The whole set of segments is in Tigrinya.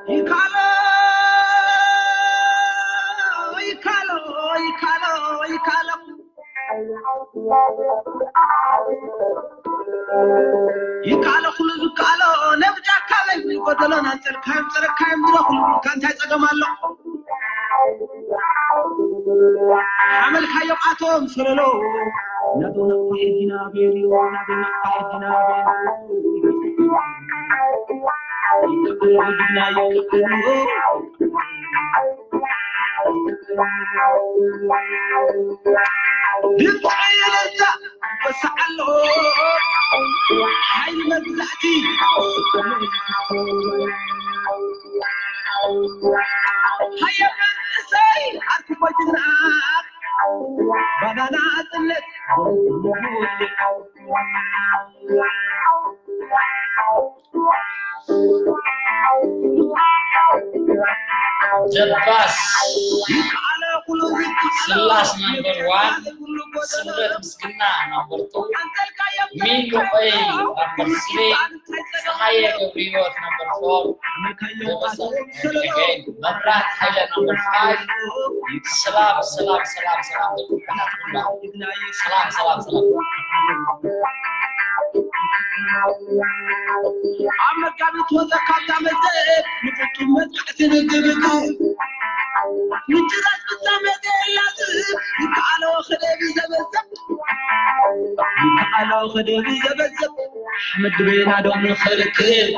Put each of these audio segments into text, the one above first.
ይካሎ ይካሎ ይካሎ ይካሎ ይካሎ ኩሉ ዝካሎ ነብጃካ በል ጎደሎን ኣንጸልካዮም ጸረካዮም ድሮ ኩሉ ካ እንታይ ጸገም ኣሎ ሓመልካዮም ኣቶም ሰለሎ ናዶ ናፋ ሕጂ ናቤል ናዶ ናፋ ሕጂ ናቤል ድምፂ እልልታ ይወስዓሎ ሓይሊ መግዛእቲ ሃየ መንእሰይ ኣርኩቦ ጅግና ባናና ኣፅነት ደባስ ስላስ ናምበር ዋን ስምረት ምስግና ናምበር ቱ ሚሉ ቆይ ናምበር ስሪ ፀሃየ ገብርሂወት ናምበር ፎር ደበሰ መብራት ሃይለ ናምበር ፋይቭ ሰላም ሰላም ሰላም ሰላም ደቂ ኩላ ሰላም ሰላም ሰላም ኣብ መጋቢት ወዘካታ መዘ ንፍጹም መጥቃዕቲ ንግብት ምጭራት ፍጻመ ዘየላዝ ይከኣሎ ክደቢ ዘበዘብ ይከኣሎ ክደቢ ዘበዘብ ሓመድ ቤና ዶ ንኸልክል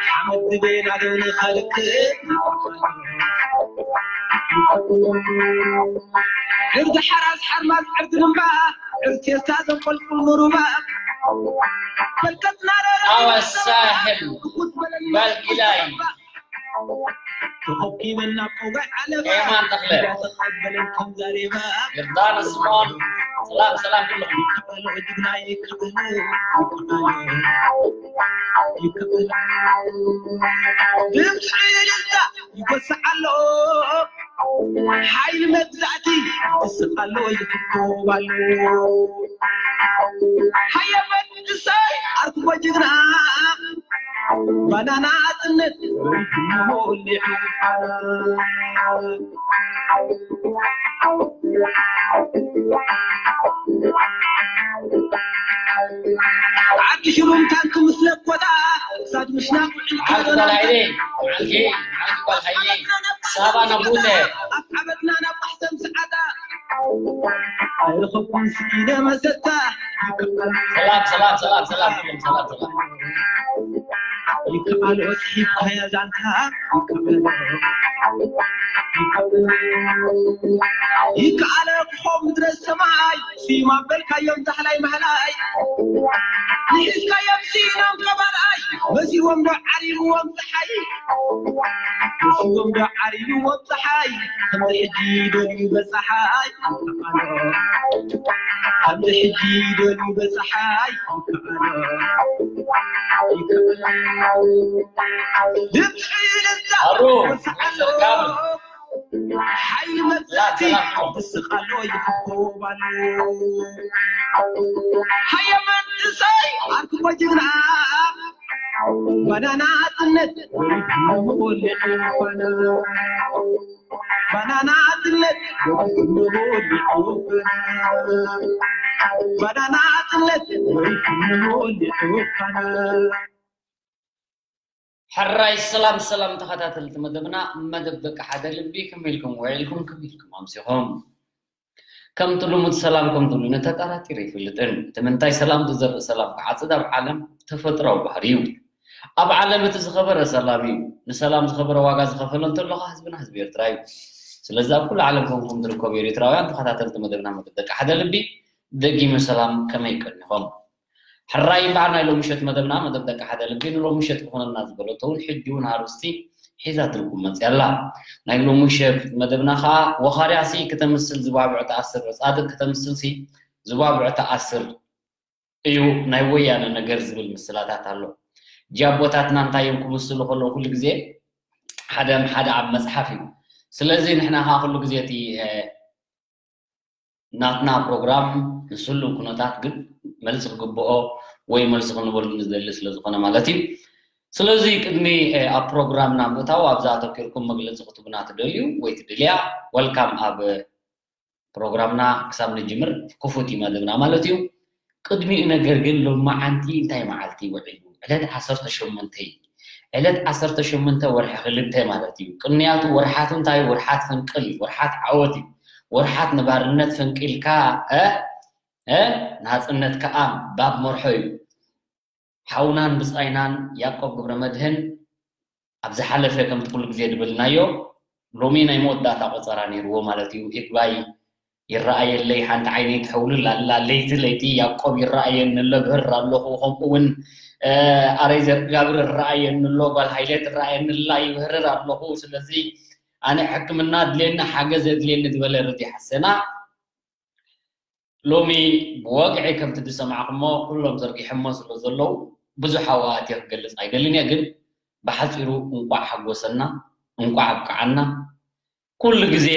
ሓመድ ቤና ዶ ንኸልክል ድርዲ ሓራስ ሓርማዝ ዕርዲ ንምባ ዕርቴታ ዘንቆልቁል ምሩባ ፈልቀትና ኣወሳሕል ባልጊላይ ተኾኪበና ቆጋይ ዓለባ ኤማን ተኽለ ተቐበለን ከም ዛሬባ ዮርዳኖስ ስምኦን ሰላም ሰላም ኩልኹም ይከኣሎ ጅግና ይከኣሎ ይከኣሎ ድምፂ እልልታ ይጎስዕ ኣሎ ሓይሊ መግዛእቲ ይስቕ ኣሎ ይፍኮብ ኣሎ ሃየ መንእሰይ ኣርክቦ ጅግና ባናና ኣፅነት ወሊዑ ዓዲ ሽሩም ታንክ ምስ ለኮታ ሳድ ምሽና ዓልኪ ጓል ሃይለ ዓልኪ ዓልኪ ጓል ሃይለ ሳባ ነቡተ ኣፍዓበትና ናብ ማሕሰም ሰዓዳ ኣይረኸብኩን ስኢነ መሰታ ሰላም ሰላም ሰላም ሰላም ሰላም ሰላም ይከኣሎ ሒብካያ ዛንታ ይከኣሎ ክኾ ምድረ ሰማይ ስዩም ኣበልካዮም ዛሕላይ ማሕላይ ንሒዝካዮም ስኢኖም ቀባልኣይ መሲዎም ዶ ዓሪብዎም ፀሓይ መሲዎም ዶ ዓሪብዎም ፀሓይ ከምዚ ሕጂ ደልዩ በፀሓይ ይከኣሎ ከምዚ ሕጂ ደልዩ በፀሓይ ይከኣሎ ይከኣሎ ድምፂ እልልታ ኣሩ ወሰዓሎ ሓይሊ መግዛእቲ ይስቕ ኣሎ ይፍኮብ ኣሎ ሃየ መንእሰይ ኣርክቦ ጅግና ባናና ኣፅነት ወሊዑ ባና ባናና ኣፅነት ወሊዑ ባናና ኣፅነት ወሊዑ ባና ሕራይ ሰላም ሰላም ተኸታተልቲ መደብና መደብ ደቂ ሓደ ልቢ ከመይ ኢልኩም ውዒልኩም ከመይ ኢልኩም ኣምሲኹም ከምቲ ልሙድ ሰላም ከምትብሉ ተጠራጢረ ይፈልጥን እቲ ምንታይ ሰላም ዝዘርእ ሰላም ክዓፅድ ኣብ ዓለም ተፈጥራዊ ባህሪ እዩ ኣብ ዓለም እቲ ዝኸበረ ሰላም እዩ ንሰላም ዝኸበረ ዋጋ ዝኸፈሎ እንተሎ ከዓ ህዝብና ህዝቢ ኤርትራ እዩ ስለዚ ኣብ ኩሉ ዓለም ኮንኩም ትርከቡ ኤርትራውያን ተኸታተልቲ መደብና መደብ ደቂ ሓደ ልቢ ደጊመ ሰላም ከመይ ቀኒኹም ሕራይ እምበኣር ናይ ሎሚ ምሸት መደብና መደብ ደቂ ሓደ ልቢ ንሎሚ ምሸት ክኾነልና ዝበለቶ እውን ሕጂ እውን ኣርእስቲ ሒዛ ትርጉም መፅያ ኣላ ናይ ሎሚ ምሸት መደብና ከዓ ወኻርያ ሲ ክተምስል ዝባብዕ ተኣስር ፃድቅ ክተምስል ሲ ዝባብዕ ተኣስር እዩ ናይ ወያነ ነገር ዝብል ምስላታት ኣሎ ጃቦታትና እንታይ እዮም ክምስሉ ከለዉ ኩሉ ግዜ ሓደ ሓደ ኣብ መፅሓፍ እዩ ስለዚ ንሕና ከዓ ኩሉ ግዜ እቲ ናትና ፕሮግራም ምስ ህሉው ኩነታት ግን መልሲ ክግብኦ ወይ መልሲ ክንበሉ ንደሊ ስለ ዝኾነ ማለት እዩ። ስለዚ ቅድሚ ኣብ ፕሮግራምና ምእታው ኣብዛ ኣተኪርኩም መግለፂ ክትቡና ትደልዩ ወይ ትደልያ፣ ወልካም ኣብ ፕሮግራምና ክሳብ ንጅምር ክፉት እዩ መደብና ማለት እዩ። ቅድሚኡ ነገር ግን ሎማዓንቲ እንታይ መዓልቲ ውዒሉ? ዕለት ዓሰርተ ሸሞንተ እዩ። ዕለት ዓሰርተ ሸሞንተ ወርሒ ክልተ ማለት እዩ። ቅንያቱ ወርሓት እንታይ? ወርሓት ፈንቅል እዩ። ወርሓት ዓወት እዩ። ወርሓት ንባርነት ፈንቂልካ እ እ ናፅነት ከዓ ባብ መርሖ እዩ። ሓውናን ብፃይናን ያዕቆብ ገብረመድህን ኣብ ዝሓለፈ ከምቲ ኩሉ ግዜ ድብልናዮ ሎሚ ናይ መወዳእታ ቆፀራ ነይርዎ ማለት እዩ። ይግባይ ይረኣየለይ፣ ሓንቲ ዓይነይ ትሕውልል ኣላ፣ ለይቲ ለይቲ ያዕቆብ ይረኣየኒ ኣሎ፣ ብህር ኣለኹ። ከምኡ እውን ኣረይ ዘርጋብር ይረኣየኒ ኣሎ፣ ጓል ሃይለ ትረኣየኒ ኣላ፣ ይብህርር ኣለኹ። ስለዚ ኣነ ሕክምና ድልየኒ፣ ሓገዝ የድልየኒ ዝበለ ረዲ ሓሰና ሎሚ ብወግዒ ከምቲ ዝሰማዕኩሞ ኩሎም ዘርጊሖሞ ስለ ዘለዉ ብዙሕ ኣዋእቲ ክገልጽ ኣይደልን እየ፣ ግን ብሓጺሩ እንቋዕ ሓጎሰና፣ እንቋዕ ኣብቅዓና። ኩሉ ግዜ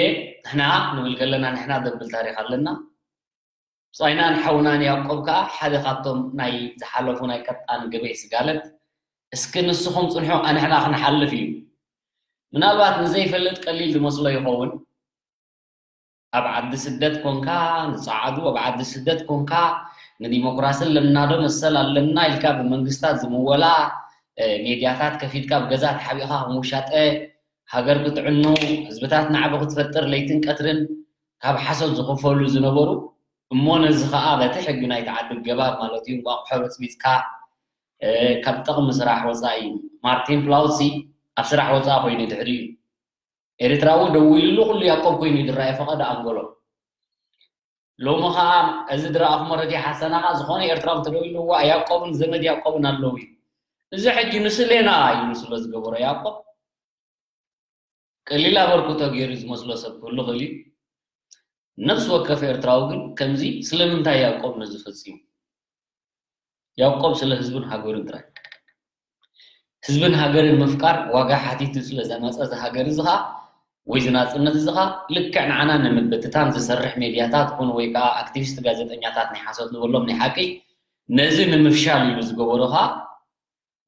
ንሕና ንብል ከለና ንሕና ዘብል ታሪኽ ኣለና። ብጻይናን ሓውናን ያዕቆብ ከኣ ሓደ ካብቶም ናይ ዝሓለፉ ናይ ቀጣን ገበይ ስጋለት፣ እስኪ ንስኹም ጽንሑ ኣንሕና ክንሓልፍ እዩ። ምናልባት ንዘይፈልጥ ቀሊል ዝመስሎ ይኸውን። ኣብ ዓዲ ስደት ኮንካ ንጸዓዱ፣ ኣብ ዓዲ ስደት ኮንካ ንዲሞክራሲ ኣለና ዶ መሰል ኣለና ኢልካ ብመንግስታት ዝምወላ ሜድያታት ከፊትካ ኣብ ገዛ ተሓቢእካ ከም ውሻጠ ሃገር ክትዕኑ፣ ህዝብታት ናዕቢ ክትፈጥር ለይትን ቀትርን ካብ ሓሶት ዝኽፈሉ ዝነበሩ፣ እሞ ነዚ ኸኣ በቲ ሕጊ ናይቲ ዓዲ ገባብ ማለት እዩ እንቋቑሖ በጽቢጽካ ካብ ጥቕሚ ስራሕ ወጻኢ። ማርቲን ፕላውሲ ኣብ ስራሕ ወጻኢ ኮይኑ ድሕሪኡ ኤርትራዊ ደዊሉሉ ኩሉ ያዕቆብ ኮይኑ ዝረኣየ ፈቐዶ ኣንጎሎ። ሎሚ ኸኣ እዚ ዝረኣኹሞ ረዲ ሓሰና ኸኣ ዝኾነ ኤርትራዊ እንተደዊሉ እዋ ያዕቆብን ዘመድ ያዕቆብን ኣለዉ እዩ። እዚ ሕጂ ንስሌና ኢሉ ስለ ዝገበሮ ያዕቆብ ቀሊል ኣበርክቶ ገይሩ ዝመስሎ ሰብ ክህሉ ይኽእል እዩ። ነፍሲ ወከፍ ኤርትራዊ ግን ከምዚ ስለምንታይ ያዕቆብ ነዚ ፈጺሙ? ያዕቆብ ስለ ህዝብን ሃገሩን ጥራይ። ህዝብን ሃገርን ምፍቃር ዋጋ ሓቲቱ ስለ ዘመጸ እዚ ሃገር እዚ ኸኣ ወይ እዚ ናጽነት እዚ ኸኣ ልክዕ ንዓና ንምብትታን ዝሰርሕ ሜድያታት ኹን ወይ ከኣ ኣክቲቪስት ጋዜጠኛታት ናይ ሓሶት ንበሎም ናይ ሓቂ ነዚ ንምፍሻል ኢሉ ዝገበሮ ኸኣ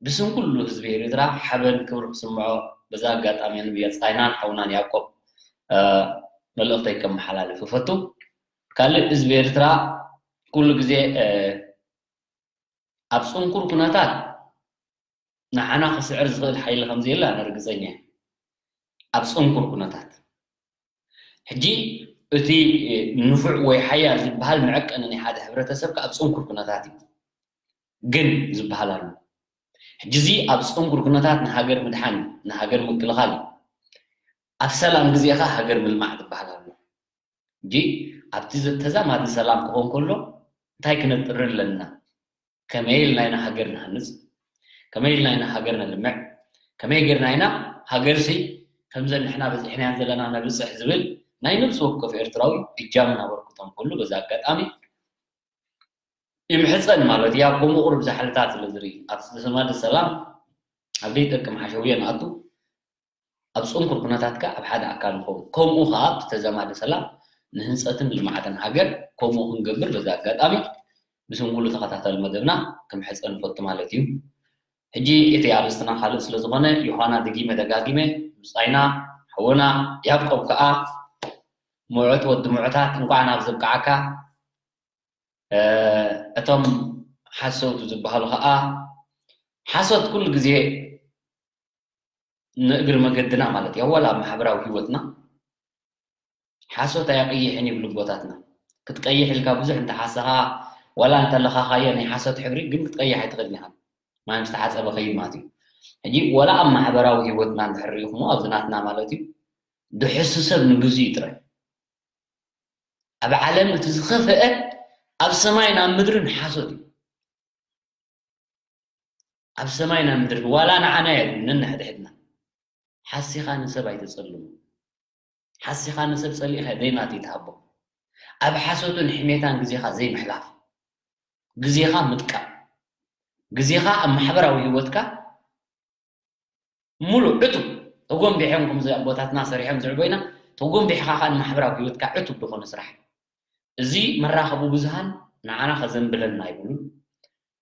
ብስም ኩሉ ህዝቢ ኤርትራ ሓበን ክብሪ ክስምዖ በዛ ኣጋጣሚ ንብየት ጻይናን ሓውናን ያዕቆብ መልእኽተይ ከመሓላልፍ እፈቱ። ካልእ ህዝቢ ኤርትራ ኩሉ ግዜ ኣብ ጽንኩር ኩነታት ንዓና ክስዕር ዝኽእል ሓይሊ ከም ዘየለ ኣነ ርግጸኛ እየ። ኣብ ጽንኩር ኩነታት ሕጂ እቲ ንፉዕ ወይ ሓያል ዝበሃል መዐቀኒ ናይ ሓደ ሕብረተሰብ ከኣ ኣብ ጽንኩር ኩነታት እዩ። ግን ዝበሃል ኣሎ። ሕጂ እዚ ኣብ ጽንኩር ኩነታት ንሃገር ምድሓን፣ ንሃገር ምክልኻል እዩ። ኣብ ሰላም ግዜ ከኣ ሃገር ምልማዕ ዝበሃል ኣሎ። ሕጂ ኣብቲ ዘ-፣ ተዛማዲ ሰላም ክኾን ከሎ እንታይ ክነጥሪ ኣለና? ከመይ ኢልና ኢና ሃገር ንሃንጽ? ከመይ ኢልና ኢና ሃገር ነልምዕ? ከመይ ጌርና ኢና ሃገርሲ ከምዘን ንሕና በዚሕናያን ዘለና ነብጽሕ ዝብል ናይ ነብሲ ወከፍ ኤርትራዊ እጃምን ኣበርክቶን ኩሉ በዚ ኣጋጣሚ ይምሕጸን ማለት እዩ። ኣብ ከምኡ ቁሩብ ዛሕልታት ስለ ዝርኢ፣ ኣብ ተዛማዲ ሰላም ኣብ ዘይጠቅም ሓሸውየ ንኣቱ፣ ኣብ ጽንኩር ኩነታት ከኣ ኣብ ሓደ ኣካል ንኸውን። ከምኡ ከኣ ኣብቲ ተዛማዲ ሰላም ንህንጸትን ልምዓትን ሃገር ከምኡ ክንገብር በዚ ኣጋጣሚ ብስም ኩሉ ተኸታታሊ መደብና ክምሕጸን እፈቱ ማለት እዩ። ሕጂ እቲ ኣርእስትና ካልእ ስለ ዝኾነ ዮሃና ደጊመ ደጋጊመ ብጻይና ሓውና ያዕቆብ ከኣ ምዑት ወዲ ምዑታት እንኳዕ ናብ ዘብቅዓካ። እ፣ እቶም ሓሰውቲ ዝበሃሉ ከኣ ሓሶት ኩሉ ግዜ ንእግሪ መገድና ማለት እዩ። ዋላ ኣብ ማሕበራዊ ህይወትና ሓሶት ኣየቕይሕን ይብሉ ኣቦታትና። ክትቀይሕ ኢልካ ብዙሕ እንተሓሰኻ ዋላ እንተለኻኻዮ ናይ ሓሶት ሕብሪ ግን ክትቀይሕ ኣይትኽእልን ኢኻ። ማይ ምስ ተሓጸበ ኸይድ ማለት እዩ። ሕጂ ዋላ ኣብ ማሕበራዊ ህይወትና እንድሕር ርኢኹሞ ኣብዚ ናትና ማለት እዩ ድሕሱ ሰብ ንግዙ እዩ ጥራይ። ኣብ ዓለም እቲ ዝኸፍአ ኣብ ሰማይን ኣብ ምድርን ሓሶት እዩ። ኣብ ሰማይን ኣብ ምድርን ዋላ ንዓና እየ ነንሕድሕድና። ሓሲኻ ንሰብ ኣይተጸልሞ። ሓሲኻ ንሰብ ጸሊእኻ ዘይናቱ ይትሃቦ። ኣብ ሓሶትን ሕሜታን ግዜኻ ዘይምሕላፍ። ግዜኻ ምጥቃም። ግዜኻ ኣብ ማሕበራዊ ህይወትካ ሙሉእ ዕቱብ ተጎንቢሖም ከምዚ ኣቦታትና ሰሪሖም ዝዕቦይና ተጎንቢሕኻ ኸኣ ንማሕበራዊ ህይወትካ ዕቱብ ዝኾነ ስራሕ። እዚ መራኸቢ ብዙሃን ንዓና ከዘንብለና ኣይብሉን።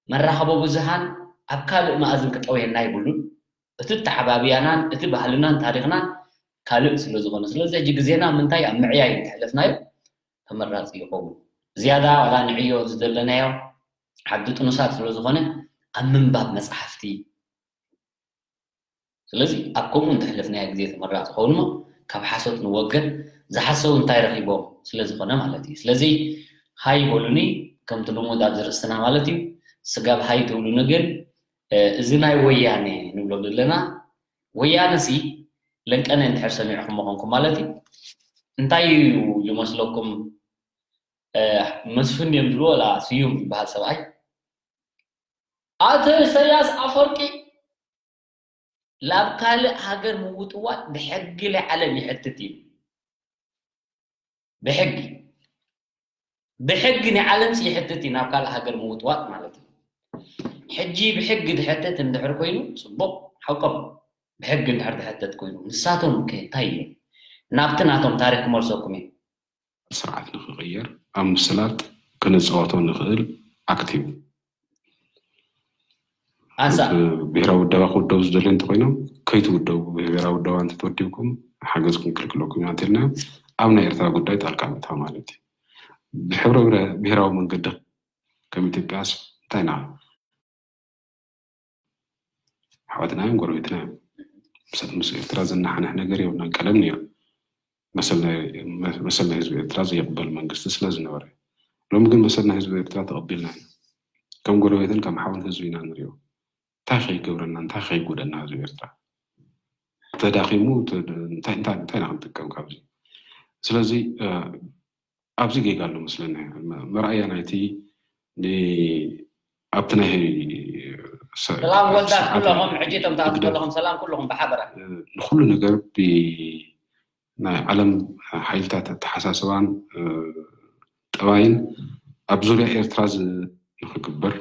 መራኸቢ ብዙሃን ኣብ ካልእ መኣዝን ክጠውየና ኣይብሉን። እቲ ተዓባብያናን እቲ ባህልናን ታሪኽናን ካልእ ስለ ዝኾነ፣ ስለዚ ሕጂ ግዜና ምንታይ ኣብ ምዕያይ እንተሕለፍናዮ ተመራፂ ይኸውን። ዝያዳ ዋላ ንዕዮ ዝደለናዮ ዓዲ ጥኑሳት ስለ ዝኾነ ኣብ ምንባብ መፅሓፍቲ፣ ስለዚ ኣብ ከምኡ እንተሕለፍናዮ ግዜ ተመራፂ ይኸውን እሞ ካብ ሓሶት ንወገን፣ ዝሓሰቡ እንታይ ረኺቦም ስለ ዝኾነ ማለት እዩ። ስለዚ ሃይ በሉኒ፣ ከምቲ ልሙድ ኣብዚ ርእስትና ማለት እዩ። ስጋብ ሃይ ትብሉኒ ግን፣ እ፣ እዚ ናይ ወያኔ ንብሎ ዘለና፣ ወያነ ሲ ለንቀነ እንድሕር ሰሚዕኹም ምኾንኩም ማለት እዩ። እንታይ እዩ ዝመስለኩም? እ፣ መስፍን እዮም ዝብልዎ፣ ወላ ስዩም ዝበሃል ሰብኣይ፣ ኣቶ ኢሳያስ ኣፈወርቂ ላብ ካልእ ሃገር ምውጥዋጥ ብሕጊ ናይ ዓለም ይሕትት እዩ። ብሕጊ፣ ብሕጊ ናይ ዓለምሲ ይሕትት እዩ፣ ናብ ካልእ ሃገር ምውጥዋጥ ማለት እዩ። ሕጂ ብሕጊ ዝሕተት እንድሕር ኮይኑ ጽቡቕ፣ ሓቆም፣ ብሕጊ እንድሕር ዝሕተት ኮይኑ፣ ንሳቶም ከ እንታይ እዮም? ናብቲ ናቶም ታሪኽ ክመልሰኩም እዩ። ስርዓት ንኽቕየር ኣብ ምስላጥ ክንፃወቶ ንኽእል ኣክት እዩ። ኣንሳ እቲ ብሄራዊ ውደባ ክውደቡ ዝደልዩ እንተኮይኖም ከይትውደቡ፣ ብሄራዊ ውደባ እንተተወዲብኩም ሓገዝ ክንክልክለኩም ኢና እንተልና ኣብ ናይ ኤርትራ ጉዳይ ጣልቃ ምእታው ማለት እዩ። ብሕብረ ብረ- ብሄራዊ መንገዲ ከም ኢትዮጵያስ እንታይ ኢና? ኣሕዋትና እዮም፣ ጎረቤትና እዮም። ምስ- ምስ ኤርትራ ዘናሓንሕ ነገር የብልናን። ቀደም ነይሩ መሰል ናይ መሰል ናይ ህዝቢ ኤርትራ ዘይቕበል መንግስቲ ስለ ዝነበረ፣ ሎሚ ግን መሰል ናይ ህዝቢ ኤርትራ ተቐቢልና ኢና። ከም ጎረቤትን ከም ሓውን ህዝቢ ኢና ንሪኦ። እንታይ ከይገብረና፣ እንታይ ከይጎደና ህዝቢ ኤርትራ ተዳኺሙ ተ- እንታይ እንታይ እንታይ ኢና ክንጥቀም ካብዚ? ስለዚ እ፣ ኣብዚ ጌጋ ኣሎ መስለኒ። መ- መርኣያ ናይቲ ን- ኣብቲ ናይ ሰ- ሰላም ወልዳት ስርዓት ኩለኹም፣ ሕጂ እቶም ትኣትዉ ህግደፍ ዘለኹም ሰላም ኩለኹም ብሓበራ። ንኩሉ ነገር ብ- ናይ ዓለም ሓይልታት ኣተሓሳስባን እ፣ ጠባይን ኣብ ዙርያ ኤርትራ ዝ- ንክግበር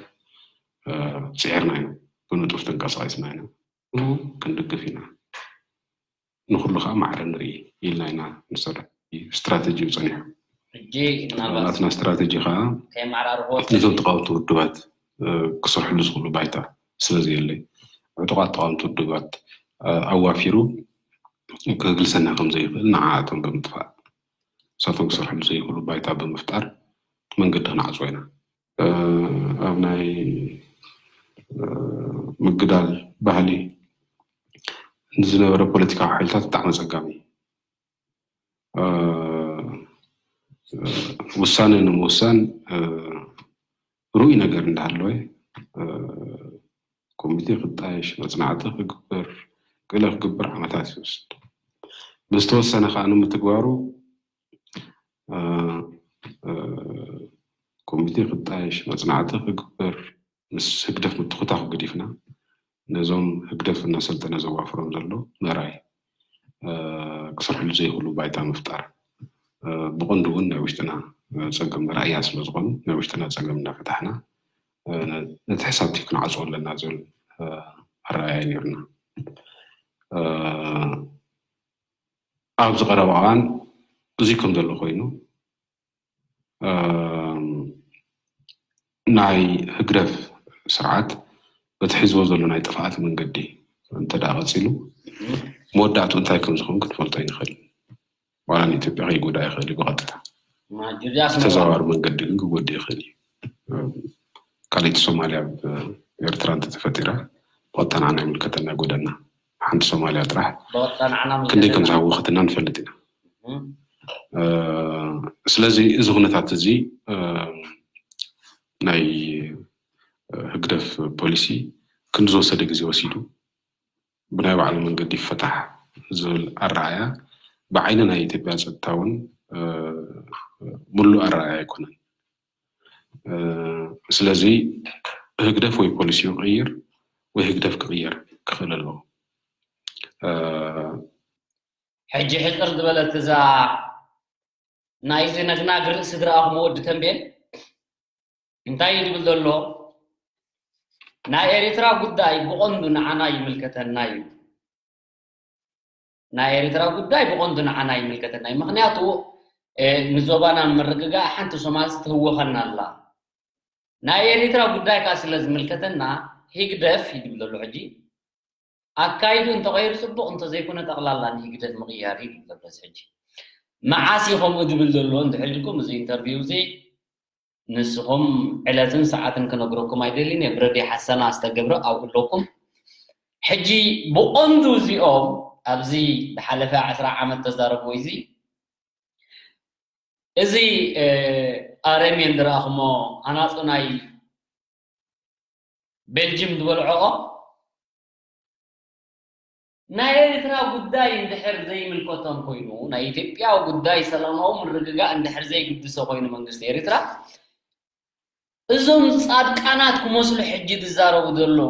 እ፣ ፅዒርና ኢና። ብንጡፍ ተንቀሳቒስና ኢና። ንኩሉ ክንድግፍ ኢና፣ ንኩሉ ከዓ ማዕረ ንርኢ ኢልና ኢና ንሰርሕ። ስትራተጂ እዩ ፀኒሑ። ሕጂ ምናልባት ናትና ስትራተጂ ከዓ ከይመዓራርኽዎ ኣብቲ ነዞም ተቃወምቲ ውድባት እ፣ ክሰርሕሉ ዝኽእሉ ባይታ ስለ ዘየለይ፣ ዕጡቓት ተቃወምቲ ውድባት እ፣ ኣዋፊሩ ክግልሰና ከም ዘይኽእል ንዓኣቶም ብምጥፋእ፣ ንሳቶም ክሰርሕሉ ዘይኽእሉ ባይታ ብምፍጣር መንገዲ ክንዓፅዎ ኢና። እ፣ ኣብ ናይ እ፣ ምግዳል ባህሊ ንዝነበረ ፖለቲካዊ ሓይልታት ብጣዕሚ ኣፀጋሚ እዩ። እ፣ ውሳነ ንምውሳን እ፣ ርኡይ ነገር እንዳሃለወ እ፣ ኮሚቴ ክጣየሽ፣ መፅናዕቲ ክግበር፣ ገለ ክግበር ዓመታት ይወስድ። ብዝተወሰነ ከዓ ንምትግባሩ እ፣ እ፣ ኮሚቴ ክጣየሽ፣ መፅናዕቲ ክግበር፣ ምስ ህግደፍ ምትኹታኹ ገዲፍና ነዞም ህግደፍ እናሰልጠነ ዘዋፍሮም ዘሎ ምእራይ እ፣ ክሰርሕሉ ዘይኽእሉ ባይታ ምፍጣር እ፣ ብቐንዱ እውን ናይ ውሽጥና እ፣ ፀገም መርኣያ ስለ ዝኾኑ ናይ ውሽጥና ፀገም እናፈታሕና እ፣ ነ- ነቲ ሕሳብ እቲ ክንዓፅዎ ኣለና ዝብል እ፣ ኣረኣእያ ነይሩና። እ፣ ኣብዚ ቀረባ እዋን እዚ ከም ዘሎ ኮይኑ እ፣ ናይ ህግደፍ ስርዓት በቲ ሒዝዎ ዘሎ ናይ ጥፍኣት መንገዲ እንተ ደኣ ቀፂሉ መወዳእቱ እንታይ ከም ዝኸውን ክንፈልጦ ይንኽእል። ዋላ ንኢትዮጵያ ከይጎዳ ይኽእል እዩ ብቐጥታ። ማ- ጁልያስ መርዋ። ብተዘዋዋሪ መንገዲ ግን ክጎድእ ይኽእል እዩ። ካልኣይቲ ሶማልያ ኣብ ኤርትራ እንተተፈጢራ ብቐጥታ ንዓና ይምልከተና ኣይጎደና። ሓንቲ ሶማልያ ጥራሕ በወጣንዓና ክንደይ ከም ምንገደና። ዝሃወኸትና ንፈልጥ ኢና። እም። እ፣ ስለዚ እዚ ኩነታት እዚ እ፣ ናይ ህግደፍ ፖሊሲ ክንዲ ዝወሰደ ግዜ ወሲዱ ብናይ ባዕሉ መንገዲ ይፈታሕ ዝብል ኣረኣያ ብዓይኒ ናይ ኢትዮጵያ ጸጥታ እውን እ፣ ምሉእ ኣረኣያ ኣይኮነን። እ፣ ስለዚ ህግደፍ ወይ ፖሊሲኡ ክቕይር ወይ ህግደፍ ክቕየር ክኽእል ኣለዎ። እ፣ ሕጂ ሕፅር ዝበለት እዛ ናይዚ ነግናግ ርእሲ ዝረኣኹሞ ወዲ ተንቤን እንታይ እዩ ዝብል ዘሎ? ናይ ኤርትራ ጉዳይ ብቐንዱ ንዓና ይምልከተና እዩ። ናይ ኤርትራ ጉዳይ ብቐንዱ ንዓና ይምልከተና እዩ። ምኽንያቱ ንዞባና ንምርግጋእ ሓንቲ ሶማል ትህወኸና ኣላ። ናይ ኤሪትራ ጉዳይ ከዓ ስለ ዝምልከተና ህግደፍ ይድብል ዘሎ ሕጂ ኣካይዱ እንተቐይሩ ጽቡቕ፣ እንተዘይኮነ ጠቕላላ ንህግደፍ ምቕያር እዩ ዝብል ዘሎ ሕጂ። መዓስ እዩ ከምኡ ዝብል ዘሎ እንድሕር ኢልኩም፣ እዚ ኢንተርቪው እዚ ንስኹም ዕለትን ሰዓትን ክነግረኩም ኣይደልን እየ። ብረድዮ ሓሰና ዝተገብረ ኣብኡ ኣለኩም። ሕጂ ብቐንዱ እዚኦም ኣብዚ ዝሓለፈ ዕስራ ዓመት ተዛረብዎ እዚ እዚ ኣረሜን ዝረኣኹሞ ኣናጹ ናይ ቤልጅም ዝበልዖኦ ናይ ኤርትራ ጉዳይ እንድሕር ዘይምልከቶም ኮይኑ፣ ናይ ኢትዮጵያ ጉዳይ ሰላማዊ ምርግጋእ እንድሕር ዘይግድሶ ኮይኑ መንግስቲ ኤርትራ፣ እዞም ጻድቃናት ክመስሉ ሕጂ ዝዛረቡ ዘለዉ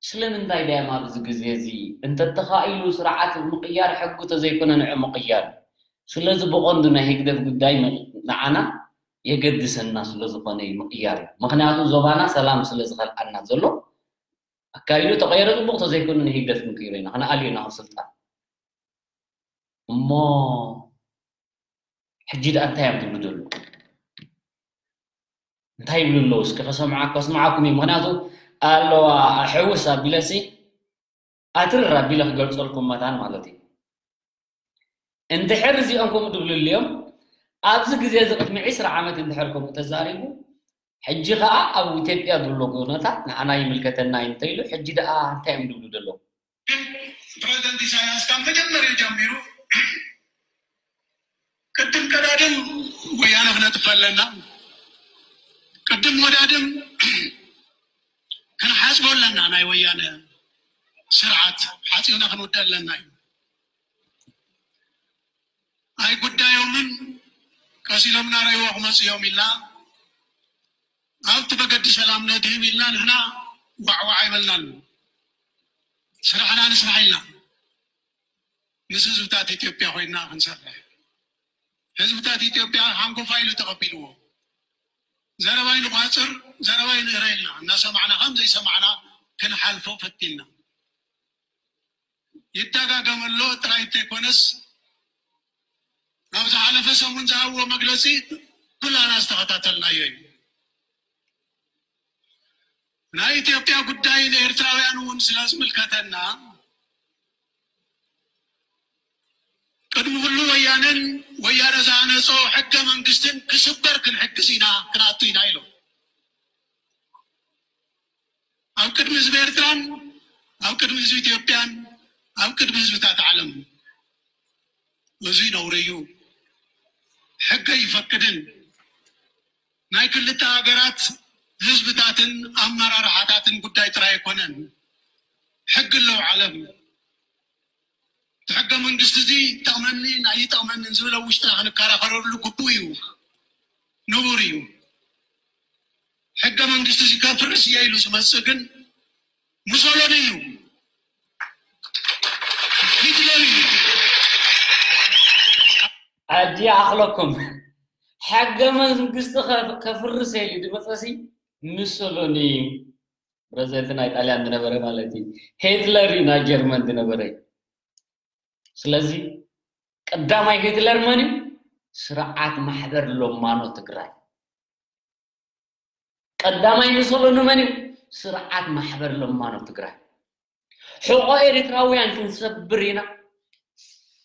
ስለምንታይ ድዮም ኣብዚ ግዜ እዚ? እንተተኻኢሉ ስርዓት ምቕያር ሕጊ ተዘይኮነ ንዑ ምቕያር። ስለዚ ብቐንዱ ናይ ህግደፍ ጉዳይ ን-፣ ንዓና የገድሰና ስለ ዝኾነ እዩ ምቕያር እዩ። ምኽንያቱ ዞባና ሰላም ስለ ዝኸልኣና ዘሎ ኣካይዱ ተቐይረ ጽቡቕ ተዘይኮነ ንህግደፍ ክንቅይሮ ኢና፣ ክንኣልዮ ኢና ካብ ስልጣን። እሞ ሕጂ ደኣ እንታይ እዮም ዝብሉ ዘለዉ? እንታይ ይብሉ ኣለዉ? እስኪ ከሰምዓ-፣ ከስምዓኩም እዩ። ምኽንያቱ ኣለዋ ሕውስ ኣቢለሲ ኣትርር ኣቢለ ክገልጸልኩም መታን ማለት እዩ። እንድሕር እዚኦም ከምኡ ድብሉ ኣልዮም፣ ኣብዚ ግዜ እዚ ቅድሚ ዕስራ ዓመት እንድሕር ከምኡ ተዛሪቡ፣ ሕጂ ኸኣ ኣብ ኢትዮጵያ ዘሎ ኩነታት ንዓና ይምልከተና እዩ እንተኢሉ፣ ሕጂ ደኣ እንታይ እዮም ድብሉ ዘለዉ? ፕረዚደንት ኢሳያስ ካብ መጀመርያ ጀሚሩ ቅድም ቀዳድም ወያነ ክነጥፍ ኣለና፣ ቅድም ወዳድም ክንሓጽቦ ኣለና፣ ናይ ወያነ ስርዓት ሓጺብና ክንውደ ኣለና እዩ። ኣይጉዳዮምን፣ ቀስ ኢሎም እናረእይዎ ክመጹ እዮም ኢልና ኣብቲ መገዲ ሰላም ነድህብ ኢልና ንሕና ዋዕዋዕ ኣይበልናሉ። ስራሕና ንስራሕ ኢልና ምስ ህዝብታት ኢትዮጵያ ኮይና ክንሰርሕ፣ ህዝብታት ኢትዮጵያ ሓንጎፋይ ኢሉ ተቐቢልዎ፣ ዘረባይ ንቋጽር፣ ዘረባይ ንእረ ኢልና እናሰማዕና ከም ዘይሰማዕና ክንሓልፎ ፈቲንና። ይደጋገም ኣሎ ጥራይ እንተይኮነስ፣ ኣብ ዝሓለፈ ሰሙን ዝሃብዎ መግለጺ ኩላና ዝተኸታተልናዮ እዩ። ናይ ኢትዮጵያ ጉዳይ ንኤርትራውያን እውን ስለ ዝምልከተና፣ ቅድሚ ኩሉ ወያነን ወያነ ዝሃነጾ ሕገ መንግስትን ክስበር ክንሕግዝ ኢና፣ ክንኣቱ ኢና ኢሎም። ኣብ ቅድሚ ህዝቢ ኤርትራን ኣብ ቅድሚ ህዝቢ ኢትዮጵያን ኣብ ቅድሚ ህዝብታት ዓለም። እዚ ነውሪ እዩ። ሕጊ ኣይፈቅድን። ናይ ክልተ ሃገራት ህዝብታትን ኣመራርሓታትን ጉዳይ ጥራይ ኣይኮነን። ሕጊ ኣለዎ ዓለም። እቲ ሕገ መንግስቲ እዚ ይጠቕመኒ ኣይጠቕመንን ዝብል ኣብ ውሽጥና ክንከራኸረሉ ግቡእ እዩ፣ ንቡር እዩ። ሕገ መንግስቲ እዚ ከፍርስ እየ ኢሉ ዝመጽእ ግን ሙሶሎኒ እዩ፣ ሂትለር እዩ። ሕጂ ይኣኽለኩም። ሕገ መንግስቲ ከ-፣ ከፍርስ እየ ኢሉ ዝመጸሲ ሙሶሎኒ እዩ። ፕረዚደንት ናይ ጣልያን ዝነበረ ማለት እዩ። ሂትለር እዩ ናይ ጀርመን ዝነበረ። ስለዚ ቀዳማይ ሂትለር መን እዩ? ስርዓት ማሕበር ለማኖ ትግራይ። ቀዳማይ ሙሶሎኒ መን እዩ? ስርዓት ማሕበር ለማኖ ትግራይ። ሕቆ ኤርትራውያን ክንሰብር ኢና።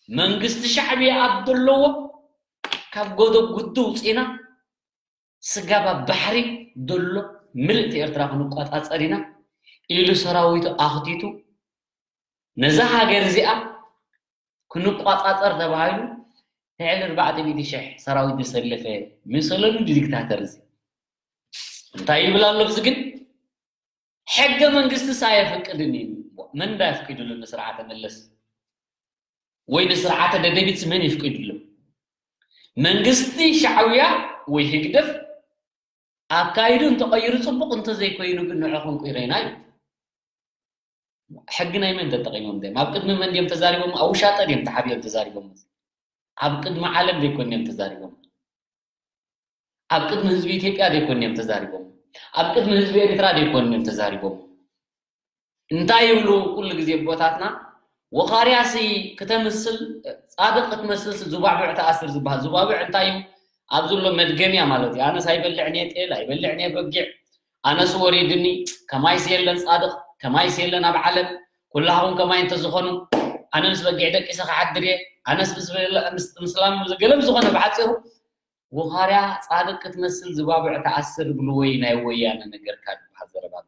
መንግስቲ ሻዕብያ ኣብ ዘለዎ ካብ ጎደጉዱ ውፅኢና ስጋብ ኣብ ባሕሪ ዘሎ ምልእቲ ኤርትራ ክንቆጻጸር ኢና ኢሉ ሰራዊቱ ኣኽቲቱ ነዛ ሃገር እዚኣ ክንቆጻጸር ተባሂሉ ልዕሊ ኣርባዕተ ሚእቲ ሽሕ ሰራዊት ዘሰለፈ ሙሶሎኒ ዲክታተር እዚ እንታይ ይብል ኣሎ? እዚ ግን ሕገ መንግስቲ ሳ የፍቅድን እዩ። መን እንዳ የፍቅድሉ ንስርዓተ መለስ ወይ ንስርዓተ ደደቢት መን ይፍቅድሉ? መንግስቲ ሻዕብያ ወይ ህግደፍ ኣካይዱ እንተቐይሩ ጽቡቕ፣ እንተዘይኮይኑ ግን ንዕኹም ቁይረና እዩ። ሕጊ ናይ መን ተጠቒሞም ድዮም? ኣብ ቅድሚ መን ድዮም ተዛሪቦም? ኣብ ውሻጠ ድዮም ተሓቢኦም ተዛሪቦም? ኣብ ቅድሚ ዓለም ዘይኮን እዮም ተዛሪቦም። ኣብ ቅድሚ ህዝቢ ኢትዮጵያ ዘይኮን እዮም ተዛሪቦም። ኣብ ቅድሚ ህዝቢ ኤርትራ ዘይኮን እዮም ተዛሪቦም። እንታይ ይብሉ ኩሉ ግዜ ኣቦታትና? ወኻርያሲ ክተምስል ጻድቕ ክትመስልሲ ዙባቡዕ ተኣስር ዝበሃል። ዙባቡዕ እንታይ እዩ? ኣብ ዘሎ መድገምያ ማለት እዩ። ኣነስ ኣይበልዕን እየ ጤል፣ ኣይበልዕን እየ በጊዕ፣ ኣነስ ወሪድኒ፣ ከማይስ የለን ጻድቕ፣ ከማይስ የለን ኣብ ዓለም፣ ኩላኹም ከማይ እንተዝኾኑ፣ ኣነ ምስ በጊዕ ደቂሰ ክሓድር እየ፣ ኣነስ ምስ በለ-፣ ምስ፣ ምስ ላም ገለ ዝኾነ ብሓጺሩ፣ ወኻርያ ጻድቕ ክትመስል ዝባብዕ ተኣስር ብልወይ ናይ ወያነ ነገርካ ዝበሃል ዘረባ ኣሎ።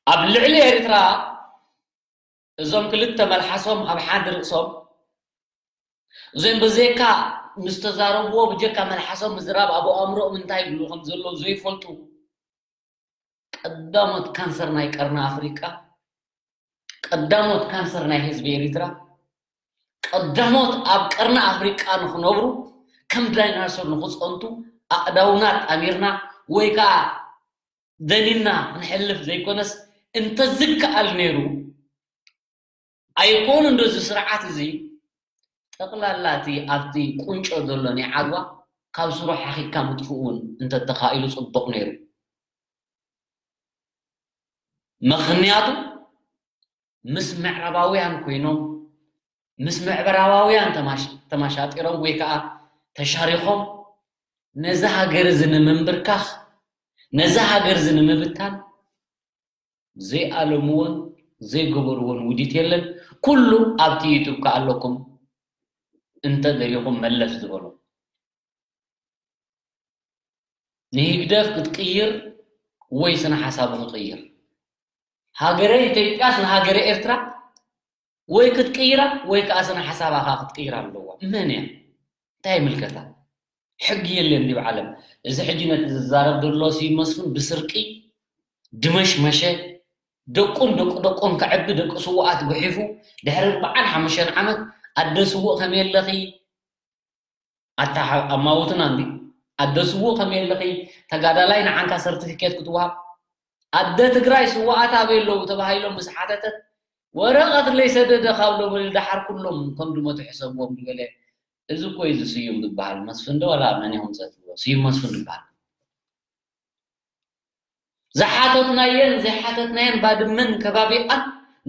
ኣብ ልዕሊ ኤርትራ እዞም ክልተ መልሓሶም ኣብ ሓድ ርእሶም፣ እዞም ብዘይካ ምስ ተዛረብዎ ብጀካ መልሓሶም ምዝራብ ኣብ ኣእምሮኦም እንታይ ይብሉ ከም ዘለዉ ዘይፈልጡ፣ ቀዳሞት ካንሰር ናይ ቀርኒ ኣፍሪቃ፣ ቀዳሞት ካንሰር ናይ ህዝቢ ኤሪትራ፣ ቀዳሞት ኣብ ቀርኒ ኣፍሪቃ ንኽነብሩ ከም ዳይናሶር ንኽጸንቱ ኣእዳውና ጣሚርና ወይ ከኣ ደኒና ክንሕልፍ ዘይኮነስ እንተዝከኣል ነይሩ ኣይኮኑ እንዶ እዚ ስርዓት እዚ ጠቕላላ እቲ ኣብቲ ቁንጮ ዘሎ ናይ ዓድዋ ካብ ስሩ ሓኺካ ምጥፍኡ እውን እንተተኻኢሉ ጽቡቕ ነይሩ። ምኽንያቱ ምስ ምዕራባውያን ኮይኖም ምስ ምዕራባውያን ተማሽ-፣ ተማሻጢሮም ወይ ከዓ ተሻሪኾም ነዚ ሃገር እዚ ንምንብርካኽ ነዚ ሃገር እዚ ንምብታን ዘይኣለምዎን ዘይገበርዎን ውዲት የለን። ኩሉ ኣብቲ ዩቱብ ከኣለኩም እንተ ደሊኹም መለስ ዝበሉ። ንህግደፍ ክትቅይር ወይ ስነ ሓሳቡ ክቅይር። ሃገረ ኢትዮጵያስ ንሃገረ ኤርትራ ወይ ክትቅይራ ወይ ከዓ ስነ ሓሳባኻ ክትቅይራ ኣለዋ። መን እያ? እንታይ ይምልከታ? ሕጊ የለን ዲብ ዓለም። እዚ ሕጂ ነቲ ዝዛረብ ዘሎ ስዩም መስፍን ብስርቂ ድመሽመሸ ደቁን ደቁ ደቆም ከዕቢ ደቂ ስውኣት ጉሒፉ ድሕሪ ኣርባዓን ሓሙሽተን ዓመት ኣደ ስውእ ከመይ ኣለኺ ኣታ ሓ-፣ ኣማውትና እንዲ ኣደ ስውእ ከመይ ኣለኺ ተጋዳላይ ንዓንካ ሰርቲፊኬት ክትወሃብ ኣደ ትግራይ ስውኣት ኣበይ ኣለዉ ተባሂሎም ምስ ሓተተት ወረቐት ለይሰደደ ካብ ሎበሊ ደሓር ኩሎም ከም ድመቱ ሕሰብዎም ዝበለ እዚ እኮ እዩ እዚ ስዩም ዝበሃል መስፍን ዶ ዋላ መን ይኹም ፀትዎ ስዩም መስፍን ዝበሃል ዝሓተትናየን ዘይሓተትናየን ባድመን ከባቢኣን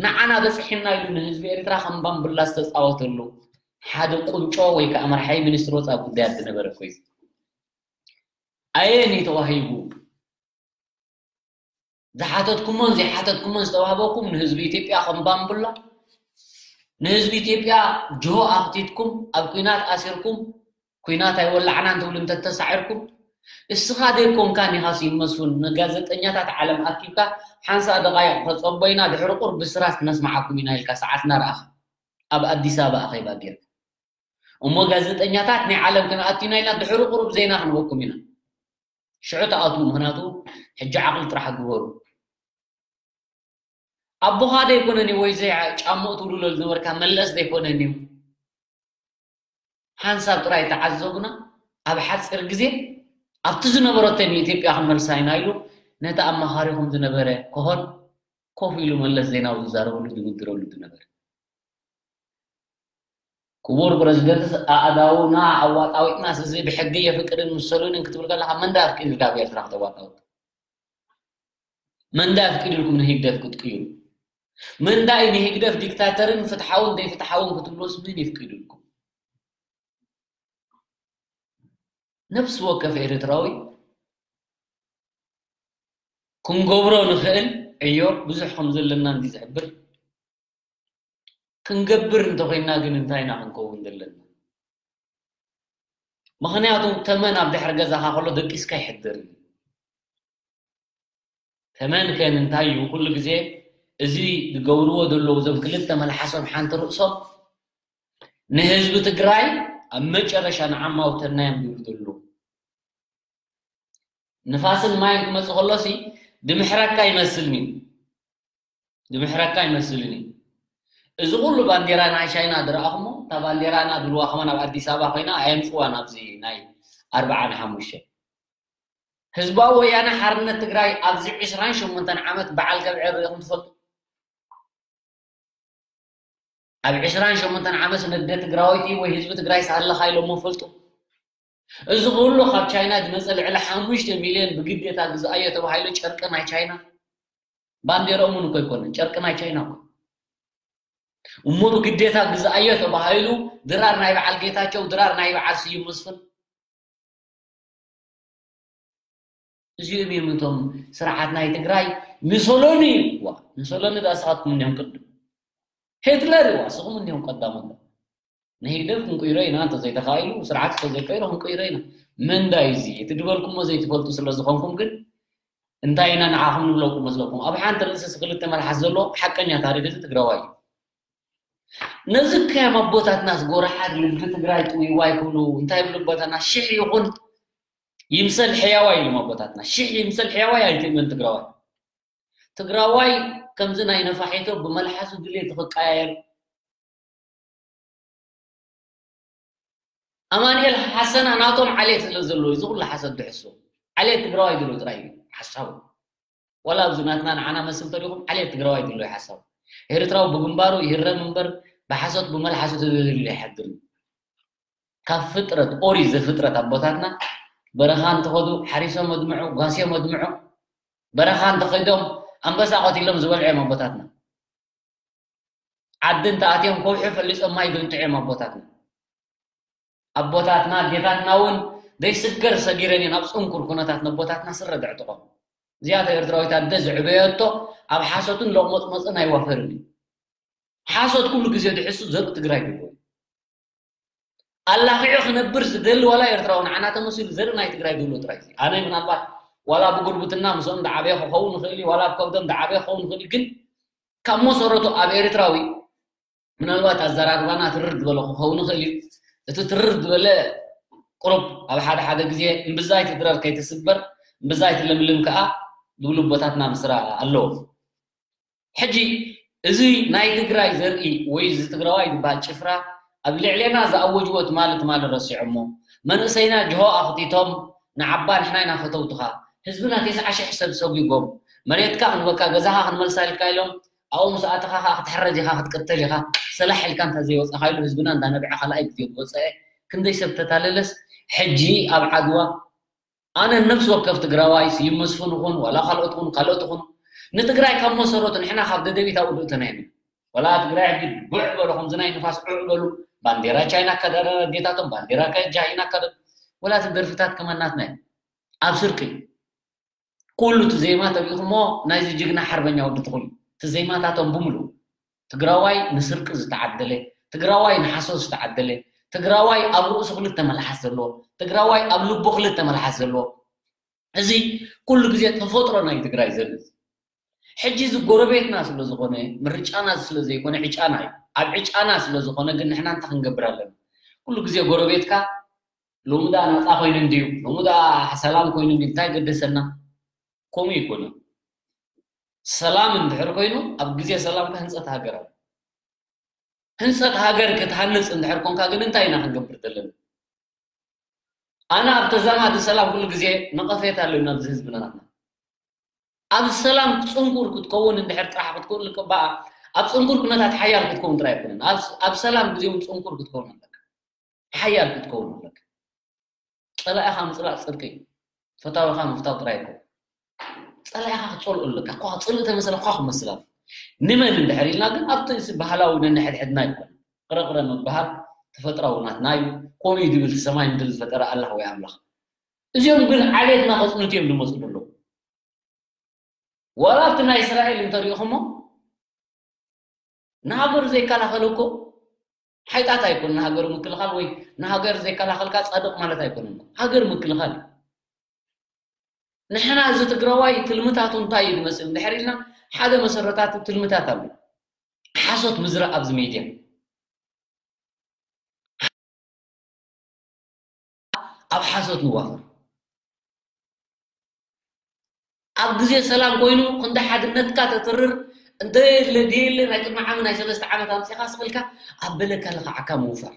ንዓና በፅሒና ኢሉ ንህዝቢ ኤርትራ ከም ባምቡላ ዝተፃወተሉ ሓደ ቁንጮ ወይ ከዓ መርሓይ ሚኒስትር ወፃኢ ጉዳያት ዝነበረ እኮ እዩ። ኣየን እዩ ተዋሂቡ? ዝሓተትኩሞን ዘይሓተትኩሞን ዝተዋህበኩም ንህዝቢ ኢትዮጵያ ከም ባምቡላ ንህዝቢ ኢትዮጵያ ጅሆ ኣኽቲትኩም ኣብ ኲናት ኣሲርኩም ኲናት ኣይወላዕናን ትብሉ እንተተሳዒርኩም እስኻ ዘይኮንካን ኢኻ ስዩም መስፍን ንጋዜጠኛታት ዓለም ኣኪብካ ሓንሳእ ደቓይቕ ተጸቦይና ድሕሪ ቁሩብ ብስራት ክነስምዓኩም ኢና ኢልካ ሰዓትና ረኣኻ ኣብ ኣዲስ ኣበባ ኣኼባ ጌርካ እሞ ጋዜጠኛታት ናይ ዓለም ክንኣቱ ኢና ኢልና ድሕሪ ቁሩብ ዜና ክንበኩም ኢና ሽዑ ተኣትዉ ምኽንያቱ ሕጂ ዓቕሊ ጥራሕ ግበሩ ኣቦኻ ዘይኮነን እዩ ወይ ዘይ ጫምኡ ትውልሎ ዝነበርካ መለስ ዘይኮነን እዩ ሓንሳብ ጥራይ ተዓዘቡና ኣብ ሓፂር ግዜ ኣብቲ ዝነበረቶ ንኢትዮጵያ ክንመልሳ ኢና ኢሉ ነቲ ኣማኻሪኹም ዝነበረ ክኾን ኮፍ ኢሉ መለስ ዜናዊ ዝዛረበሉ ዝምድረሉ ዝነበረ ክቡር ፕረዚደንትስ ኣእዳውና ኣዋጣዊጥናስ እዚ ብሕጊ የፍቅድን ምሰሉንን ክትብል ከለኻ መን ዳ ኣፍቂዱልካ ኣብ ኤርትራ ክተዋጣውጥ መን ዳ ኣፍቂዱልኩም ንህግደፍ ክትቅይሩ መን ዳ እዩ ንህግደፍ ዲክታተርን ፍትሓውን ዘይፍትሓውን ክትብሎስ መን የፍቂዱልኩም ነብሲ ወከፍ ኤርትራዊ ክንገብሮ ንኽእል ዕዮ ብዙሕ ከም ዘለና እንዲ ዝሕብር ክንገብር እንተኮይና ግን እንታይ ኢና ክንከውን ዘለና ምኽንያቱ ተመን ኣብ ድሕሪ ገዛኻ ከሎ ደቂስካ ይሕድር እዩ ተመን ከ እንታይ እዩ ኩሉ ግዜ እዚ ዝገብርዎ ዘለዉ እዞም ክልተ መልሓሶም ሓንቲ ርእሶም ንህዝቢ ትግራይ ኣብ መጨረሻ ንዓማውተና እዮም ዝብሉ ዘለዉ ንፋስን ማይን ክመፅእ ከሎሲ ድምሕረካ ይመስልኒ ድምሕረካ ይመስልኒ እዚ ኩሉ ባንዴራ ናይ ቻይና ዝረኣኹሞ እታ ባንዴራና ዝብልዋ ከማን ኣብ ኣዲስ ኣበባ ኮይና ኣየምፅዋ ናብዚ ናይ ኣርባዓን ሓሙሽተ ህዝባዊ ወያነ ሓርነት ትግራይ ኣብዚ ዕስራን ሸሞንተን ዓመት በዓል ከብዕር ርኢኹም ትፈልጡ ኣብ ዕስራን ሸሞንተን ዓመት ነደ ትግራወይቲ ወይ ህዝቢ ትግራይ ሳለኻ ኢሎሞ ፈልጡ እዚ ኩሉ ካብ ቻይና ዝመፀ ልዕሊ ሓሙሽተ ሚልዮን ብግዴታ ግዝኣዮ ተባሂሉ ጨርቂ ናይ ቻይና ባንዴርኦም እውን እኮ ኣይኮነን፣ ጨርቂ ናይ ቻይና እኮ። እሞ ብግዴታ ግዝኣዮ ተባሂሉ ድራር ናይ በዓል ጌታቸው፣ ድራር ናይ በዓል ስዩም መስፍን። እዚኦም እዮም እቶም ስርዓት ናይ ትግራይ። ሚሶሎኒ እዩ። ዋ፣ ሚሶሎኒ ዳ ንስኻትኩም እንዲኹም ቅድም። ሂትለር እዩ። ዋ፣ ንስኹም እንዲኹም ቀዳሞት። ንህግደፍ ክንቅይሮ ኢና እንተዘይተኻኢሉ፣ ስርዓት እንተዘይቀይሮ ክንቅይሮ ኢና። ምንዳይ እዚ፣ እቲ ዝበልኩሞ ዘይትፈልጡ ስለ ዝኾንኩም ግን እንታይ ኢና ንዓኹም ንብለኩም መስለኩም? ኣብ ሓንቲ ርእስስ ክልተ መልሓስ ዘሎ ሓቀኛ ታሪኽ እዚ ትግራዋይ እዩ። ነዚ ከ ኣቦታትናስ ጎራሓት ልቢ ትግራይ ጥውይዋይ ክብሉ እንታይ ይብሉ? ኣቦታትና ሽሕ ይኹን ይምሰል ሕያዋይ ኢሎም ኣቦታትና። ሽሕ ይምሰል ሕያዋይ ኣይትእመን ትግራዋይ። ትግራዋይ ከምዚ ናይ ነፋሒቶ ብመልሓሱ ድሌት ክቀያየር። ኣማኑኤል ሓሰና ናቶም ዓሌት ስለ ዘለዎ እዚ ኩሉ ሓሰት ድሕሱ። ዓሌት ትግራዋይ ድሎ ጥራይ እዩ ሓሳቡ። ዋላ ኣብዚ ናትና ንዓና መስል ተሪኹም ዓሌት ትግራዋይ ድሎ እዩ ሓሳቡ። ኤርትራዊ ብግንባሩ ይህረም እምበር ብሓሶት ብመልሓሱ ተዘይደልዩ ኣይሓድርን። ካብ ፍጥረት ኦሪት ዘፍጥረት ኣቦታትና በረኻ እንተኸዱ ሓሪሶም ኣድምዑ፣ ጓስዮም ኣድምዑ። በረኻ እንተኸይዶም ኣንበሳ ቀቲሎም ዝበልዑ እዮም ኣቦታትና። ዓዲ እንተኣትዮም ከውሒ ፈሊጾም ማይ ዘንጥዑ እዮም ኣቦታትና። ኣቦታትና ኣዴታትና እውን ዘይስገር ሰጊረን እየን ኣብ ጽንኩር ኩነታት ነቦታትና ስረ ዘዕጥቖም። እዚኣቶ ኤርትራዊት ኣደ ዘዕበየቶ ኣብ ሓሶትን ሎቕመጽመጽን ኣይዋፈርን እዩ። ሓሶት ኩሉ ግዜ ድሕሱ ዘርኢ ትግራይ ድሎ እዩ። ኣላኺዑ ክነብር ዝደሊ ዋላ ኤርትራዊ ንዓና ተመሲሉ ዘርኢ ናይ ትግራይ ድሎ ጥራይ እዩ። ኣነ ምናልባት ዋላ ብጉርብትና ምስኦም ዝዓበየ ክኸውን ይኽእል እዩ፣ ዋላ ኣብ ከብዶም ዝዓበየ ክኸውን ይኽእል እዩ፣ ግን ካብ መሰረቱ ኣብ ኤርትራዊ ምናልባት ኣዘራርባና ትርር ዝበለ ክኸውን ይኽእል እዩ። እቲ ትርር ዝበለ ቁሩብ ኣብ ሓደ ሓደ ግዜ እምብዛ ኣይትድረር ከይትስበር፣ እምብዛ ኣይትለምልም ከኣ ዝብሉ ኣቦታትና ምስራ ኣለዎም። ሕጂ እዚ ናይ ትግራይ ዘርኢ ወይ እዚ ትግራዋይ ዝበሃል ጭፍራ ኣብ ልዕሌና ዝኣወጅዎ ትማሊ ትማሊ ረሲዖሞ፣ መንእሰይና ጅሆ ኣኽቲቶም ንዓባ ንሕና ኢና ፈተውትኻ፣ ህዝብና ተስዓ ሽሕ ሰብ ሰጒጎም፣ መሬትካ ክንበካ ገዛኻ ክንመልሳ ኢልካ ኢሎም ኣብኡ ምስ ኣተኻ ኸዓ ክትሕረድ ኢኻ፣ ክትቅተል ኢኻ፣ ሰላሕ ኢልካ እንተ ዘይወጻኻ ኢሉ ህዝብና እንዳነብዐ ካልኣይ ግዜ ዝወጸአ ክንደይ ሰብ ተታለለስ ሕጂ ኣብ ዓድዋ ኣነ ነፍሲ ወከፍ ትግራዋይ ስዩም መስፍን ይኹን ዋላ ካልኦት ይኹን ካልኦት ይኹኑ ንትግራይ ካብ መሰረቱ ንሕና ካብ ደደቢት ኣብኡ ድእተና ኢና። ዋላ ትግራይ ሕጂ ቡዕ በሉ ከምዚ ናይ ንፋስ ዑዕ በሉ ባንዴራ ቻይና ከደረ ኣዴታቶም ባንዴራ ቻይና ከደ ወላ እቲ ደርፍታት ከማናትና እዩ ኣብ ስርቂ ኩሉ እቲ ዜማ ተሪኢኹሞ ናይዚ ጅግና ሓርበኛ ወዲ ትኹል እቲ ዜማታቶም ብምሉ ትግራዋይ ንስርቂ ዝተዓደለ ትግራዋይ ንሓሶት ዝተዓደለ ትግራዋይ ኣብ ርእሱ ክልተ መልሓስ ዘለዎ ትግራዋይ ኣብ ልቡ ክልተ መልሓስ ዘለዎ እዚ ኩሉ ግዜ ተፈጥሮ ናይ ትግራይ ዘርኢ ሕጂ እዚ ጎረቤትና ስለ ዝኾነ ምርጫና ስለ ዘይኮነ ዕጫና እዩ ኣብ ዕጫና ስለ ዝኾነ ግን ንሕና እንታይ ክንገብር ኣለና ኩሉ ግዜ ጎረቤትካ ሎሚ ደኣ ናጻ ኮይኑ እንድዩ ሎሚ ደኣ ሰላም ኮይኑ እንድዩ እንታይ ገደሰና ከምኡ ይኮነ ሰላም እንድሕር ኮይኑ ኣብ ግዜ ሰላም ህንፀት ሃገር ኣሎ ህንፀት ሃገር ክትሃንፅ እንድሕር ኮንካ ግን እንታይ ኢና ክንገብር ዘለና ኣነ ኣብ ተዛማዲ ሰላም ኩሉ ግዜ ነቐፌት ኣለና ኣብዚ ህዝብና ናትና ኣብ ሰላም ፅንኩር ክትከውን እንድሕር ጥራሕ ክትከውን ልቅባኣ ኣብ ፅንኩር ኩነታት ሓያል ክትከውን ጥራይ ኣይኮነን ኣብ ሰላም ግዜ እውን ፅንኩር ክትከውን ኣለካ ሓያል ክትከውን ኣለካ ፀላኢኻ ምፅላእ ፅድቂ እዩ ፈታዊኻ ምፍታው ጥራይ ኣይኮን ፀላኢኻ ክትፀልኦ ኣለካ እኳ ፅልኢ ተመሰለ እኳ ክመስል ኣሎ ንመን እንድሕር ኢልና ግን ኣብቲ እዚ ባህላዊ ነንሕድሕድና ይኮን ቅረቅረ ምብሃል ተፈጥራዊ ናትና እዩ ኮም እዩ ድብል ሰማይ ምድሪ ዝፈጠረ ኣላህ ወይ ኣምላኽ እዚኦም ግን ዓሌትና ከፅኑት እዮም ዝመፁ ዘለዉ ዋላ ኣብቲ ናይ እስራኤል እንተሪኢኹሞ ንሃገሩ ዘይከላኸል እኮ ሓይጣት ኣይኮን ንሃገሩ ምክልኻል ወይ ንሃገር ዘይከላኸልካ ፃድቕ ማለት ኣይኮነን ሃገር ምክልኻል ንሕና እዚ ትግራዋይ ትልምታቱ እንታይ እዩ ዝመስል እንድሕር ኢልና ሓደ መሰረታቱ ትልምታት ኣሎ ሓሶት ምዝራእ ኣብዚ ሜድያ ኣብ ሓሶት ንዋፈር ኣብ ግዜ ሰላም ኮይኑ ክንዲ ሓድነትካ ተትርር እንተ የለ ድየለ ናይ ቅድሚ ዓሚ ናይ ሰለስተ ዓመት ኣምፂኻ ስቕልካ ኣብ በለካ ልኽዓካ ምውፋር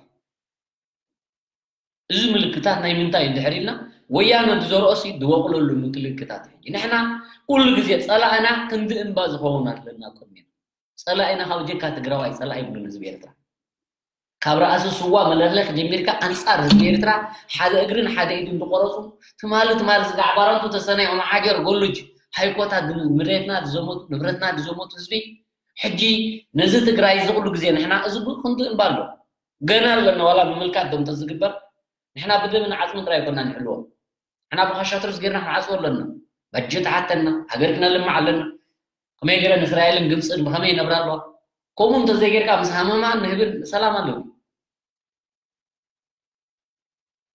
እዚ ምልክታት ናይ ምንታይ እንድሕር ኢልና ወያነ ዝዘርኦሲ ዝወቕለሉ ምልክታት እዩ ንሕና ኩሉ ግዜ ፀላእና ክንዲ እምባ ዝኸውን ኣለና ቅድሚና ፀላኢና ካብ ጀካ ትግራዋይ ፀላኢ ይብሉን ህዝቢ ኤርትራ ካብ ረኣሲ ስዋ መለለኽ ጀሚርካ ኣንፃር ህዝቢ ኤርትራ ሓደ እግርን ሓደ ኢድን ዝቆረፁ ትማሊ ትማሊ ስጋዕ ባረንቱ ተሰናይ ኦማሓጀር ጎሉጅ ሃይኮታት፣ መሬትና ዝዘመቱ፣ ንብረትና ዝዘመቱ ህዝቢ፣ ሕጂ ነዚ ትግራይ እዚ ኩሉ ግዜ ንሕና፣ እዚ ብ-፣ ክንዲ እምባ ኣሎ። ገና ኣለና፣ ዋላ ብምልካት ዶ እንተዝግበር፣ ንሕና ብደምን ዓጽምን ጥራይ ኣይኮናን ንሕልዎ። ንሕና ብኻሻ ትሩስ ጌርና ክንዓጽዎ ኣለና። በጀት ሓተና፣ ሃገር ክነልምዕ ኣለና። ከመይ ገይረን እስራኤልን ግብጽን ብኸመይ ይነብራ ኣለዋ? ከምኡ እንተዘይጌርካ ምስ ሃመማ ንህብን ሰላም ኣለዉ።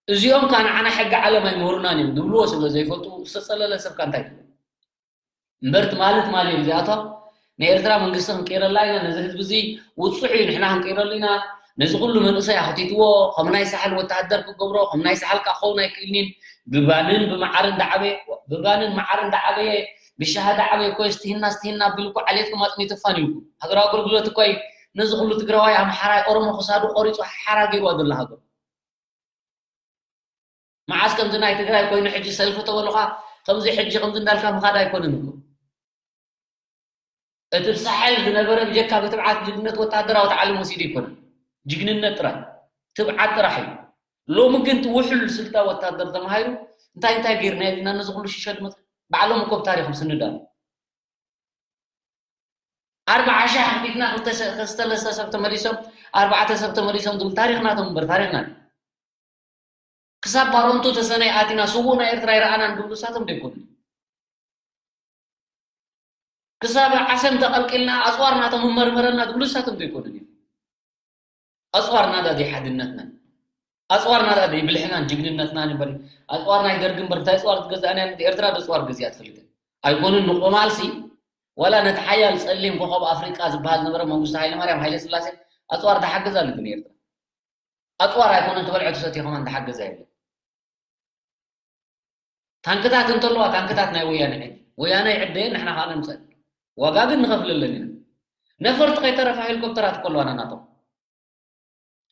እዚኦም ከኣ ንዓና ሕጊ ዓለም ኣይምህሩናን እዮም ዝብልዎ ስለ ዘይፈልጡ ዝተጸለለ ሰብ ከ እንታይ ትብሎ? እምበር ትማሊ ትማሊ እዮም እዚኣቶም ንኤርትራ መንግስቲ ክንቅይረላ ኢና፣ ነዚ ህዝቢ እዚ ውጹዕ እዩ ንሕና ክንቅይረሉ ኢና፣ ነዚ ኩሉ መንእሰይ ኣኽቲትዎ ከም ናይ ሳሕል ወተሃደር ክገብሮ፣ ከም ናይ ሳሕል ከኣ ክኸውን ኣይክእልን እዩ። ብባንን ብመዓርን ዳዓበየ፣ ብባንን መዓርን ዳዓበየ፣ ብሻሂ ዳዓበየ እኮ እዩ፣ ስትሂና ስትሂና ኣቢሉ እኮ ዓሌትኩም ኣጽኒቱ ኣፋንዩኩም። ሃገራዊ ኣገልግሎት እኮ እዩ ነዚ ኩሉ ትግራዋይ ኣምሓራይ ኦሮሞ ክሳዱ ቆሪጹ ሓራ ገይርዋ ዘሎ ሃገር። መዓስ ከምዚ ናይ ትግራይ ኮይኑ ሕጂ ሰልፊ ተበሉኻ፣ ከምዚ ሕጂ ከምዚ እንዳልካ ምኻድ ኣይኮነን እኮ። እቲ ብሳሕል ዝነበረ ብጀካ ብትብዓት ጅግንነት ወታደራዊ ተዓሊም ወሲዱ ኣይኮነን። ጅግንነት ጥራይ፣ ትብዓት ጥራሕ እዩ። ሎሚ ግን እቲ ውሑል ስልታ ወታደር ተማሂሩ እንታይ እንታይ ገይርና ኢልና ነዚ ኩሉ ሽሸ ድመፅ ባዕሎም እኮ ብታሪኽ ምስንዳ። ኣርባዓ ሺሕ ኣኽቢድና ክልተ ሰ-፣ ሰለስተ ሰብ ተመሊሶም፣ ኣርባዕተ ሰብ ተመሊሶም ዝብል ታሪኽ ናቶም እምበር ታሪኽና እዩ። ክሳብ ባሮንቱ ተሰነይ ኣቲና ስዉእ ናይ ኤርትራ ይረኣናን ዝብሉ እሳቶም ዶ ኣይኮኑን? ክሳብ ዓሰም ተቐልቂልና ኣጽዋር ናቶም መርመረና ዝብሉ እሳቶም ዶ ኣይኮኑን እዮም? ኣጽዋር ናዳ ዘይሓድነትና፣ ኣጽዋር ናዳ ዘይብልሕናን ጅግንነትናን እምበር፣ ኣጽዋር ናይ ደርጊ እምበር እንታይ ኣጽዋር ትገዝኣን እያ? ኤርትራ ዶ ኣጽዋር ገዚኣ ትፈልጥን? ኣይኮኑን ንቆማልሲ፣ ዋላ ነቲ ሓያል ጸሊም ኮኸብ ኣፍሪቃ ዝበሃል ዝነበረ መንግስቱ ሃይለማርያም ሃይለስላሴ ኣጽዋር ተሓገዛሉ ግን ኤርትራ። ኣጽዋር ኣይኮነን ትበልዖ ትሰትዮ ከማን ተሓገዛ የለን። ታንክታት እንተለዋ፣ ታንክታት ናይ ወያነ ዕድ-፣ ወያነ ይዕደየን፣ ንሕና ከኣ ነምጸን። ዋጋ ግን ንኸፍለለን ኢና። ነፈርቲ ከይተረፋ ሄሊኮፕተራት እኮ ኣለዋና ናቶም።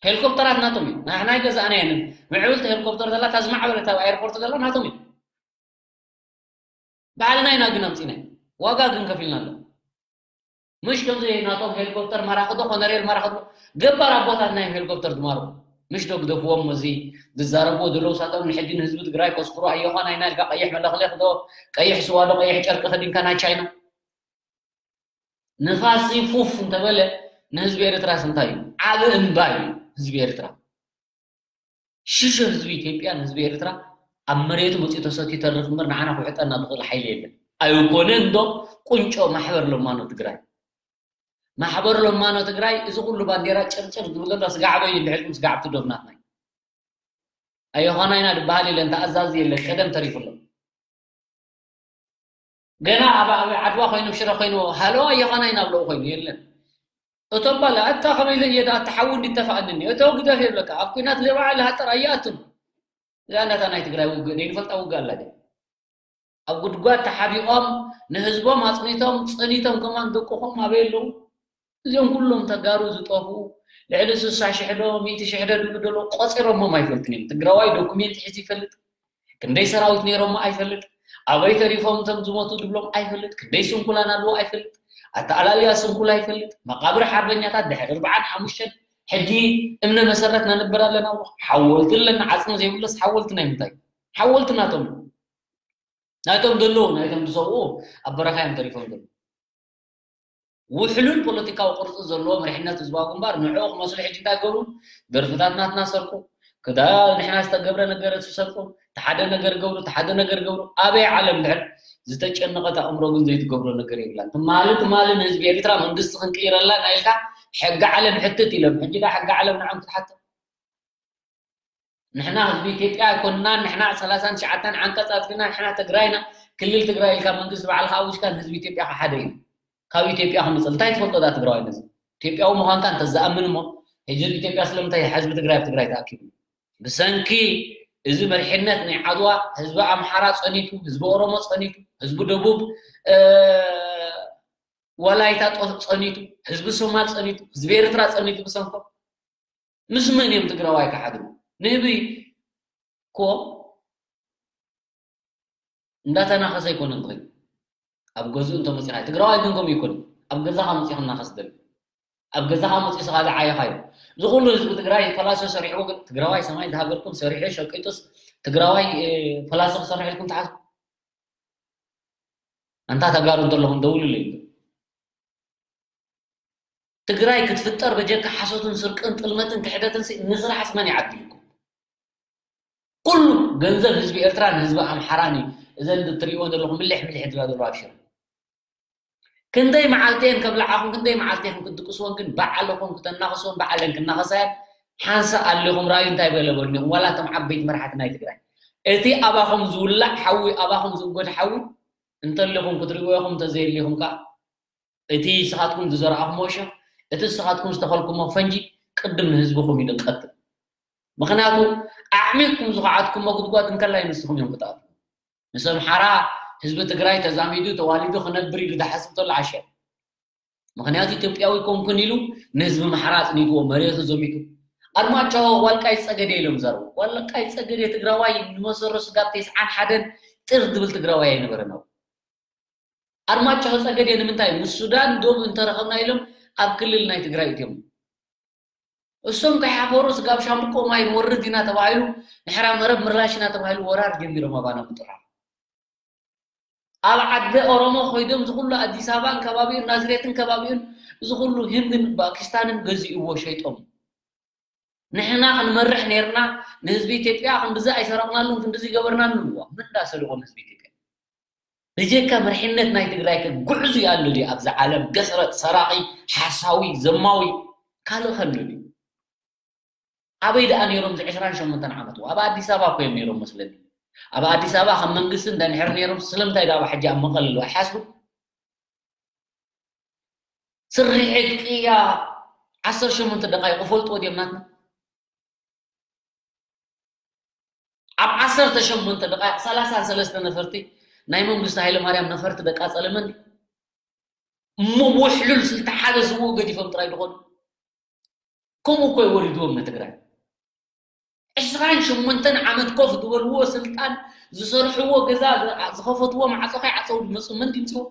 ሄሊኮፕተራት ናቶም እዩ። ንሕና ኣይገዛእናየንን። ምዕብልቲ ሄሊኮፕተር ዘላ፣ እታ ዝማዕበለት ኣብ ኣየርፖርት ዘላ ናቶም እዩ። ባዕልና ኢና ግን ኣምጺናዮ። ዋጋ ግን ከፊልና ኣሎ። ምሽ ከምዚ ናቶም ሄሊኮፕተር ማራኺ ዶ፣ ኮነሬል ማራኺ ዶ፣ ገባር ኣቦታትና እዮም ሄሊኮፕተር ዝማርኹ። ምሽ ዶ ግደፍዎም፣ እዚ ዝዛረብዎ ዘለዉ ሳቶም ንሕጂ ንህዝቢ ትግራይ ከስክሩ ኣየዃን ኣይና ኢልካ ቀይሕ መለኽለኽ ዶ፣ ቀይሕ ስዋ ዶ፣ ቀይሕ ጨርቂ ከዲንካ ናይ ቻይና። ንፋስ ፉፍ እንተበለ ንህዝቢ ኤርትራስ እንታይ እዩ? ዓቢ እምባ እዩ ህዝቢ ኤርትራ። ሽሹ ህዝቢ ኢትዮጵያ ንህዝቢ ኤርትራ ኣብ መሬቱ መጺኡ ተሰትዩ ይተርፍ እምበር ንዓና ክውሕጠና ዝኽእል ሓይሊ የለን። ኣይኮነን ዶ ቁንጮ ማሕበር ለማኖ ትግራይ? ማሕበር ለማኖ ትግራይ እዚ ኩሉ ባንዴራ ጭርጭር ዝብል ዘሎ ስጋዕ በይኑ እንድሕልኩም ስጋዕ ኣብቲ ዶብ ናትና እዩ። ኣዮኻና ኢና ዝበሃል የለን፣ ተኣዛዚ የለን፣ ቀደም ተሪፉ ኣሎ። ገና ኣብ፣ ኣብ ዓድዋ ኮይኑ፣ ሽረ ኮይኑ፣ ሃሎ ኣዮኻና ኢና ብለኡ ኮይኑ የለን። እቶም ባላ፣ ኣታ ከመይ ኢለ እየ ደኣ፣ እቲ ሓዊ እንዲተፋእንኒ፣ እቶ ግደፍ የብለካ፣ ኣብ ኲናት ለባዕሊ ሃጠር ኣይኣቱን። እዛ ናታ ናይ ትግራይ ውግእ፣ ደይንፈልጣ ውግእ ኣላ ድያ? ኣብ ጉድጓድ ተሓቢኦም፣ ንህዝቦም ኣጽኒቶም፣ ጸኒቶም ከማን ደቅኹም ኣበይ ኣለዉ? እዚኦም ኩሎም ተጋሩ ዝጠፍኡ፣ ልዕሊ ስሳ ሽሕ ዶ፣ ሚእቲ ሽሕ ዶ ድብሉ ደሎ፣ ቆጺሮሞም ኣይፈልጥን እዮም። ትግራዋይ ዶኩሜንት ሒዙ ይፈልጥ? ክንደይ ሰራዊት ነይሮሞ ኣይፈልጥ? ኣበይ ተሪፎም እቶም ዝሞቱ ድብሎም ኣይፈልጥ? ክንደይ ስንኩላን ኣለዎ ኣይፈልጥ? ኣተኣላልያ ስንኩል ኣይፈልጥ? መቃብር ሓርበኛታት ድሕሪ ኣርብዓን ሓሙሽተን ሕጂ እምነ መሰረት ነንብር ኣለና። ሓወልቲ ኣለና፣ ዓጽሚ ዘይብለስ ሓወልቲ ናይ ምንታይ? ሓወልቲ ናቶም፣ ናቶም ዘለዉ፣ ናይቶም ዝሰውኡ ኣብ በረኻ እዮም ተሪፎም ዘለዉ። ውሕሉል ፖለቲካዊ ቅርጺ ዘለዎ መሪሕነት ህዝባዊ ግንባር ንዕኡ ክመስሉ ሕጂ እንታይ ገብሩ? ደርፍታት ናትና ሰርቁ፣ ክዳ ንሕና ዝተገብረ ነገር ትሰርቁ፣ ተሓደ ነገር ገብሩ፣ ተሓደ ነገር ገብሩ። ኣበይ ዓለም ድሕር ዝተጨነቐት ኣእምሮ ግን ዘይትገብሮ ነገር የብላን። ትማሊ ትማሊ ንህዝቢ ኤርትራ መንግስቲ ክንቅይረላ ኢና ኢልካ ሕጊ ዓለም ሕትት ኢሎም። ሕጂ ዳ ሕጊ ዓለም ንዖም ክትሓትት? ንሕና ህዝቢ ኢትዮጵያ ኣይኮንናን፣ ንሕና ሰላሳን ትሽዓተን ዓንቀጽ ኣጽዲቕና፣ ንሕና ትግራይና፣ ክልል ትግራይ ኢልካ መንግስቲ ባዕልኻ ኣዊጅካ ንህዝቢ ኢትዮጵያ ክሓደ እዩ። ካብ ኢትዮጵያ ክምጽእ እንታይ ትፈልጦ ዳ ትግራዋይ ነዚ? ኢትዮጵያዊ ምዃንካ እንተዝኣምን እሞ፣ ሕጂ ህዝቢ ኢትዮጵያ ስለምንታይ ሕዝቢ ትግራይ ኣብ ትግራይ ተኣኪቡ? ብሰንኪ እዚ መሪሕነት ናይ ዓድዋ ህዝቢ ኣምሓራ ጸኒቱ፣ ህዝቢ ኦሮሞ ጸኒቱ፣ ህዝቢ ደቡብ፣ እ፣ ወላይታ ጦ-፣ ጸኒቱ፣ ህዝቢ ሶማል ጸኒቱ፣ ህዝቢ ኤርትራ ጸኒቱ ብሰንኮም። ምስ መን እዮም ትግራዋይ ክሓድሩ? ንህቢ እኮ እንዳተናኸሰ ኣይኮነን ዝኸይድ። ኣብ ገዝኡ እንተመፂኻ፣ ትግራዋይ ግን ከምኡ ኣይኮነን። ኣብ ገዛኻ መፂኻ እናኸስ ደሊ። ኣብ ገዛኻ መፂኡ ስኻ ዝዓየኻዮ። እዚ ኩሉ ህዝቢ ትግራይ ፓላሶ ሰሪሕዎ፣ ግን ትግራዋይ ሰማይ ዝሃገርኩም ሰሪሑ ሸቂጡስ ትግራዋይ፣ እ፣ ፓላሶ ክሰርሕ ኢልኩም ትሓስቡ? ኣንታ ተጋሩ እንተለኹም ደውሉለይ። ትግራይ ክትፍጠር በጀካ ሓሶትን ስርቅን ጥልመትን ክሕደትን ሲ-፣ ንስራሕስ መን ይዓድልኩም? ኩሉ ገንዘብ ህዝቢ ኤርትራን ህዝቢ ኣምሓራን እዩ። እዘን እትርእይዎ ዘለኹም ምልሕ ምልሕ ዝብላ ዘለዋ ኣብ ሽረ። ክንደይ መዓልቲ እየን ከብልዓኹም፣ ክንደይ መዓልቲ ኢኹም ክትድቅስወን፣ ግን ባዕልኹም ክተናኽስወን፣ ባዕለን ክናኸሳ እየን። ሓንሳእ ኣሊኹም ራእዩ እንታይ በለ በሉኒ ኢኹም፣ ዋላ እቶም ዓበይቲ መራሕቲ ናይ ትግራይ። እቲ ኣባኹም ዝውላዕ ሓዊ፣ ኣባኹም ዝእጎድ ሓዊ እንተሊኹም ክትርእይዎ ኢኹም፣ እንተዘየሊኹም ከኣ እቲ ንስኻትኩም ዝዘራእኹምዎ ሸኽ፣ እቲ ንስኻትኩም ዝተኸልኩሞ ፈንጂ ቅድም ንህዝብኹም እዩ ዝቐትል። ምኽንያቱ ኣዕሚቕኩም ዝኸዓትኩሞ ጉድጓድ እንከላይ ንስኹም እዮም ክትኣትዉ። ምስ ኣምሓራ ህዝቢ ትግራይ ተዛሚዱ ተዋሊዱ ክነብር ኢሉ ዝሓስብ ተሎ ዓሻ። ምኽንያቱ ኢትዮጵያዊ ኮንኩን ኢሉ ንህዝቢ ኣምሓራ ኣጽኒትዎ መሬቱ ዘሚቱ። ኣርማጭሆ ዋልቃይ ጸገዴ ኢሎም ዘረቡ። ዋልቃይ ጸገዴ ትግራዋይ ንመሰሮ ስጋብ ተስዓን ሓደን ጥር ዝብል ትግራዋይ ኣይነበረን። ኣርማጭሆ ጸገዴ ንምንታይ ምስ ሱዳን ዶብ እንተረኸብና ኢሎም ኣብ ክልል ናይ ትግራይ እትዮም። እሶም ከይሓፈሩ ስጋብ ሻምብቆ ማይ ንወርድ ኢና ተባሂሉ፣ ንሕራ መረብ ምላሽ ኢና ተባሂሉ ወራር ጀሚሮም ኣባና ምጥራር። ኣብ ዓዲ ኦሮሞ ኮይዶም ዝኹሉ ኣዲስ ኣበባን ከባቢኡን ናዝሬትን ከባቢኡን ዝኹሉ ህንድን ፓኪስታንን ገዚእዎ ሸይጦም። ንሕና ክንመርሕ ነርና፣ ንህዝቢ ኢትዮጵያ ክንድዚ ኣይሰረቕናሉን ክንድዚ ገበርናሉን። ዋ፣ ምን እንዳሰሪቖም ህዝቢ ኢትዮጵያ? ብጀካ መርሕነት ናይ ትግራይ ከ ጉዕዙ ኣሎ ድዩ ኣብዚ ዓለም? ገስረጥ፣ ሰራቒ፣ ሓሳዊ፣ ዘማዊ ካልእ ከሎ ድዩ? ኣበይ ደኣ ነይሮም እዚ ዕስራን ሸሞንተን ዓመት? ኣብ ኣዲስ ኣበባ እኮ እዮም ነይሮም መስለኒ። ኣብ ኣዲስ ኣበባ ከም መንግስቲ እንድሕር ነይሮም ስለምንታይ ደኣ ሕጂ ኣብ መቐለ ኣለዉ ኣይሓስቡ? ስርሒት ቅያ ዓሰርተ ሸሞንተ ደቃይቕ ፈልጥዎ ድዮም ናትና? ኣብ ዓሰርተ ሸሞንተ ደቃይቕ ሰላሳ ሰለስተ ነፈርቲ ናይ መንግስቲ ሃይለማርያም ነፈርቲ ደቃ ጸለመን እሞ ውሕሉል ስልቲ ሓደ ስውኡ ገዲፎም ጥራይ ዝኾኑ። ከምኡ እኮ እዩ ወሪድዎም ንትግራይ። ዕስራን ሸሞንተን ዓመት ኮፍ ዝበልዎ ስልጣን ዝሰርሕዎ ገዛ ዝኸፈትዎ ማዕጾ ከይዓጸው ዝመጹ መን ድምፅዎ?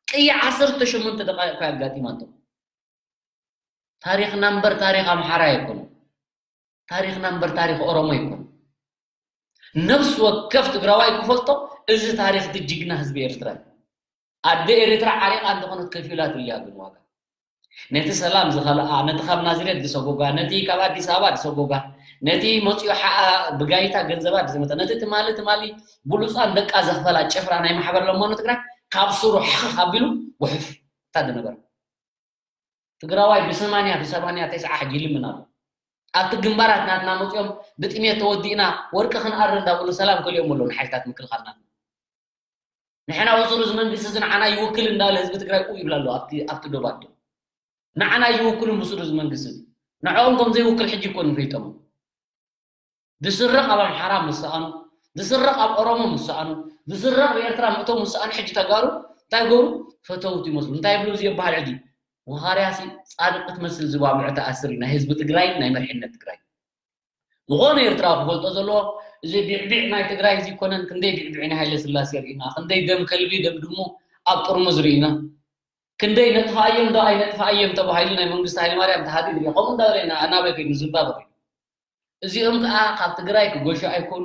ቅያ ዓሰርተ ሸሞንተ ደቃይቕ እኮ ኣጋጢማቶም። ታሪኽና እምበር ታሪኽ ኣምሓራ ኣይኮነን። ታሪኽና እምበር ታሪኽ ኦሮሞ ኣይኮነን። ነፍሲ ወከፍ ትግራዋይ ክፈልጦ እዚ ታሪኽ እቲ ጅግና ህዝቢ ኤርትራ እዩ። ኣደ ኤርትራ ዓሪቓ እንተኾነት ከፊላትሉ እያ ግን ዋጋ። ነቲ ሰላም ዝኸልኣ፣ ነቲ ካብ ናዝሬት ዝሰጎጋ፣ ነቲ ካብ ኣዲስ ኣበባ ዝሰጎጋ፣ ነቲ መፂኡ ሓኣ ብጋይታ ገንዘባ ዝመጠ፣ ነቲ ትማሊ ትማሊ ብሉፃን ደቃ ዘኽፈላ ጭፍራ ናይ ማሕበር ለማኖ ትግራይ ካብ ስሩ ሕኽ ኣቢሉ ውሕፍ እታ ዝነበረ። ትግራዋይ ብሰማንያ ብሰማንያ ተስዓ ሕጂ ይልምን ኣሎ። ኣብቲ ግንባራት ናትና መፂኦም ብጥሜት ተወዲእና ወርቂ ክንኣሪ እንዳበሉ ሰላም ከሊኦም ኣለዉ ንሓይልታት ምክልኻል ናትና። ንሕና ብስሩ እዚ መንግስቲ እዚ ንዓና ይውክል እንዳበለ ህዝቢ ትግራይ ቁ ይብል ኣሎ ኣብቲ ኣብቲ ዶባት ዶ። ንዓና ይውክሉን ብስሩ እዚ መንግስቲ እዚ። ንዕኦም ከም ዘይውክል ሕጂ እኮ ንፈይጦም። ዝስረቕ ኣብ ኣምሓራ ምስ ሰኣኑ፣ ዝስረቕ ኣብ ኦሮሞ ምስ ሰኣኑ፣ ዝስረቕ ብኤርትራ ምእቶም ምስ ሰኣኑ ሕጂ ተጋሩ እንታይ ገሩ ፈተውቲ ይመስሉ። እንታይ ይብሉ እዚ ይበሃል ሕጂ? ወኻርያሲ ጻድቕ ክትመስል ዝባብዑ ተኣስር እዩ ናይ ህዝቢ ትግራይ ናይ መርሕነት ትግራይ። ዝኾነ ኤርትራዊ ክፈልጦ ዘለዎ እዚ ቢዕቢዕ ናይ ትግራይ እዚ ይኮነን። ክንደይ ቢዕቢዕ ናይ ሃይለ ስላሴ ርኢና፣ ክንደይ ደም ከልቢ ደም ድሙ ኣብ ጥርሙዝ ርኢና። ክንደይ ነጥፋኣዮም ዶ ኣይነጥፋኣዮም ተባሂሉ ናይ መንግስቲ ሃይለማርያም ተሃዲዱ እዩ። ከምኡ እንዳበለ ኢና ኣናበይ ከይዱ ዝምባበ ከይዱ። እዚኦም ከዓ ካብ ትግራይ ክጎሹ ኣይክእሉ፣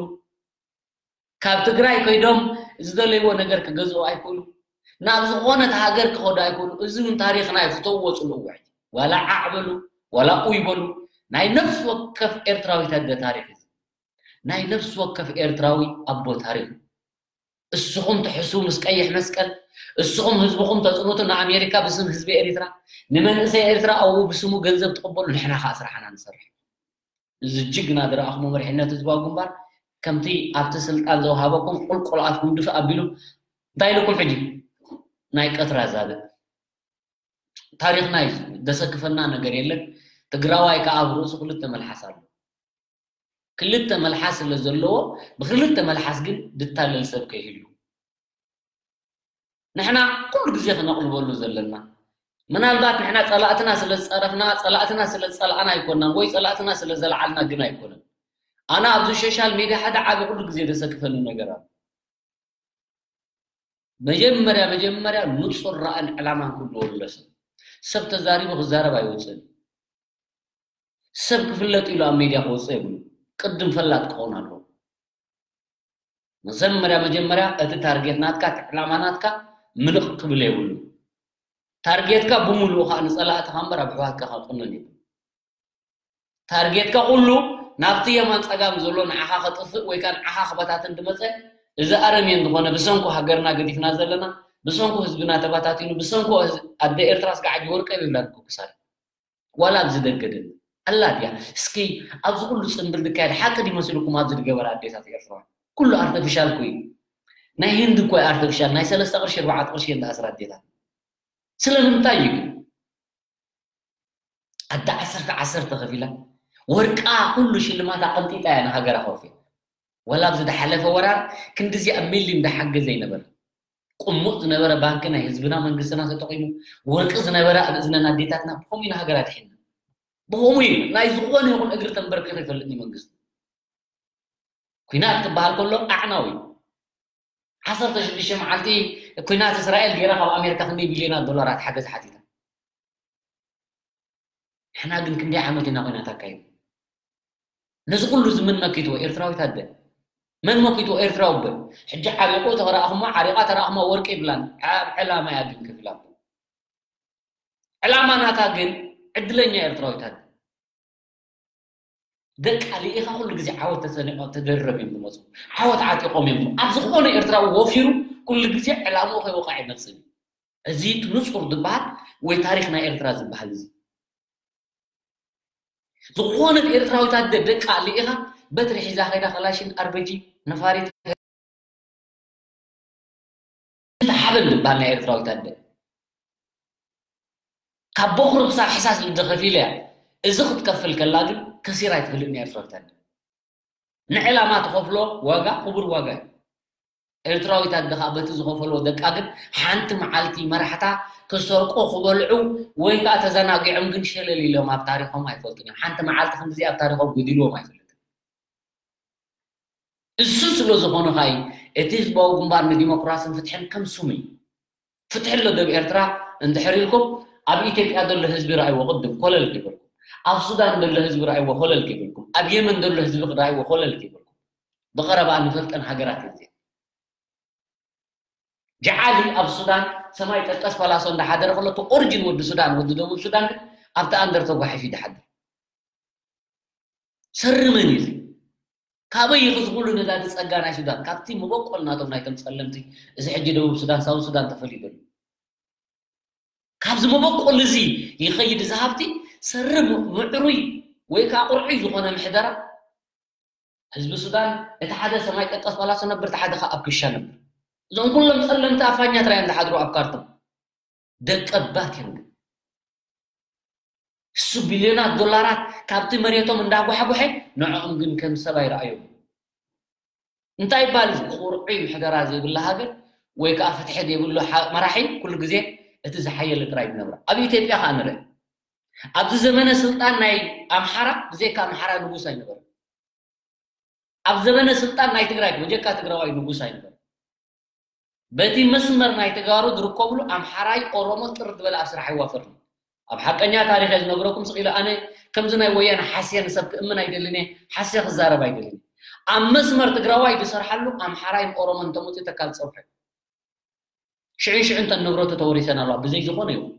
ካብ ትግራይ ከይዶም ዝደለይዎ ነገር ክገዝኡ ኣይክእሉ፣ ናብ ዝኾነት ሃገር ክኸዱ ኣይክእሉ። እዚ እውን ታሪኽና እዩ፣ ፍተውዎ፣ ፅልእዎ። ሕጂ ዋላ ዓዕ በሉ፣ ዋላ ኡይ በሉ፣ ናይ ነፍሲ ወከፍ ኤርትራዊት ኣደ ታሪኽ እዩ። ናይ ነፍሲ ወከፍ ኤርትራዊ ኣቦ ታሪኽ እዩ። እስኹም ትሕስቡ ምስ ቀይሕ መስቀል፣ እስኹም ህዝብኹም ተፅንቱ ንኣሜሪካ ብስም ህዝቢ ኤሪትራ፣ ንመንእሰይ ኤርትራ ኣብኡ ብስሙ ገንዘብ ትቕበሉ፣ ንሕና ከዓ ስራሕና ንሰርሕ። እዚ ጅግና ዝረኣኹሞ መሪሕነት ህዝባዊ ግንባር ከምቲ ኣብቲ ስልጣን ዘውሃበኩም ቁልቁል ኣፍኩም ድፍእ ኣቢሉ እንታይ ኢልኩም ሕጂ ናይ ቀትራ ዛብእ ታሪኽና እዩ። ዘሰክፈና ነገር የለን። ትግራዋይ ከዓ ኣብ ርእሱ ክልተ መልሓስ ኣሎ። ክልተ መልሓስ ስለ ዘለዎ ብክልተ መልሓስ ግን ድታለል ሰብ ከይህሉ ንሕና ኩሉ ግዜ ክነቕልበሉ ዘለና ምናልባት ንሕና ጸላእትና ስለ ዝጸረፍና ጸላእትና ስለ ዝጸላእና ኣይኮናን ወይ ጸላእትና ስለ ዘልዓልና ግን ኣይኮነን። ኣነ ኣብዚ ሶሻል ሚድያ ሓደ ዓቢ ኩሉ ግዜ ዘሰክፈኒ ነገር ኣሎ። መጀመርያ መጀመርያ ንጹር ራእን ዕላማን ክህልዎ ኣለዎ ሰብ። ሰብ ተዛሪቡ ክዛረብ ኣይወፅእን። ሰብ ክፍለጥ ኢሉ ኣብ ሚድያ ክወፅእ የብሉ። ቅድም ፈላጥ ክኸውን ኣለዎ። መጀመርያ መጀመርያ እቲ ታርጌት ናትካ እቲ ዕላማ ናትካ ምልቕ ክብል የብሉ። ታርጌትካ ብምሉኡ ከዓ ንፀላእትኻ እምበር ኣብ ኣሕዋትካ ከቕንን እዩ። ታርጌትካ ኩሉ ናብቲ የማን ፀጋም ዘሎ ንዓኻ ከጥፍእ ወይ ከዓ ንዓኻ ክበታትን ዝመፀ፣ እዚ ኣረሜን ዝኾነ ብሰንኩ ሃገርና ገዲፍና ዘለና፣ ብሰንኩ ህዝብና ተበታቲኑ፣ ብሰንኩ ኣደ ኤርትራ ስጋዕ ሕጂ ወርቀ ይብላ እኮ ክሳድ ዋላ ኣብዚ ደገ ደለ ኣላ ድያ? እስኪ ኣብዚ ኩሉ ፅንብል ዝካየድ ሓቂ ዲመስልኩም ኣብዚ ዝገበረ ኣዴታት ኤርትራ ኩሉ ኣርተፊሻል እኮ እዩ። ናይ ህንዲ እኮ ኣርተፊሻል ናይ ሰለስተ ቅርሺ ኣርባዕተ ቅርሺ እየን ዝኣስራ ኣዴታት። ስለምንታይ እዩ ግን ኣደ ዓሰርተ ዓሰርተ ከፊላ ወርቃ ኩሉ ሽልማታ ቀንጢጣ እያ ንሃገራ ከውፊያ። ወላ ኣብዚ ዝሓለፈ ወራር ክንድዚ ኣብ ሚሊዮን ዝሓገዘ ይነበረ። ቁሙጥ ዝነበረ ባንኪ ናይ ህዝብና መንግስትና ተጠቂሙ ወርቂ ዝነበረ ኣብ እዝነን ኣዴታትና ብኸምኡ ኢና ሃገር ኣድሒንና። ብኸምኡ እዩ ናይ ዝኾነ ይኹን እግሪ ተንበርኪኹ ይፈልጥኒ መንግስቲ። ኩናት ክበሃል ከሎ ኣዕናዊ እዩ። ዓሰርተ ሽዱሽተ መዓልቲ ኩናት እስራኤል ገይራ ካብ ኣሜሪካ ክንደይ ቢልዮናት ዶላራት ሓገዝ ሓቲታ። ንሕና ግን ክንደይ ዓመት ኢና ኩናት ኣካይዱ? ነዚ ኩሉ እዚ መን መኪትዎ? ኤርትራዊት ኣደ። መን መኪትዎ? ኤርትራዊ ኣቦ። ሕጂ ዓሪቑ ተረኣኽሞ ዓሪቓ ተረኣኽሞ ወርቂ ይብላን ኣብ ዕላማ እያ ግን ከፊላ። ዕላማ ናታ ግን ዕድለኛ ኤርትራዊት ኣደ። ደቃ ልኢኻ ኩሉ ግዜ ዓወት ተሰኒቖም ተደርረብ እዮም ዝመፁ። ዓወት ዓጢቖም እዮም ኣብ ዝኾነ ኤርትራዊ ወፊሩ ኩሉ ግዜ ዕላምኡ ከይወቕዕ ይመፅእ። እዚ ንጹር ዝበሃል ወይ ታሪኽ ናይ ኤርትራ ዝበሃል እዚ ዝኾነት ኤርትራዊት ኣደ ደቃ ልኢኻ በትሪ ሒዛ ከይዳ ከላሽን ኣርበጂ ነፋሪት ሓበን ዝበሃል ናይ ኤርትራዊት ኣደ ካብ ቦኽሪ ክሳብ ሕሳስ ልደ ከፊለ እያ። እዚ ክትከፍል ከላ ግን ከሲራ ኣይትፈልጥን እያ ኤርትራዊት ኣደ። ንዕላማ ትኸፍሎ ዋጋ ክቡር ዋጋ እዩ። ኤርትራዊት ኣደ ከዓ በቲ ዝኸፈልዎ ደቃ ግን ሓንቲ መዓልቲ መራሕታ ክሰርቁ ክበልዑ ወይ ከዓ ተዘናጊዖም ግን ሸለል ኢሎም ኣብ ታሪኾም ኣይፈልጡን እዮም። ሓንቲ መዓልቲ ክንድዚ ኣብ ታሪኾም ጎዲልዎም ኣይፈልጥን። እሱ ስለ ዝኾነ ከዓ እቲ ህዝባዊ ግንባር ንዲሞክራስን ፍትሕን ከም ስሙ እዩ። ፍትሒ ኣሎ ደብ ኤርትራ እንድሕር ኢልኩም ኣብ ኢትዮጵያ ዘሎ ህዝቢ ረኣይዎ ቅድም ኮለል ይብልኩም። ኣብ ሱዳን ዘሎ ህዝቢ ረኣይዎ ኮለል ይብልኩም። ኣብ የመን ዘሎ ህዝቢ ረኣይዎ ኮለል ይብልኩም። ብቐረባ ንፈልጠን ሃገራት እየ። ጀዓሊ ኣብ ሱዳን ሰማይ ጠቀስ ፓላሶ እንዳሓደረ ከሎ እቲ ኦሪጂን ወዲ ሱዳን ወዲ ደቡብ ሱዳን ግን ኣብቲ ኣንደር ተጓሒፉ ይድሓድር። ሰሪ መን እዩ እዚ? ካበይ እዩ ዝኹሉ ነዳዲ ጸጋ ናይ ሱዳን? ካብቲ መበቆል ናቶም ናይቶም ጸለምቲ እዚ ሕጂ ደቡብ ሱዳን ሳውት ሱዳን ተፈልዩ ዘሎ። ካብዚ መበቆል እዚ ይኸይድ እዚ ሃብቲ ሰሪ ምዕሩይ ወይ ከዓ ቁርዑይ ዝኾነ ምሕደራ ህዝቢ ሱዳን እቲ ሓደ ሰማይ ጠቀስ ፓላሶ ነብር እቲ ሓደ ከዓ ኣብ ክሻ ነብር። እዞም ኩሎም ጸለምቲ ኣፋኛ ጥራይ እዮም ዝሓድሩ ኣብ ካርቱም። ደቀባት እዮም ግን እሱ ቢልዮናት ዶላራት ካብቲ መሬቶም እንዳጓሕጓሐ ንዕኦም ግን ከም ሰብ ኣይረኣዮም። እንታይ ይባል እዚ ቁርዑይ ምሕደራ ዘይብላ ሃገር ወይ ከዓ ፍትሒ ዘይብሉ መራሒ ኩሉ ግዜ እቲ ዝሓየለ ጥራይ ዝነብራ። ኣብ ኢትዮጵያ ከዓ ንርኢ። ኣብዚ ዘመነ ስልጣን ናይ ኣምሓራ ብዘይካ ኣምሓራ ንጉስ ኣይነበረን። ኣብ ዘመነ ስልጣን ናይ ትግራይ በጀካ ትግራዋይ ንጉስ ኣይነበረን። በቲ መስመር ናይ ተጋሩ ዝርከብሉ ኣምሓራይ ኦሮሞ ጥር ዝበለ ኣብ ስራሕ ኣይዋፈርን። ኣብ ሓቀኛ ታሪኸ ዝነግረኩም ስቕ ኢለ ኣነ ከምዚ ናይ ወያነ ሓስየ ንሰብ ክእምን ኣይደልን እየ፣ ሓስየ ክዛረብ ኣይደልን እየ። ኣብ መስመር ትግራዋይ ዝሰርሓሉ ኣምሓራይን ኦሮሞን እንተመፅኡ ተካል ፀውሐ ሽዕን ሽዕን ተን ንብረቱ ተወሪሰን ኣለዋ ብዘይ ዝኾነ ይኹን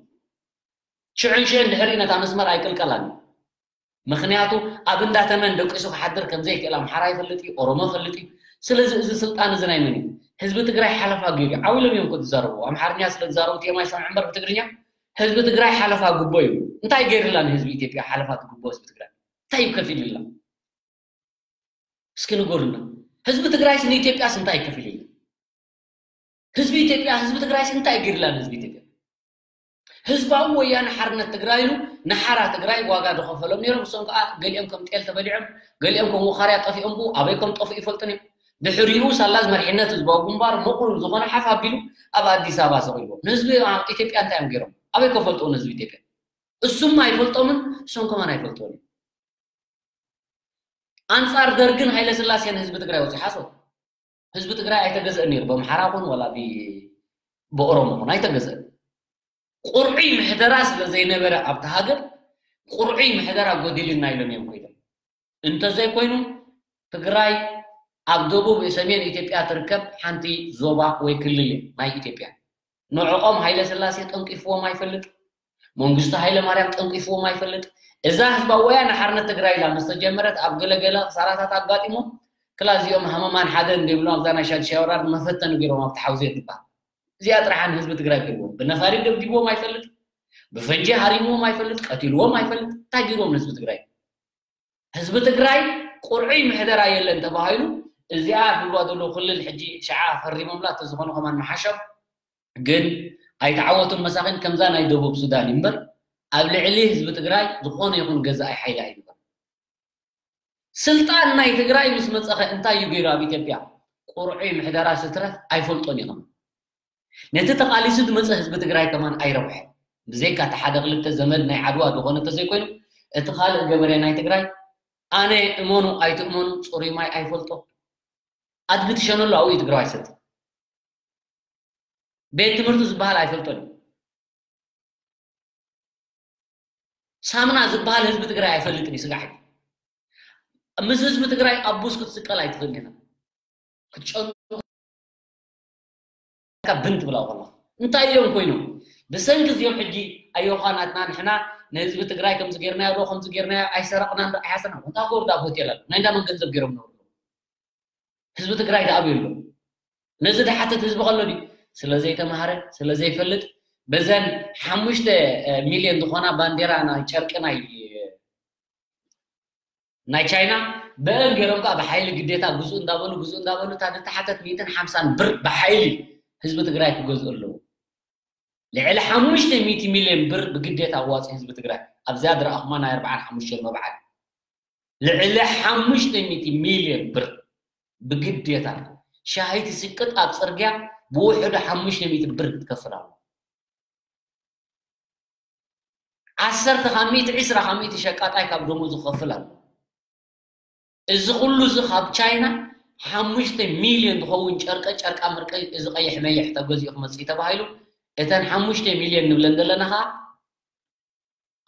ሽዕን ሽዕን ድሕሪ ነታ መስመር ኣይቅልቀላን። ምክንያቱ ኣብ እንዳተመን ደቂሱ ክሓድር ከም ዘይክእል ኣምሓራ ይፈልጥ እዩ፣ ኦሮሞ ይፈልጥ እዩ። ስለዚ እዚ ስልጣን እዚ ናይ መን እዩ? ህዝቢ ትግራይ ሓለፋ ገይሩ እዩ። ዓው ኢሎም እዮም እኮ ዝዛረቡ። ኣምሓርኛ ስለ ዝዛረቡ ቲኤም ኣይሰምዑ እምበር ብትግርኛ ህዝቢ ትግራይ ሓለፋ ጉቦ እዩ። እንታይ ገይርላ ንህዝቢ ኢትዮጵያ ሓለፋ ትጉቦ ህዝቢ ትግራይ? እንታይ እዩ ከፊልላ? እስኪ ንገሩና። ህዝቢ ትግራይስ ንኢትዮጵያስ እንታይ ከፊልላ? ህዝቢ ኢትዮጵያ ህዝቢ ትግራይስ እንታይ ገይርላ ንህዝቢ ኢትዮጵያ? ህዝባዊ ወያነ ሓርነት ትግራይ ኢሉ ንሓራ ትግራይ ዋጋ ዝኸፈሎም ነይሮም። እሶም ከዓ ገሊኦም ከም ጤል ተበሊዖም፣ ገሊኦም ከም ውኻርያ ጠፊኦም ብኡ ኣበይ ከም ጠፍኡ ይፈልጡን እዮም። ድሕሪኡ ሳላዝ መሪሕነት ህዝባዊ ግንባር ምቕሉል ዝኾነ ሓፍ ኣቢሉ ኣብ ኣዲስ ኣበባ ሰቒልዎም። ንህዝቢ ኢትዮጵያ እንታይ እዮም ገይሮም? ኣበይ ከፈልጥዎ ንህዝቢ ኢትዮጵያ? እሱም ኣይፈልጦምን፣ እሶም ከማን ኣይፈልጥዎን እዮም። ኣንጻር ደርግን ሃይለስላሴን ህዝቢ ትግራይ ወፂ ሓሶት ህዝቢ ትግራይ ኣይተገዝአን ነይሩ ብኣምሓራ ኹን ዋላ ብኦሮሞ ኹን ኣይተገዝአን። ቁርዑይ ምሕደራ ስለ ዘይነበረ ኣብቲ ሃገር ቁርዑይ ምሕደራ ጎዲልና ኢሎም እዮም ኮይዶም። እንተዘይኮይኑ ትግራይ ኣብ ደቡብ ሰሜን ኢትዮጵያ ትርከብ ሓንቲ ዞባ ወይ ክልል ናይ ኢትዮጵያ። ንዕኦም ሃይለ ስላሴ ጠንቂፍዎም ኣይፈልጥ፣ መንግስቱ ሃይለ ማርያም ጠንቂፍዎም ኣይፈልጥ። እዛ ህዝባዊ ወያነ ሓርነት ትግራይ ኢላ ምስ ተጀመረት ኣብ ገለገለ ክሳራታት ኣጋጢሞም ክላ እዚኦም ሃመማን ሓደ እንዲብሎም ኣብዛ ናይ ሻድሻይ ወራር መፈተኒ ገይሮም ኣብቲ ሓውዜን ትበሃል እዚኣ ጥራሕ ንህዝቢ ትግራይ ገይርዎም። ብነፋሪት ደብዲብዎም ኣይፈልጥ፣ ብፈንጂ ሃሪምዎም ኣይፈልጥ፣ ቀቲልዎም ኣይፈልጥ። እንታይ ገይርዎም ንህዝቢ ትግራይ? ህዝቢ ትግራይ ቁርዑይ ምሕደራ የለን ተባሂሉ እዚኣ ዝብልዋ ዘለዉ ክልል ሕጂ ሸዓ ፈሪሞምላ እንተዝኾኑ ከማን መሓሸም። ግን ኣይተዓወቱን መሳኺን ከምዛ ናይ ደቡብ ሱዳን እዩ እምበር ኣብ ልዕሊ ህዝቢ ትግራይ ዝኾነ ይኹን ገዛኢ ሓይሊ ኣይነበረን። ስልጣን ናይ ትግራይ ምስ መፀኸ እንታይ እዩ ገይሩ ኣብ ኢትዮጵያ? ቁርዑይ ምሕደራ ስትረፍ ኣይፈልጦን እዩ ከማን። ነቲ ተቓሊሱ ዝመፀ ህዝቢ ትግራይ ከማን ኣይረብሐን። ብዘይካ እቲ ሓደ ክልተ ዘመድ ናይ ዓድዋ ዝኾነ እንተዘይኮይኑ እቲ ካልእ ገበሬ ናይ ትግራይ ኣነ እመኑ ኣይትእመኑ ፅሩይ ማይ ኣይፈልጦ። ኣድጊ ትሸነሉ ኣብኡ እዩ ትግራዋይ ሰጥ። ቤት ትምህርቱ ዝበሃል ኣይፈልጦን እዩ። ሳምና ዝበሃል ህዝቢ ትግራይ ኣይፈልጥን እዩ ስጋሕ። ምስ ህዝቢ ትግራይ ኣብ ቡስ ክትስቀል ኣይትኽእልን ኢኻ። ክትጨኑ ብን ትብላ ከሎ እንታይ እዮም ኮይኖም? ብሰንኪ እዚኦም ሕጂ ኣዮኻ ናትና ንሕና ንህዝቢ ትግራይ ከምዚ ጌርናዮ ዶ ከምዚ ጌርናዮ ኣይሰረቕናን ዶ ኣይሓሰና እንታይ ጎርዳ ኣብ ሆቴል ኣሎ ናይ እንዳመን ገንዘብ ገይሮም ነብሩ ህዝቢ ትግራይ ደኣ ኣበይ ኣሎ? ነዚ ድሓተት ህዝቢ ከሎ ድዩ? ስለ ዘይተማሃረ ስለ ዘይፈልጥ በዘን ሓሙሽተ ሚልዮን ዝኾና ባንዴራ ናይ ጨርቂ ናይ ናይ ቻይና ብአን ገይሮም ከዓ ብሓይሊ ግዴታ ግዙ እንዳበሉ ግዙ እንዳበሉ እታ ዝተሓተት ሚእትን ሓምሳን ብር ብሓይሊ ህዝቢ ትግራይ ክገዝኡ ኣለዉ። ልዕሊ ሓሙሽተ ሚእቲ ሚልዮን ብር ብግዴታ ኣዋፂ ህዝቢ ትግራይ ኣብዚኣ ዝረኣኹማ ናይ ኣርባዓን ሓሙሽተን መብዓል ልዕሊ ሓሙሽተ ሚእቲ ሚልዮን ብር ብግዴታ ሻሂ ትስቅጥ ኣብ ፅርግያ ብውሕዱ ሓሙሽተ ሚእቲ ብር ክትከፍል ኣሎ። ዓሰርተ ካብ ሚእቲ ዒስራ ካብ ሚእቲ ሸቃጣይ ካብ ደሞዙ ክኸፍል ኣሎ። እዚ ኩሉ እዚ ካብ ቻይና ሓሙሽተ ሚልዮን ዝኸውን ጨርቀ ጨርቃ ምርቂ እዚ ቀይሕ መይሕ ተገዚኡ ክመፅእ እዩ ተባሂሉ እተን ሓሙሽተ ሚልዮን ንብለን ዘለና ከዓ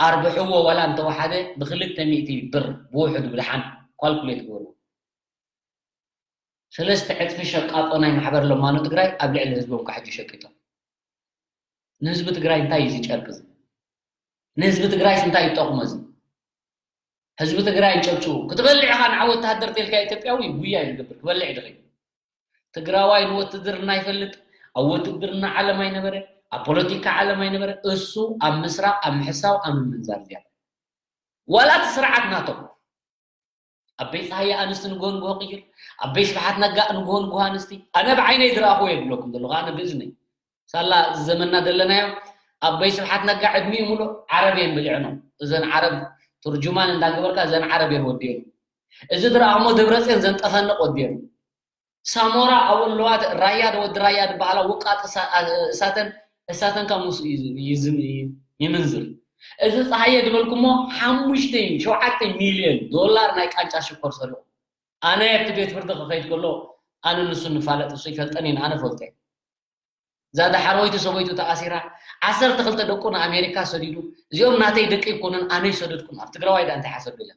ኣርብሕዎ ዋላ እንተወሓደ ብክልተ ሚእቲ ብር ብውሕዱ ብድሓን ኳልኩሌት ግበሩ። ሰለስተ ዕፅፊ ሸቃጦ ናይ ማሕበር ለማኖ ትግራይ ኣብ ልዕሊ ህዝቦም ከዓ ሕጂ ሸቂጦም። ንህዝቢ ትግራይ እንታይ እዩ ዝጨርቅ እዚ? ንህዝቢ ትግራይስ እንታይ ይጠቕሞ እዚ? ህዝቢ ትግራይ እንጨብጭቡ ክትበልዕ ኢኻ ንዓ ወተሃደር ተልካ ኢትዮጵያዊ ጉያ እዩ ዝገብር ክበልዕ ድኸ ትግራዋይ ንወትድርና ይፈልጥ ኣብ ወትድርና ዓለም ኣይነበረ ኣብ ፖለቲካ ዓለም ኣይነበረ እሱ ኣብ ምስራቅ ኣብ ምሕሳው ኣብ ምምንዛር ዝያዳ ዋላ እቲ ስርዓት ናቶም ኣበይ ፀሃየ ኣንስቲ ንግሆ ንግሆ ቅይር ኣበይ ስብሓት ነጋ ንግሆ ንግሆ ኣንስቲ ኣነ ብዓይነይ ዝረኣኽዎ የብለኩም ዘለኹ ኣነ ብእዝነይ ሳላ እዚ ዘመንና ዘለናዮ ኣበይ ስብሓት ነጋ ዕድሚኡ ሙሉእ ዓረብ እየን ብሊዕኖ እዘን ዓረብ ትርጁማን እንዳገበርካ እዘን ዓረብ እየን ወዲኦን እዚ ዝረኣኽሞ ደብረፅዮን ዘንጠፈንቕ ወዲኦን ሳሞራ ኣወለዋት ራያ ዶ ወዲ ራያ ዝበሃላ ውቃጥ እሳተን እሳተን ካብ ምስኡ ይምንዝር እዚ ፀሃየ ዝበልኩሞ ሓሙሽተ ሸውዓተ ሚልዮን ዶላር ናይ ቃንጫ ሽኮር ሰሪቑ ኣነ ኣብቲ ቤት ፍርዲ ክኸይድ ከሎ ኣነ ንሱ ንፋለጥ እሱ ይፈልጠን ኢና ኣነ ፈልጠ እዛ ዳሓረወይቲ ሰበይቱ ተኣሲራ ዓሰርተ ክልተ ደቁ ንኣሜሪካ ሰዲዱ እዚኦም ናተይ ደቂ ይኮኑን ኣነ ይሰደድኩም ኣብ ትግራዋይ ዳ እንታይ ሓሰብ ኢለ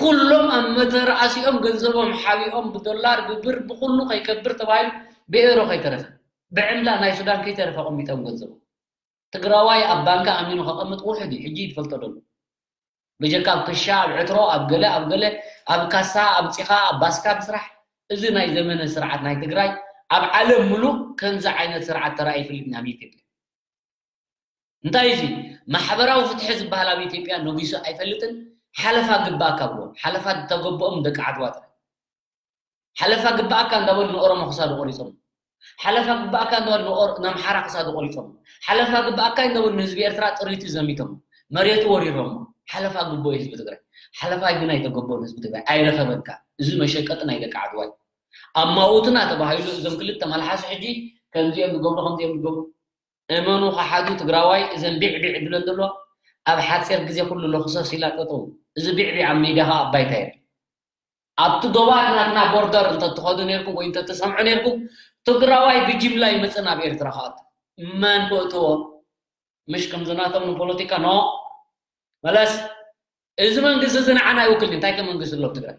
ኩሎም ኣብ መተረኣሲኦም ገንዘቦም ሓቢኦም ብዶላር ብብር ብኩሉ ከይከብር ተባሂሉ ብኤሮ ከይተረፈ ብዕምላ ናይ ሱዳን ከይተረፈ ኣቐሚጦም ገንዘቦም ትግራዋይ ኣብ ባንክ ኣሚኑ ከቐምጥ ውሕድ እዩ ሕጂ ይትፈልጦ ደሎ ብጀካ ኣብ ክሻ ኣብ ዕትሮ ኣብ ገለ ኣብ ገለ ኣብ ካሳ ኣምፂኻ ኣብ ባስካ ምስራሕ እዚ ናይ ዘመነ ስርዓት ናይ ትግራይ ኣብ ዓለም ሙሉእ ከምዚ ዓይነት ስርዓት ተራእዩ ይፈልጥ ናብ ኢትዮጵያ እንታይ እዚ ማሕበራዊ ፍትሒ ዝበሃል ኣብ ኢትዮጵያ ነጊሱ ኣይፈልጥን ሓለፋ ግባእካ ብሎ ሓለፋ ዝተገበኦም ደቂ ዓድዋ ጥራይ ሓለፋ ግባእካ እንዳበሉ ንኦሮሞ ክሳዱ ቆሪፆም ሓለፋ ግባእካ እንዳበሉ ንኣምሓራ ክሳዱ ቆሪፆም ሓለፋ ግባእካ እንዳበሉ ንህዝቢ ኤርትራ ጥሪቱ ዘሚቶም መሬቱ ወሪሮሞ ሓለፋ ግቦ ህዝቢ ትግራይ ሓለፋ ግን ኣይተገበኦን ህዝቢ ትግራይ ኣይረኸበን ከዓ እዚ መሸቀጢ ናይ ደቂ ዓድዋ እዩ ኣማውትና ተባሂሉ እዞም ክልተ መልሓስ ሕጂ ከምዚኦም ዝገብሩ ከምዚኦም ዝገብሩ እመኑ ከሓዱ ትግራዋይ እዘን ቢዕቢዕ ድለን ዘሎ ኣብ ሓፂር ግዜ ኩሉ ለክሰስ ኢላ ጠጠው እዚ ቢዕቢዕ ኣብ ሜዳ ከዓ ኣባይታ የለ ኣብቲ ዶባት ናትና ቦርደር እንተትኸዱ ነርኩም ወይ እንተትሰምዑ ነርኩም ትግራዋይ ብጅምላ ይመፅእ ናብ ኤርትራ ከኣቱ መን ክእትዎ ምሽ ከምዝናቶም ንፖለቲካ ኖ መለስ እዚ መንግስቲ እዚ ንዓና ይውክል እንታይ ከ መንግስቲ ኣሎ ትግራይ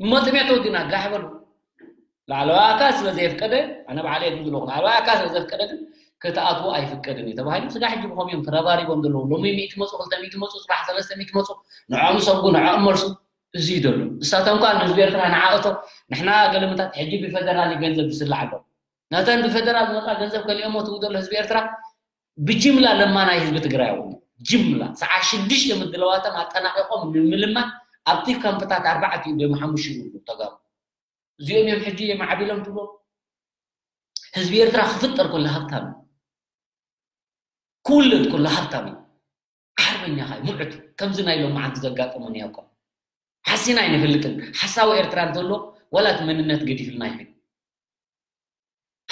እሞ ጥሜት ወዲና ጋሕ በሉ ላዕለዋይ ኣካል ስለ ዘየፍቀደ ኣነ ባዕለ የድም ዝለኹ ላዕለዋይ ኣካል ስለ ዘፍቀደ ግን ክትኣትዎ ኣይፍቀድን እዩ ተባሂሉ ስጋ ሕጂ ብኸም እዮም ተረባሪቦም ዘለዉ ሎሚ ሚእቲ መፁ ክልተ ሚእቲ መፁ ፅባሕ ሰለስተ ሚእቲ መፁ ንዕኦም ሰጉ ንዕኦም መልሱ እዚ እዩ ዘሎ እሳቶም ከዓ ንህዝቢ ኤርትራ ንዓእቶ ንሕና ገለምታት ሕጂ ብፈደራል ገንዘብ ዝስላዕ ኣሎ ነተን ብፈደራል ዝመፃ ገንዘብ ከሊኦሞ ትው ዘሎ ህዝቢ ኤርትራ ብጅምላ ለማናይ ህዝቢ ትግራይ ኣውኒ ጅምላ ሰዓ ሽዱሽተ ምድለዋቶም ኣጠናቂቆም ንምልማን ኣብቲ ካምፕታት ኣርባዕተ እዩ ደሞ ሓሙሽተ ይብሉ ተጋሩ እዚኦም እዮም ሕጂ የማዕቢሎም ትብሎ ህዝቢ ኤርትራ ክፍጠር ከሎ ሃብታም ክውለድ ከሎ ሃብታም እዩ ሓርበኛ ኻይ ሙዕት ከምዚ ናይ ሎም መዓንቲ ዘጋጠመ ነያቆም ሓሲና ኣይንፈልጥን ሓሳዊ ኤርትራ እንተሎ ወላ እቲ መንነት ገዲፍልና ይብል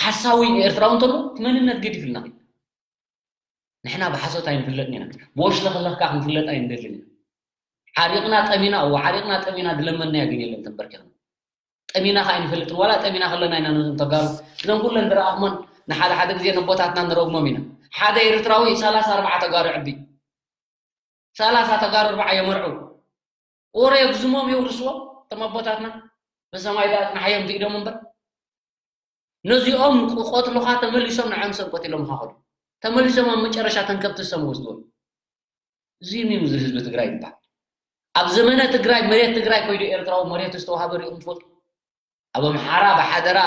ሓሳዊ ኤርትራዊ እንተሎ እቲ መንነት ገዲፍልና ይብል ንሕና ብሓሶት ኣይንፍለጥን ኢና ብወሽለኽለኽካ ክንፍለጥ ኣይንደልን ኢና ሓሪቕና ጠሚና እዎ ሓሪቕና ጠሚና ድለመናዮ ግን የለን ተንበርኪኽና ጠሚና ከዓ ኣይንፈልጥን ዋላ ጠሚና ከለና ኢና ነዞም ተጋሩ እዞም ኩለን ዝረኣኽሞን ንሓደ ሓደ ግዜ ነቦታትና ንረግሞም ኢና ሓደ ኤርትራዊ ሰላሳ ኣርባዓ ተጋሩ ዕቢ ሰላሳ ተጋሩ ኣርባዓ የመርዑ ወረ የግዝሞም የውርስዎ እቶም ኣቦታትና ብሰማይ ዳ ኣጽናሓዮም ትኢዶም እምበር ነዚኦም ክቆትሉኻ ተመሊሶም ንዓም ሰብ ቆቲሎም ኻኸዱ ተመሊሶም ኣብ መጨረሻ ተንከብቲ ሰም ወስድዎም እዚ ምን ዝህዝቢ ትግራይ ይባል ኣብ ዘመነ ትግራይ መሬት ትግራይ ኮይዱ ኤርትራዊ መሬት ዝተዋሃበ ሪኦም ትፈልጡ ኣብ ኣምሓራ ብሓደራ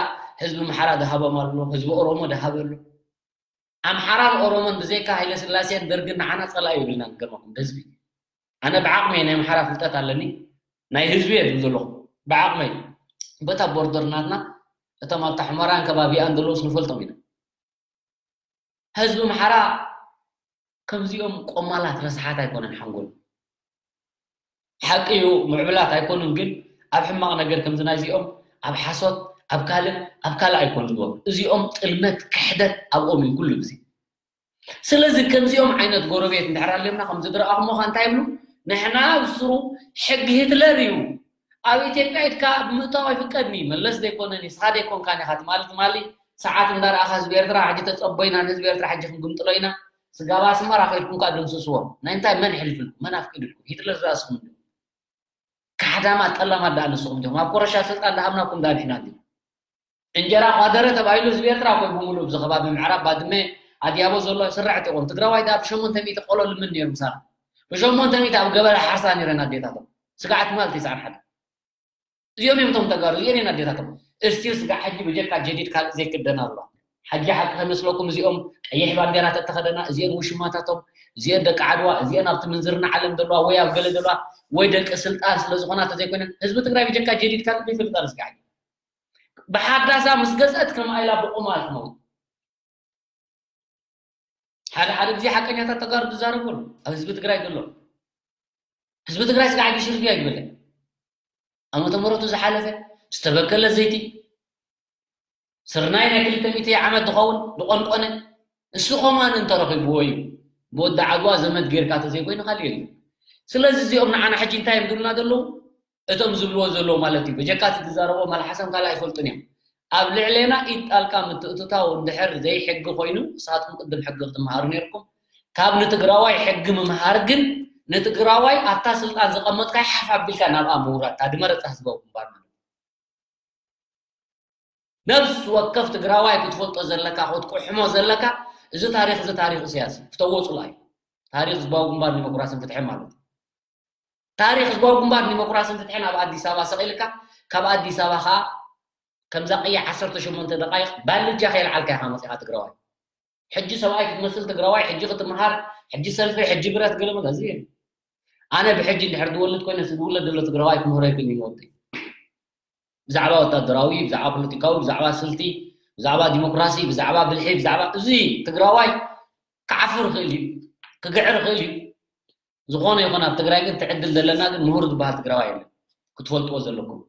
ህዝቢ ኣምሓራ ዝሃቦም ኣሎ ህዝቢ ኦሮሞ ዝሃበ ኣሎ ኣምሓራን ኦሮሞን ብዘይካ ሃይለ ስላሴን ደርግን ንዓና ጸላኢ ይብልና ንገርመኩም ህዝቢ ኣነ ብዓቕሚ ናይ ኣምሓራ ፍልጠት ኣለኒ ናይ ህዝቢ እየ ዝብል ዘለኹ ብዓቕመይ በታ ቦርደር ናትና እቶም ኣብታ ሕመራን ከባቢኣን ዘለውስ ንፈልጦም ኢና ህዝቢ ኣምሓራ ከምዚኦም ቆማላት ረስሓት ኣይኮነን ሓንጎል ሓቂ እዩ ምዕብላት ኣይኮኑን ግን ኣብ ሕማቕ ነገር ከምዚ ናይዚኦም ኣብ ሓሶት ኣብ ካልእ ኣብ ካልእ ኣይኮኑዎም እዚኦም ጥልመት ክሕደት ኣብኦም እዩ ኩሉ ግዜ ስለዚ ከምዚኦም ዓይነት ጎረቤት እንድሕር ኣለምና ከምዚ ዝረኣኹሞ ኸ እንታይ ይብሉ ንሕና ብስሩ ሕጊ ሂትለር እዩ ኣብ ኢትዮጵያ ኢድካ ምእታው ኣይፍቀድኒ መለስ ዘይኮነኒ ስኻ ዘይኮንካን ኢኻ ትማሊ ትማሊ ሰዓት እንዳረኣኻ ህዝቢ ኤርትራ ሕጂ ተፀቦ ኢና ንህዝቢ ኤርትራ ሕጂ ክንግምጥሎ ኢና ስጋብ ኣስመራ ከይድኩም ከዓ ደምስስዎም ናይ እንታይ መን ሕልፍልኩም መን ኣፍቂድልኩም ሂትለር ዝኣስኹም እንዲ ካሕዳማት ጠላማት ደኣ ንስኹም እንዲኹም ኣብ ኮረሻ ስልጣን ደሃብናኩም ደኣ ንሕና እንዲ እንጀራ ኳደረ ተባሂሉ ህዝቢ ኤርትራ ኮይ ብምሉእ ብዚ ከባቢ ምዕራብ ባድመ ኣድያቦ ዘሎ ስራሕቲ ይኹን ትግራዋይ ደኣ ብሸሞንተ ሚእቲ ቆሎ ልምን ነይሩ ምሳና ብሸሞንተ ሚእቲ ኣብ ገበላ ሓርሳ ነይረን ኣዴታቶም ስጋዕ ትማል ትስዓን ሓደ እዚኦም እዮም እቶም ተጋሩ እዚኦም እየን ኣዴታቶም እስቲል ስጋዕ ሕጂ ብጀካ ጀዲድ ካልእ ዘይክደን ኣሎ ሓጂ ሓቂ ከመስለኩም እዚኦም ቀይሕ ባንዴራ ተተኸደና እዚኦም ውሽማታቶም እዚኦም ደቂ ዓድዋ እዚኦም ኣብቲ ምንዝርና ዓለም ዘለዋ ወይ ኣብ ገለ ዘለዋ ወይ ደቂ ስልጣን ስለ ዝኾና ተዘይኮይነን ህዝቢ ትግራይ ብጀካ ጀዲድ ካልእ ዘይፈልጥ ኣሎ ስጋዕ ብሓዳሳ ምስ ገዝአት ከም ኣይላ ብቑማል ትመውት ሓደ ሓደ ግዜ ሓቀኛታት ተጋሩ ዝዛረቡ ኣሎ ኣብ ህዝቢ ትግራይ ዘሎ ህዝቢ ትግራይ ስጋዕ ግሽርፊ ኣይግበለ ዓመተ ምሕረቱ ዝሓለፈ ዝተበከለ ዘይቲ ስርናይ ናይ ክልተ ሚእቲ ዓመት ዝኸውን ዝቆንቆነ እሱ ኸማን እንተረኺብዎ እዩ ብወዲ ዓድዋ ዘመድ ጌርካ ተዘይኮይኑ ካልእ የለን ስለዚ እዚኦም ንዓና ሕጂ እንታይ እዮም ዝብሉና ዘለዉ እቶም ዝብልዎ ዘለዉ ማለት እዩ በጀካ እቲ ዝዛረቦ ማልሓሰም ካልእ ኣይፈልጡን እዮም ኣብ ልዕሌና ኢድ ጣልቃ ምትእትታው እንድሕር ዘይሕጊ ኮይኑ ንስኻትኩም ቅድም ሕጊ ክትመሃሩ ነይርኩም ካብ ንትግራዋይ ሕጊ ምምሃር ግን ንትግራዋይ ኣብታ ስልጣን ዝቐመጥካይ ሓፍ ኣቢልካ ናብኣ ምውራድ እታ ድመረፃ ህዝባዊ ግንባር ማለት ነብስ ወከፍ ትግራዋይ ክትፈልጦ ዘለካ ክትቁሕሞ ዘለካ እዚ ታሪክ እዚ ታሪክ እስያስ እዩ ክተወፁላ እዩ ታሪክ ህዝባዊ ግንባር ዲሞክራስን ፍትሕን ማለት እዩ ታሪክ ህዝባዊ ግንባር ዲሞክራስን ፍትሕን ኣብ ኣዲስ ኣበባ ሰቂልካ ካብ ኣዲስ ኣበባ ከዓ ከምዛ ቀያ ዓሰርተ ሸሞንተ ደቃይቅ ባልጃ ከየልዓልካ ኢካ መፂካ ትግራዋይ ሕጂ ሰብኣይ ክትመስል ትግራዋይ ሕጂ ክትምሃር ሕጂ ሰልፊ ሕጂ ብረት ገለመለ እዚ ኣነ ብሕጂ እንድሕር ዝወልድ ኮይነ ዝውለድ ዘሎ ትግራዋይ ክምህሮ ይክእል እዩ ንወደይ ብዛዕባ ወታደራዊ ብዛዕባ ፖለቲካዊ ብዛዕባ ስልቲ ብዛዕባ ዲሞክራሲ ብዛዕባ ብልሒ ብዛዕባ እዚ ትግራዋይ ክዓፍር ይኽእል እዩ ክግዕር ይኽእል እዩ ዝኾነ ይኹን ኣብ ትግራይ ግን ትዕድል ዘለና ግን ምሁር ዝበሃል ትግራዋይ የለን ክትፈልጥዎ ዘለኩም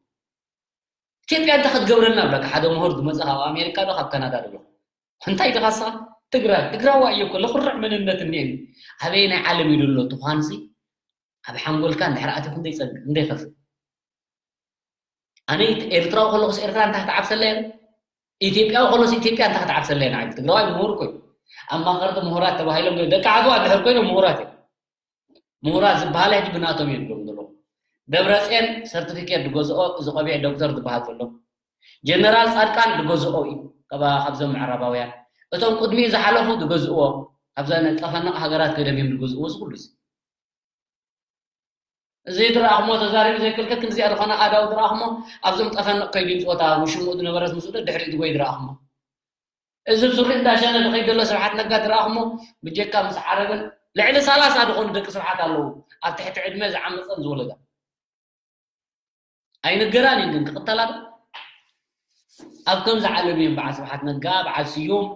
ኢትዮጵያ እንታይ ክትገብረልና ብለካ ሓደ ምሁር ዝመፀ ካብ ኣሜሪካ ዶ ካብ ካናዳ ዶ እንታይ ድኻ ስኻ ትግራይ ትግራዋ እዮ እኮ ለኩርዕ መንነት እኒኤኒ ኣበይ ናይ ዓለም ኢሉ ኣሎ ትኳንሲ ኣብ ሓንጎልካ እንድሕር ኣትዩ ክንደይ ፀግእ ክንደይ ከፍእ ኣነ ኤርትራዊ ከለኩስ ኤርትራ እንታይ ክትዓብሰለያ ኢትዮጵያዊ ከሎስ ኢትዮጵያ እንታይ ክትዓብሰለያ ንዓይ ትግራዋይ ምሁር እኮ ኣብ ማኸርቲ ምሁራት ተባሂሎም ደቂ ዓድዋ እንድሕር ኮይኖም ምሁራት እዮም ምሁራት ዝበሃላ ሕጂ ብናቶም እዮም ዝብሎም ዘለዉ ደብረፅዮን ሰርቲፊኬት ዝገዝኦ እዚ ቆቢዕ ዶክተር ዝበሃል ዘሎ ጀነራል ፃድቃን ዝገዝኦ እዩ። ከባ ካብዞም ምዕራባውያን እቶም ቅድሚኡ ዝሓለፉ ዝገዝእዎ፣ ካብዛ ጠፈነቕ ሃገራት ገደም እዮም ዝገዝእዎ። እዚ ኩሉ እዚ እዚ ድረኣኽሞ ተዛሪቡ ዘይክልከል ክንዚኣ ዝኾነ ኣዳው ድረኣኽሞ ኣብዞም ጠፈነቕ ከይዱ ይምፅወታ ውሽምኡ ዝነበረት ምስኡ ድሕሪኡ ዝጎይ ድረኣኽሞ እዚ ሱሪ እንዳሸነ ዝኸይድ ዘሎ ስብሓት ነጋ ድረኣኽሞ ብጀካ ምስ ዓረብን ልዕሊ ሰላሳ ዝኾኑ ደቂ ስብሓት ኣለዉ ኣብ ትሕቲ ዕድመ ዝዓመፀን ዝወለዳ ኣይንገራን እዩ ግን ክቕተላ ዶ ኣብ ከምዚ ዓለም እዮም በዓል ስብሓት ነጋ በዓል ስዩም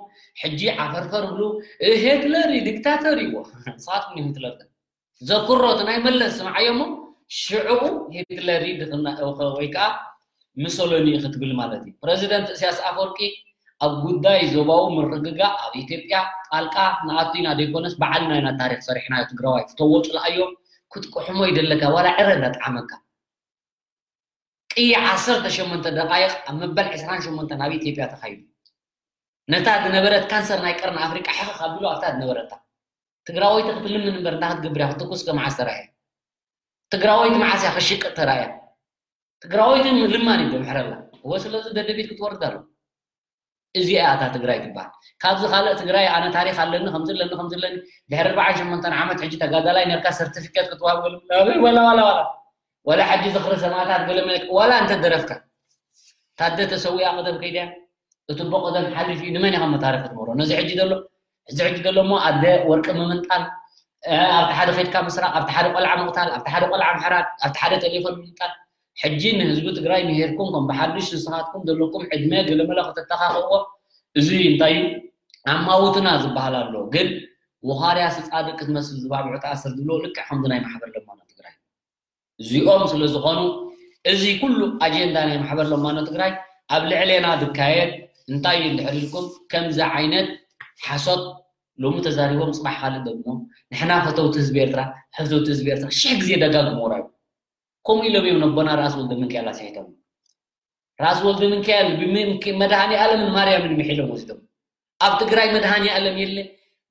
ሕጂ ዓፈርፈር ብሉ ሄትለር እዩ ዲክታተር እዩ ንስኻትኩም ሄትለር ዘክሮ እቲ ናይ መለስ ስምዓዮ እሞ ሽዕኡ ሂትለር ድኽና ወይ ከዓ ምሶሎኒ ክትብል ማለት እዩ። ፕረዚደንት እስያስ ኣፈወርቂ ኣብ ጉዳይ ዞባዊ ምርግጋእ ኣብ ኢትዮጵያ ጣልቃ ንኣቱ ኢና ዘይኮነስ ባዕልና ኢና ታሪክ ሰሪሕናዮ ትግራዋይ ፍተዎ ፅልኣዮ ክትቅሕሞ ይደለካ ዋላ ዕረ እንዳጠዓመካ ቅያ ዓሰርተ ሸሞንተ ደቃይቕ ኣብ መበል ዕስራን ሸሞንተን ኣብ ኢትዮጵያ ተኻይዱ ነታ ዝነበረት ካንሰር ናይ ቀርኒ ኣፍሪቃ ሕኽኽ ኣቢሉ ኣብታ ዝነበረታ ትግራወይቲ ክትልምን እምበር እንታይ ክትገብር እያ ክትኩስ ከመዓስ ተራእያ ትግራወይቲ መዓስ እያ ክሽቅጥ ተራእያ ትግራወይቲ ልማን እዩ ምሕረላ እወ ስለዚ ደደቢት ክትወርድ ኣሎ እዚኣ እያ እታ ትግራይ ትበሃል ካብዚ ካልእ ትግራይ ኣነ ታሪክ ኣለኒ ከምዚ ኣለኒ ከምዚ ኣለኒ ድሕሪ ኣርባዓን ሸሞንተን ዓመት ሕጂ ተጋዳላይ ነርካ ሰርቲፊኬት ክትዋብ ገለ ናበይ ዋላ ዋላ ዋላ ዋላ ሕጂ ዝኽሪ ሰማእታት ገለ መለክ ዋላ እንተ ደረፍካ ታደ ተሰዊኣ ቀደም ከይድያ እቲ ቦ ቀደም ሓሊፍ እዩ ንመን ኢኻ መታረክ ክትመሮ ነዚ ሕጂ ዘሎ እዚ ሕጂ ዘሎ እሞ ኣደ ወርቂ ምምንጣል ኣብቲ ሓደ ከድካ ምስራቅ ኣብቲ ሓደ ቆልዓ ምቕታል ኣብቲ ሓደ ቆልዓ ምሕራድ ኣብቲ ሓደ ቴሌፎን ምምንጣል ሕጂ ንህዝቢ ትግራይ ምሄድኩም ከም ብሓዱሽ ንስኻትኩም ዘለኩም ዕድመ ገለመለ ከተተኻኽእዎ እዚ እንታይ እዩ ኣማውትና ዝበሃል ኣሎ ግን ወኻርያ ስፃድቅ ክትመስል ዝባብዑ ተኣስር ዝብሎ ልክዕ ከምዚ ናይ ማሕበር ለማኖ ትግራይ እዚኦም ስለ ዝኾኑ እዚ ኩሉ ኣጀንዳ ናይ ማሕበር ለማኖ ትግራይ ኣብ ልዕሌና ዝካየድ እንታይ እዩ እንድሕር ኢልኩም ከምዚ ዓይነት ሓሶት ሎሚ ተዛሪቦም ፅባሕ ካልእ ደግሞ ንሕና ፈተውቲ ህዝቢ ኤርትራ ፈተውቲ ህዝቢ ኤርትራ ሽሕ ግዜ ደጋግሞ ራዩ ከምኡ ኢሎም እዮም ነቦና ራስ ወልደ ምንካኤል ኣስሒቶም ራስ ወልደ ምንካኤል መድሃኒ ኣለምን ማርያምን ምሒሎም ወስዶም ኣብ ትግራይ መድሃኒ ኣለም የለ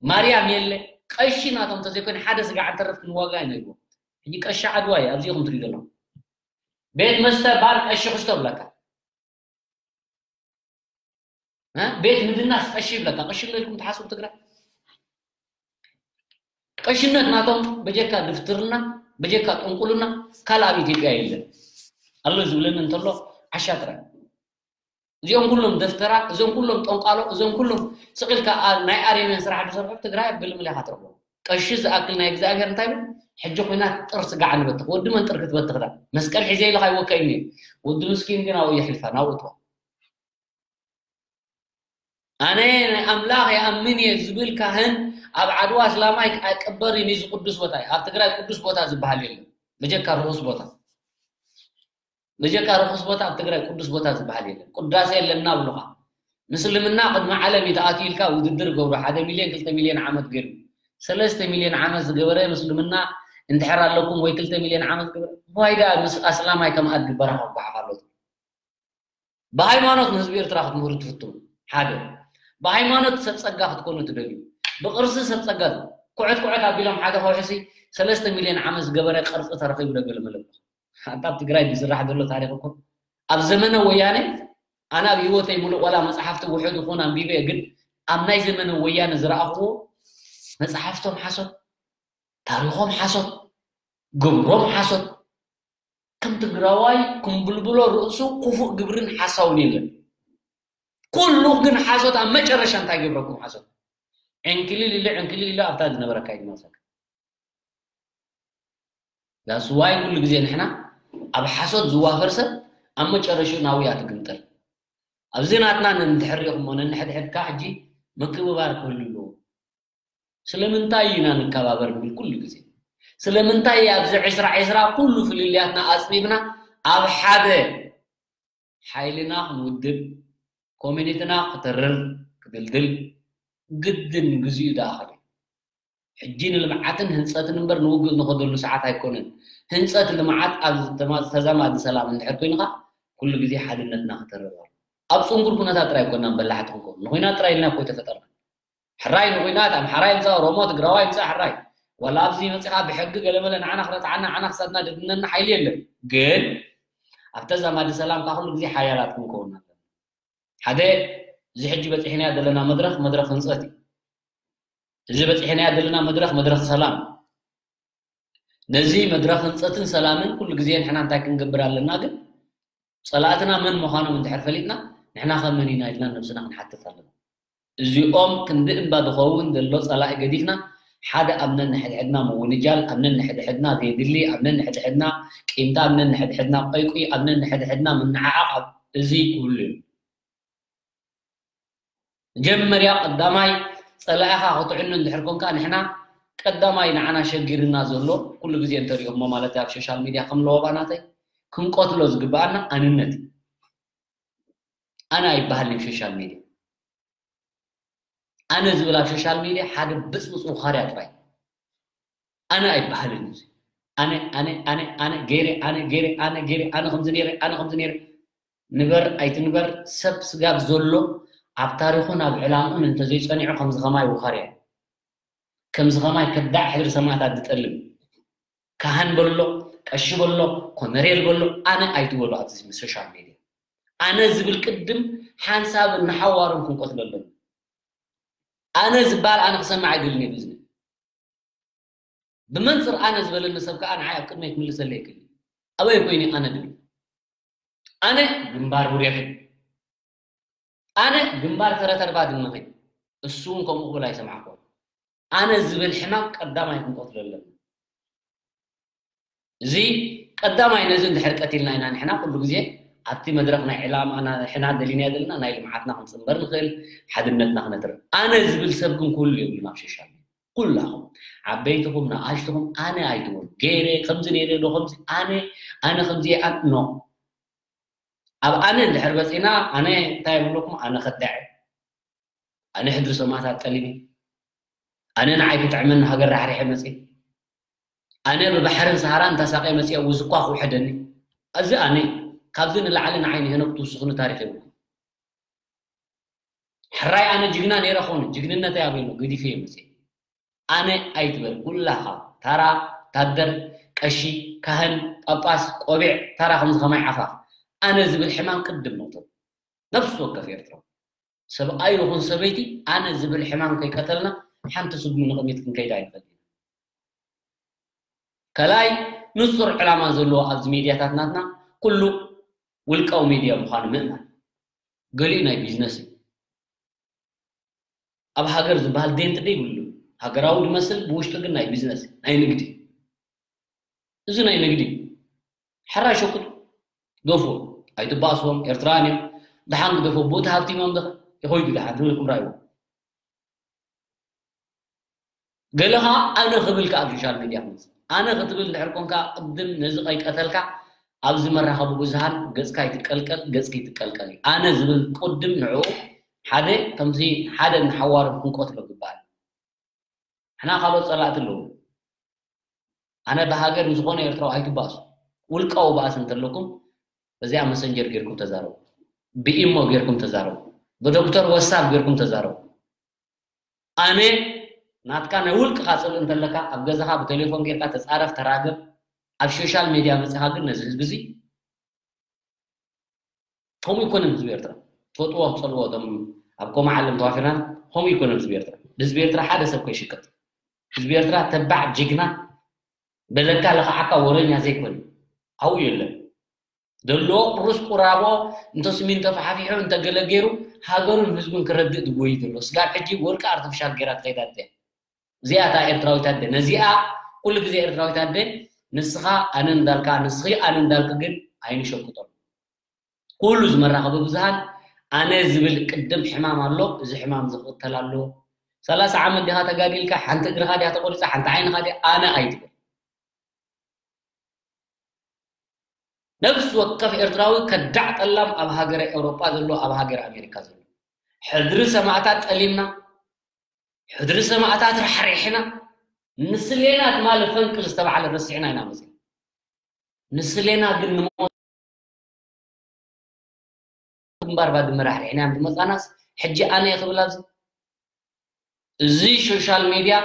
ማርያም የለ ቀሺ ናቶም ተዘይኮይኑ ሓደ ስጋዕ እንተረፍ ክንዋጋ ኢና ይብሉ ሕጂ ቀሺ ዓድዋ እዩ ኣብዚኹም ትሪኢ ዘለኹም ቤት መስተ ባር ቀሺ ክስቶ ብለካ ቤት ምድናስ ቀሺ ይብለካ ቀሺ ኣለልኩም ትሓስቡ ትግራይ ቀሽነት ናቶም በጀካ ድፍትርና በጀካ ጥንቁልና ካልእ ኣብ ኢትዮጵያ የለን ኣሎ ዝብለኒ እንተሎ ዓሻ ጥራይ እዚኦም ኩሎም ደፍተራ እዞም ኩሎም ጠንቋሎ እዞም ኩሎም ስቕ ኢልካ ናይ ኣርዮምያን ስራሕ ዝሰርሑ ትግራይ ኣብ ገለመለ ኢኻ ትረኽቦ ቀሺ ዝኣክል ናይ እግዚኣብሔር እንታይ ብል ሕጂ ኮይና ጥር ስጋዕ ንበትኽ ወዲ መንጥር ክትበትኽዳ መስቀል ሒዘ ኢልኻ ይወከይኒ ወዲ ምስኪን ግን ኣብኡ የሕልፋ ናብኡ ትዋ ኣነ ኣምላኽ ይኣምን እየ ዝብል ካህን ኣብ ዓድዋ ኣስላማይ ኣይቅበርን እዩ እዚ ቅዱስ ቦታ እዩ ኣብ ትግራይ ቅዱስ ቦታ ዝበሃል የለን በጀካ ርኹስ ቦታ በጀካ ርኹስ ቦታ ኣብ ትግራይ ቅዱስ ቦታ ዝበሃል የለን ቅዳሴ የለና ብሉኻ ምስልምና ቅድሚ ዓለም እዩ ተኣትዩ ኢልካ ውድድር ገብሩ ሓደ ሚልዮን ክልተ ሚልዮን ዓመት ገይሩ ሰለስተ ሚልዮን ዓመት ዝገበረ ምስልምና እንድሕር ኣለኩም ወይ ክልተ ሚልዮን ዓመት ገበረ ዋይዳ ምስ ኣስላማይ ከም ኣድግበራ ከጓሓፍ ኣሎ ብሃይማኖት ንህዝቢ ኤርትራ ክትምህሩ ትፍትኑ ሓደ ብሃይማኖት ሰብ ጸጋ ክትኮኑ ትደልዩ ብቅርሲ ሰብ ጸጋ ኩዕት ኩዕት ኣቢሎም ሓደ ከውሕሲ ሰለስተ ሚልዮን ዓመት ዝገበረ ቅርጺ ተረኺቡ ዶ ገለ መለኩ ኣንታ ኣብ ትግራይ ዝስራሕ ዘሎ ታሪክ እኮ ኣብ ዘመነ ወያነ ኣነ ኣብ ህይወተይ ሙሉእ ዋላ መጽሓፍቲ ውሑድ ይኹን ኣንቢበ ግን ኣብ ናይ ዘመነ ወያነ ዝረኣኽዎ መጽሓፍቶም ሓሶት ታሪኾም ሓሶት ግብሮም ሓሶት ከም ትግራዋይ ኩምብልብሎ ርእሱ ክፉእ ግብርን ሓሳውን የለን። ኩሉ ግን ሓሶት ኣብ መጨረሻ እንታይ ገብረኩም ሓሶት ዕንክሊል ኢለ ዕንክሊል ኢለ ኣብታ ዝነበረካ ይመልሰካ። That's why ኩሉ ግዜ ንሕና ኣብ ሓሶት ዝዋፈር ሰብ ኣብ መጨረሽኡ ናብኡ እያ ትግምጠል። ኣብዚ ናትና ነንድሕር ሪኹሞ ነንሕድሕድካ ሕጂ ምክብባር ክህሉ ኣለዎ። ስለምንታይ ኢና ንከባበር ንብል ኩሉ ግዜ? ስለምንታይ ኣብዚ ዕስራ ዕስራ ኩሉ ፍልልያትና ኣጽቢብና ኣብ ሓደ ሓይልና ክንውድብ፣ ኮሚኒቲና ክትርር፣ ክድልድል ግድን ግዚኡ ዝኣኸለ እዩ። ሕጂ ንልምዓትን ህንጸትን እምበር ንውግእ ንኸደሉ ሰዓት ኣይኮነን። ህንጸት ልምዓት ኣብ ዝተማ- ተዛማዲ ሰላም እንድሕር ኮይንኻ ኩሉ ግዜ ሓድነትና ክተርር ኣሎ። ኣብ ጽንጉር ኩነታት ጥራይ ኣይኮናን በላሕቲ ክንከውን ንኹናት ጥራይ ኢልና እኮ ኣይተፈጠርና። ሕራይ ንኹናት ኣምሓራ ይምጻእ ኦሮሞ ትግራዋይ ይምጻእ ሕራይ ዋላ ኣብዚ መጺኻ ብሕጊ ገለመለ ንዓና ክረትዓና ንዓና ክሳድና ድድነና ሓይሊ የለን ግን ኣብ ተዛማዲ ሰላም ካብ ኩሉ ግዜ ሓያላት ክንከውን ኣለና። ሓደ፣ እዚ ሕጂ በፂሕናዮ ዘለና መድረኽ፣ መድረኽ ህንፀት እዩ። እዚ በፂሕናዮ ዘለና መድረኽ፣ መድረኽ ሰላም። ነዚ መድረኽ ህንፀትን ሰላምን ኩሉ ግዜ ንሕና እንታይ ክንገብር ኣለና? ግን ፀላእትና መን ምዃኖም እንድሕር ፈሊጥና፣ ንሕና ከ መን ኢና ኢልና ነብስና ክንሓትት ኣለና። እዚኦም ክንዲ እምባ ዝኸውን ዘሎ ጸላኢ ገዲፍና፣ ሓደ ኣብ ነንሕድሕድና ምውንጃል፣ ኣብ ነንሕድሕድና ዘየድሊ፣ ኣብ ነንሕድሕድና ቂምታ፣ ኣብ ነንሕድሕድና ቆይቁይ፣ ኣብ ነንሕድሕድና ምንዓዓቕ፣ ኣብ እዚ ክህሉ እዩ። መጀመርያ ቀዳማይ ጸላኢኻ ክትዕኑ እንድሕር ኮንካ፣ ንሕና ቀዳማይ ንዓና ሸጊርና ዘሎ፣ ኩሉ ግዜ እንተሪኦሞ ማለት ኣብ ሶሻል ሚድያ ከም ለወባ ናተይ፣ ክንቀትሎ ዝግብኣና ኣንነት እዩ። ኣነ ኣይበሃልን ሶሻል ሚድያ። ኣነ ዝብል ኣብ ሶሻል ሚድያ ሓደ ብፅብፅ ውኻርያ ጥራይ። ኣነ ኣይበሃልን እዚ። ኣነ፣ ኣነ፣ ኣነ፣ ኣነ ገይረ፣ ኣነ ገይረ፣ ኣነ ገይረ፣ ኣነ ከምዚ ነይረ፣ ኣነ ከምዚ ነይረ። ንበር ኣይትንበር፣ ሰብ ስጋብ ዘሎ ኣብ ታሪኹን ኣብ ዕላምኡን እንተዘይጸኒዑ ከምዚ ከማይ ውኻርያ እዩ። ከምዚ ከማይ ከዳዕ ሕድሪ ሰማእታት ዝጠልም። ካህን በሎ፣ ቀሺ በሎ፣ ኮነሬል በሎ፣ ኣነ ኣይትበሉ ኣብዚ ሶሻል ሚድያ። ኣነ ዝብል ቅድም ሓንሳብ ንሓዋሩን ክንቆትሎ ኣለና። ኣነ ዝበሃል ኣነ ክሰምዕ ኣይደልን እየ ብዝብል። ብመንፅር ኣነ ዝበለኒ ሰብ ከዓ ንዓይ ኣብ ቅድመይ ክምልሰለይ ይክእል እዩ። ኣበይ ኮይኑ ኣነ ድብል? ኣነ ግንባር ቡሬኺ፣ ኣነ ግንባር ተረተርባ ድመኺ። እሱ እውን ከምኡ ክብል ኣይሰማዕኩ። ኣነ ዝብል ሕማም ቀዳማይ ክንቆትሎ ኣለና። እዚ ቀዳማይ ነዚ እንድሕር ቀቲልና ኢና ንሕና ኩሉ ግዜ ኣብቲ መድረኽ ናይ ዕላማ ንሕና ደሊናዮ ዘለና ናይ ልምዓትና ክንፅንበር ንኽእል፣ ሓድነትና ክነትርፍ። ኣነ ዝብል ሰብ ግን ክህሉ የብሉን ኣብ ሶሻል ሚድያ። ኩላኹም ዓበይትኹም ንኣሽትኹም ኣነ ኣይትበሉ። ገይረ ከምዚ ነይረ ዶ ከምዚ ኣነ ኣነ ከምዚ እየ ኣን ኖ። ኣብ ኣነ እንድሕር በፂና ኣነ እንታይ ይብለኩም? ኣነ ከዳዕ፣ ኣነ ሕድሪ ሰማእታት ጠሊበ፣ ኣነ ንዓይ ክጥዕመኒ ሃገር ራሕሪሐ መፅየ፣ ኣነ ብባሕርን ሰሃራን ተሳቀ መፅየ ውዝኳ ክውሕደኒ። እዚ ኣነ እዩ። ካብዚ ንላዕሊ ንዓይ ንሄኖክ ትውስኽኒ ታሪኽ የብልኩም። ሕራይ ኣነ ጅግና ነይረ ኾነ ጅግንነተይ ኣበይ ኣሎ? ገዲፈ እየ መፅየ። ኣነ ኣይትበል ኩላኻ ታራ፣ ታደር፣ ቀሺ፣ ካህን፣ ጳጳስ፣ ቆቢዕ፣ ታራ ከምዚ ከማይ ዓፋፍ። ኣነ ዝብል ሕማም ቅድም መቕተሉ ነፍሲ ወከፍ ኤርትራዊ ሰብኣይ ይኹን ሰበይቲ ኣነ ዝብል ሕማም ከይቀተልና ሓንቲ ስጉሚ ንቕድሚት ክንከይድ ኣይንኽእል ኢና። ካልኣይ ንጹር ዕላማ ዘለዎ ኣብዚ ሚድያታት ናትና ኩሉ ውልቃዊ ሚድያ ምዃኑ ምእማን። ገሊኡ ናይ ቢዝነስ እዩ። ኣብ ሃገር ዝበሃል ዴንት ደይብሉ። ሃገራዊ ዝመስል ብውሽጡ ግን ናይ ቢዝነስ ናይ ንግዲ። እዚ ናይ ንግዲ። ሕራይ ሸቁጡ ገፉ ኣይትባእስዎም ኤርትራውያን እዮም። ደሓን ግደፎ ብኡ ተሃብቲሞም ዶ ይኸይዱ ደሓን ትብልኩም ራእይዎ። ገለ ኸዓ ኣነ ክብል ከዓ ኣብ ሶሻል ሚድያ ክመፅእ ኣነ ክትብል እንድሕር ኮንካ ቅድም ነዚ ቀይቀተልካ ኣብዚ መራኸቢ ብዙሃን ገፅካ ይትቀልቀል ገፅኪ ይትቀልቀል እዩ። ኣነ ዝብል ቅድም ንዕኡ ሓደ ከምዚ ሓደ ንሓዋሩ ክንቆትሎ ግባል። ሕና ካልኦት ፀላእቲ ኣለዉ። ኣነ ብሃገር ንዝኾነ ኤርትራዊ ኣይትባእሱ። ውልቃዊ ባእሲ እንተለኩም በዚኣ መሰንጀር ጌርኩም ተዛረቡ። ብኢሞ ጌርኩም ተዛረቡ። ብዶክተር ወሳብ ጌርኩም ተዛረቡ። ኣነ ናትካ ናይ ውልቅኻ ፅልኢ እንተለካ ኣብ ገዛኻ ብቴሌፎን ጌርካ ተፃረፍ ተራገብ። ኣብ ሶሻል ሚድያ መፅኻ ግን ነዚ ህዝቢ እዚ ከምኡ ይኮነን ህዝቢ ኤርትራ ትፈጥዎ ትፀልዎ እቶም ኣብ ኮማ ዓለም ተዋፊርና ከምኡ ይኮነን ህዝቢ ኤርትራ። ህዝቢ ኤርትራ ሓደ ሰብ ከይሽቅጥ ህዝቢ ኤርትራ ተባዕ ጅግና በለካ ለኻዓካ ወረኛ ዘይኮነ ኣብኡ የለን። ደሎ ቁሩስ ቁራቦ እንተ ስሚንቶ ፈሓፊሑ እንተ ገለ ገይሩ ሃገሩን ህዝቡን ክረድእ ዝጎይ ዘሎ ስጋብ ሕጂ ወርቂ ኣርቲፊሻል ገይራ ትኸይዳ እያ። እዚኣ እታ ኤርትራዊት ኣደ ነዚኣ ኩሉ ግዜ ኤርትራዊት ኣደ ንስኻ ኣነ እንዳልካ ንስኺ ኣነ እንዳልክ ግን ኣይንሸቅጦም። ኩሉ ዝመራኸቢ ብዙሃን ኣነ ዝብል ቅድም ሕማም ኣሎ። እዚ ሕማም ዝኽተል ኣሎ። ሰላሳ ዓመት ዲኻ ተጋዲልካ ሓንቲ እግርኻ ዲያ ተቆሪፃ ሓንቲ ዓይንኻ ዲያ ኣነ ኣይትብል። ነፍሲ ወከፍ ኤርትራዊ ከዳዕ ጠላም ኣብ ሃገረ ኤውሮጳ ዘሎ ኣብ ሃገር ኣሜሪካ ዘሎ ሕድሪ ሰማእታት ጠሊምና ሕድሪ ሰማእታት ራሕሪሕና ንስሌና ትማሊ ፈንቅል ዝተባዕለ ረሲዕና ኢና መፅና። ንስሌና ግን ንሞ ግንባር ባድመ ራሕሪሕና እዮም ዝመፃናስ ሕጂ ኣነ እየ ክብል ኣብዚ እዚ ሶሻል ሚድያ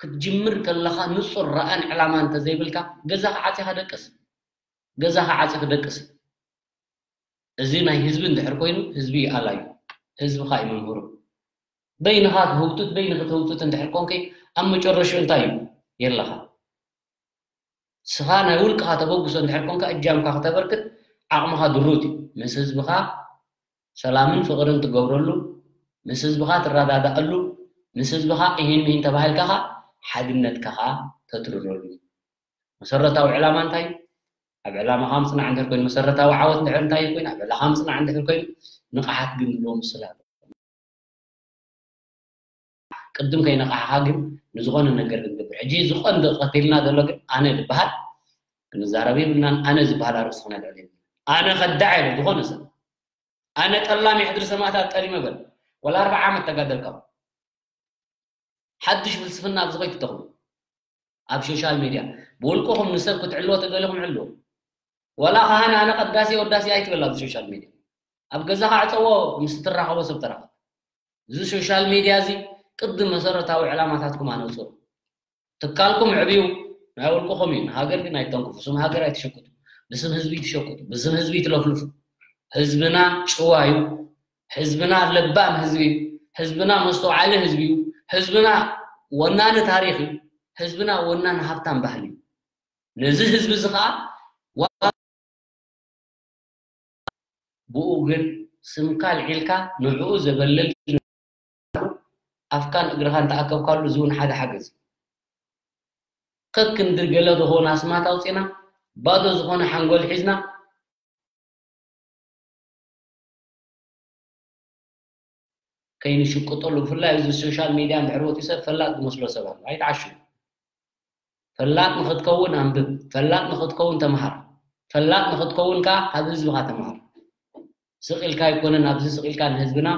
ክትጅምር ከለኻ ንፁር ረኣን ዕላማ እንተዘይብልካ ገዛኻ ዓፂኻ ደቅስ። ገዛኻ ዓፂ ክደቅስ። እዚ ናይ ህዝቢ እንድሕር ኮይኑ ህዝቢ ይኣላዩ፣ ህዝብኻ እዩ መምህሩ። በይንኻ ትህውትት በይንኺ ትህውትት እንድሕር ኮንከ ኣብ መጨረሽኡ እንታይ እዩ የለኻ። ስኻ ናይ ውልቅኻ ተበግሶ እንድሕር ኮንካ እጃምካ ክተበርክት ዓቕምኻ ድሩት እዩ። ምስ ህዝብኻ ሰላምን ፍቕርን ትገብረሉ፣ ምስ ህዝብኻ ትረዳዳእሉ፣ ምስ ህዝብኻ እሂን ምሂን ተባሂልካ ኸዓ ሓድነትካ ኸዓ ተትርረሉ። መሰረታዊ ዕላማ እንታይ? ኣብ ዕላማኻ ምጽናዕ እንድሕር ኮይኑ፣ መሰረታዊ ዓወት እንድሕር እንታይ ኮይኑ፣ ኣብ ዕላኻ ምጽናዕ እንድሕር ኮይኑ፣ ንቕሓት ግን ንብሎ ምስላ። ቅድም ከይነቕሓኻ ግን ንዝኾነ ነገር ክንገብር። ሕጂ ዝቐንዲ ቀቲልና ዘሎ ግን ኣነ ዝበሃል ክንዛረብ የብልናን። ኣነ ዝበሃል ኣርእስቲ ክነልዕል የብልና። ኣነ ከዳዕ የለ ዝኾነ ሰብ። ኣነ ጠላሚ ሕድሪ ሰማእታት ጠሊመ በል። ወላ ኣርብዓ ዓመት ተጋደልካ። ሓድሽ ፍልስፍና ኣብዚ ከይትተኽሉ። ኣብ ሶሻል ሜድያ ብውልቅኹም ንሰብ ክትዕልዎ ተደሊኹም ዕልዎ። ዋላ ካህን ኣነ ቀዳሲ ወዳሲ ኣይትበል ኣብዚ ሶሻል ሜድያ። ኣብ ገዛኻ ዕፀዎ ምስ ትራኸቦ ሰብ ተራኸብ። እዚ ሶሻል ሜድያ እዚ ቅድም መሰረታዊ ዕላማታትኩም ኣነውፅኡ። ትካልኩም ዕብዩ ናይ ውልቅኹም እዩ። ንሃገር ግን ኣይተንክፉ። ስም ሃገር ኣይትሸቅጡ። ብስም ህዝቢ ትሸቅጡ። ብስም ህዝቢ ትለፍልፉ። ህዝብና ጭዋ እዩ። ህዝብና ለባም ህዝቢ እዩ። ህዝብና መስተውዓሊ ህዝቢ እዩ። ህዝብና ወናኒ ታሪኽ እዩ። ህዝብና ወናኒ ሃብታም ባህሊ እዩ። ነዚ ህዝቢ እዚ ኸዓ ዋ-፣ ብኡ ግን ስምካ ኣልዒልካ ንዕኡ ዘበልል ኣፍካን እግርኻን ተኣከብካሉ፣ እዚ እውን ሓደ ሓገዝ። ከክንዲ ገለ ዝኾነ ኣስማት ኣውፂና፣ ባዶ ዝኾነ ሓንጎል ሒዝና፣ ከይንሽቅጠሉ። ብፍላይ እዚ ሶሻል ሚድያ እንድሕር ወፂኡ ሰብ ፈላጥ ዝመስሎ ሰብ ኣሎ። ኣይትዓሹ። ፈላጥ ንኽትከውን ኣንብብ፣ ፈላጥ ንኽትከውን ተምሃር፣ ፈላጥ ንኽትከውን ከዓ ካብ ህዝብኻ ተምሃር። ስቕ ኢልካ ኣይኮነን ኣብዚ ስቕ ኢልካ ንህዝብና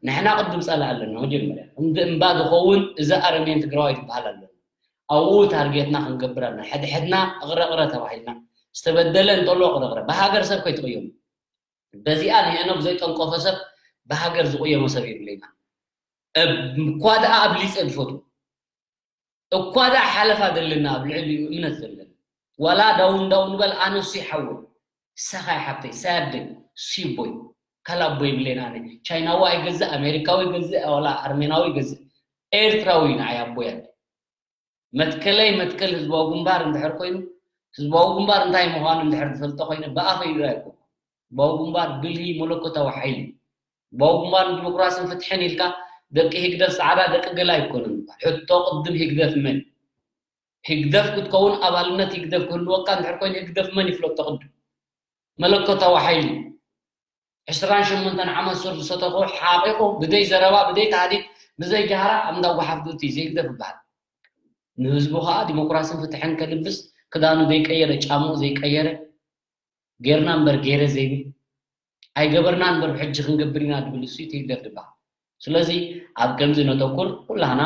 ንሕና ቅድም ፀላእ ኣለና። መጀመርያ እንዲ እምባ ዝኸውን እዚ ኣረሜን ትግራዋይ ዝበሃል ኣለና። ኣብኡ ታርጌትና ክንገብር ኣለና። ሕድሕድና እቕረቕረ ተባሂልና ዝተበደለ እንተሎ እቕረቕረ ብሃገር ሰብ ከይትቕየሙ። በዚኣ ንሄኖክ ዘይጠንቆፈ ሰብ ብሃገር ዝቕየሞ ሰብ የብለይና። እኳ ደኣ ኣብሊፀ ዝፈትዎ እኳ ደኣ ሓለፋ ዘለና ኣብ ልዕሊኡ እምነት ዘለና ዋላ ዳውን ዳውን በል ኣነሱ ይሓወይ ሰኻይ ሓብተይ ሳያደይ ሲቦይ ካልኣቦ ይብለና ኣነ ቻይናዊ ኣይገዝእ ኣሜሪካዊ ይገዝእ ዋላ ኣርሜናዊ ይገዝእ ኤርትራዊ ንዓይ ኣቦይ ኣለ መትከለይ መትከል ህዝባዊ ግንባር እንድሕር ኮይኑ ህዝባዊ ግንባር እንታይ ምዃኑ እንድሕር ዝፈልጦ ኮይነ ብኣፈይ ኢሉ ኣይኮን ህዝባዊ ግንባር ብልሂ መለኮታዊ ሓይሊ ህዝባዊ ግንባር ንዲሞክራስን ፍትሕን ኢልካ ደቂ ህግደፍ ፃዕዳ ደቂ ገላ ኣይኮነን ሕቶ ቅድም ህግደፍ መን ህግደፍ ክትከውን ኣባልነት ህግደፍ ክህልወካ እንድሕር ኮይኑ ህግደፍ መን ይፍለጦ ቅድም መለኮታዊ ሓይሊ ዕስራን ሸሞንተን ዓመት ሱር ዝሰተኾ ሓቂቑ ብደይ ዘረባ ብደይ ታህዲድ ብዘይ ጃህራ ኣብ እንዳ ጓሓፍ ዱቲ ዘይግደፍ ይበሃል ንህዝቡ ከዓ ዲሞክራስን ፍትሕን ከልብስ ክዳኑ ዘይቀየረ ጫምኡ ዘይቀየረ ጌርና እምበር ጌረ ዘይብል ኣይገበርና እምበር ብሕጂ ክንገብር ኢና ድብል እሱ ይትህደፍ ድበሃል ስለዚ ኣብ ከምዚ ነተኩር ኩላህና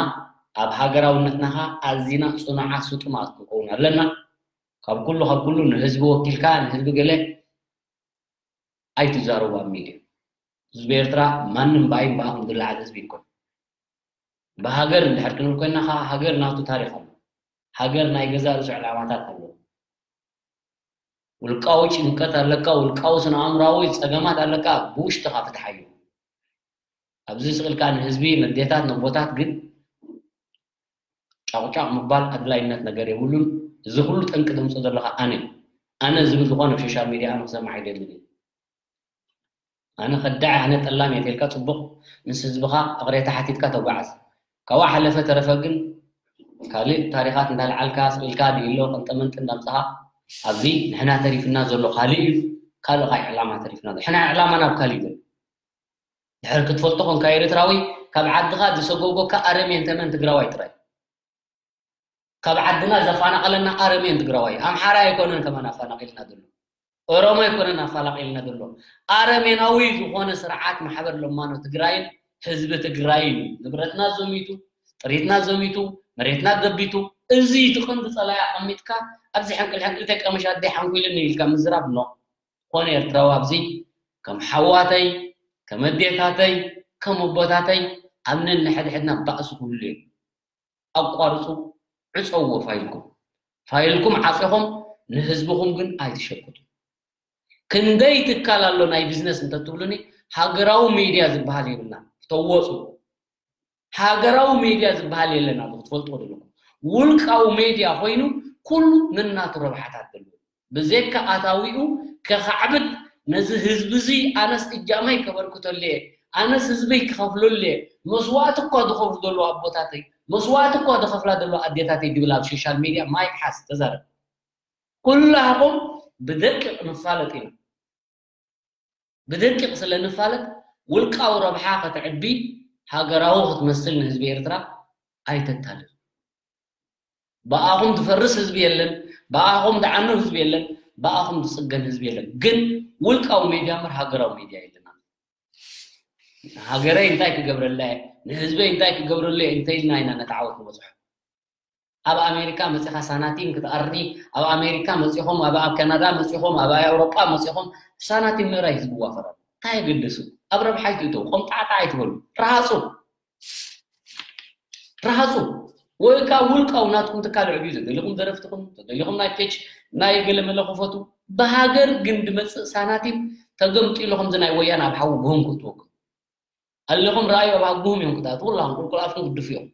ኣብ ሃገራውነትና ከዓ ኣዚና ፅኑዓት ስጡማት ክንከውን ኣለና ካብ ኩሉ ካብ ኩሉ ንህዝቢ ወኪልካ ንህዝቢ ገለ ኣይትዛረቡ ኣብ ሚድያ ህዝቢ ኤርትራ ማንም ብኣይ ብኣኹም ዝለዓል ህዝቢ ይኮን ብሃገር እንድሕር ክንብል ኮይና ከዓ ሃገር ናቱ ታሪክ ኣሎ ሃገር ናይ ገዛ ርእሱ ዕላማታት ኣለዎ ውልቃዊ ጭንቀት ኣለካ ውልቃዊ ስነ ኣእምራዊ ፀገማት ኣለካ ብውሽጥካ ፍትሓዮ ኣብዚ ስቅልካ ንህዝቢ ነዴታት ነቦታት ግን ጫቁጫቅ ምባል ኣድላይነት ነገር የብሉን እዚ ኩሉ ጠንቂ ዘምፅኦ ዘለካ ኣነ ኣነ ዝብል ዝኾነ ኣብ ሶሻል ሚድያ ኣነ ክሰማዕ ኣይደልን እየ ኣነ ከዳዒ ኣነ ጠላም እየ ተልካ ፅቡቅ ምስ ህዝብካ እቅሬታ ሓቲትካ ተጓዓዝ ካብኡ ሓለፈ ተረፈ ግን ካልእ ታሪኻት እንዳልዓልካ ስቂልካ ድኢሎ ቅንጠመንጢ እንዳምፅኻ ኣብዚ ንሕና ተሪፍና ዘሎ ካልእ እዩ ካልእ ካይ ዕላማ ተሪፍና ዘሎ ሕና ዕላማ ናብ ካልእ እዩ ዘሎ ድሕር ክትፈልጦ ኮንካ ኤርትራዊ ካብ ዓድኻ ዝሰጎጎካ ኣረሜን ተመን ትግራዋይ ጥራይ ካብ ዓድና ዘፋናቐለና ኣረሜን ትግራዋይ ኣምሓራ ኣይኮነን ከማን ኣፋናቒልና ዘሎ ኦሮሞ ኣይኮነን ኣፋላቒልና ዘሎ ኣረሜናዊ ዝኾነ ስርዓት ማሕበር ለማኖ ትግራይን ህዝቢ ትግራይን እዩ ንብረትና ዘሚቱ ጥሪትና ዘሚቱ መሬትና ገቢቱ እዚ ትቕንዲ ፀላይ ኣቐሚጥካ ኣብዚ ሕንቅል ሕንቅል ተቀመሽ ኣደይ ሓንኩልኒ ኢልካ ምዝራብ ኖ ኮነ ኤርትራዊ ኣብዚ ከም ሓዋተይ ከም ኣዴታተይ ከም ኣቦታተይ ኣብ ነንሕድሕድና ባእሲ ክህሉ እዩ ኣቋርፁ ዕፀዎ ፋይልኩም ፋይልኩም ዓፂኹም ንህዝብኹም ግን ኣይትሸቅጡ ክንደይ ትካል ኣሎ ናይ ቢዝነስ እንተትብሉኒ፣ ሃገራዊ ሜድያ ዝበሃል የብልና። ተወፁ። ሃገራዊ ሜድያ ዝበሃል የለና። ክትፈልጥዎ ዘለኩም፣ ውልቃዊ ሜድያ ኮይኑ ኩሉ ነናቱ ረብሓታት ዘለዎ፣ ብዘይካ ኣታዊኡ ከኻዕብድ፣ ነዚ ህዝቢ እዚ ኣነስ እጃመይ ከበርክተሉ እየ፣ ኣነስ ህዝበይ ክኸፍለሉ እየ፣ መስዋእቲ እኳ ዝኸፍሉ ዘለዉ ኣቦታተይ፣ መስዋእቲ እኳ ዝኸፍላ ዘለዋ ኣዴታተይ ድብል ኣብ ሶሻል ሜድያ ማይክ ሓዝ ተዛረብ። ኩላኹም ብደቂቕ ንፋለጥ ኢና። ብደቂቕ ስለ ንፋለጥ፣ ውልቃዊ ረብሓ ከተዕቢ፣ ሃገራዊ ክትመስል ንህዝቢ ኤርትራ ኣይተታልል። ብኣኹም ዝፈርስ ህዝቢ የለን፣ ብኣኹም ዝዓኑ ህዝቢ የለን፣ ብኣኹም ዝጽገን ህዝቢ የለን። ግን ውልቃዊ ሜድያ እምበር ሃገራዊ ሜድያ የለና። ሃገረይ እንታይ ክገብረላ እየ፣ ንህዝበይ እንታይ ክገብረሉ እየ እንተኢልና ኢና ነቲ ዓወት ንበጽሖ። ኣብ ኣሜሪካ መጺኻ ሳናቲም ክትኣሪ፣ ኣብ ኣሜሪካ መጺኹም፣ ኣብ ኣብ ካናዳ መጺኹም፣ ኣብ ኣውሮጳ መጺኹም፣ ሳናቲም ምእራይ ህዝቢ ዋፈራ። እንታይ የገደሱ? ኣብ ረብሓ ኣይትእተው፣ ቆምጣዕጣ ኣይትበሉ። ረሃጹ። ረሃጹ። ወይ ከዓ ውልቃዊ ናትኩም ትካል ዕብዩ፣ ተደሊኹም ደረፍትኹም፣ ተደሊኹም ናይ ፔጅ ናይ ገለ መለ ክፈቱ። ብሃገር ግን ድመጽእ ሳናቲም ተገምጢሉ ከምዚ ናይ ወያነ ኣብ ሓዊ ጎም ክትወግም። ኣለኹም ረኣዩ ኣብ ሃጉሁም እዮም ክትኣትዉ፣ ኩላኹም ቁልቁል ኣፍኩም ክድፉ እዮም።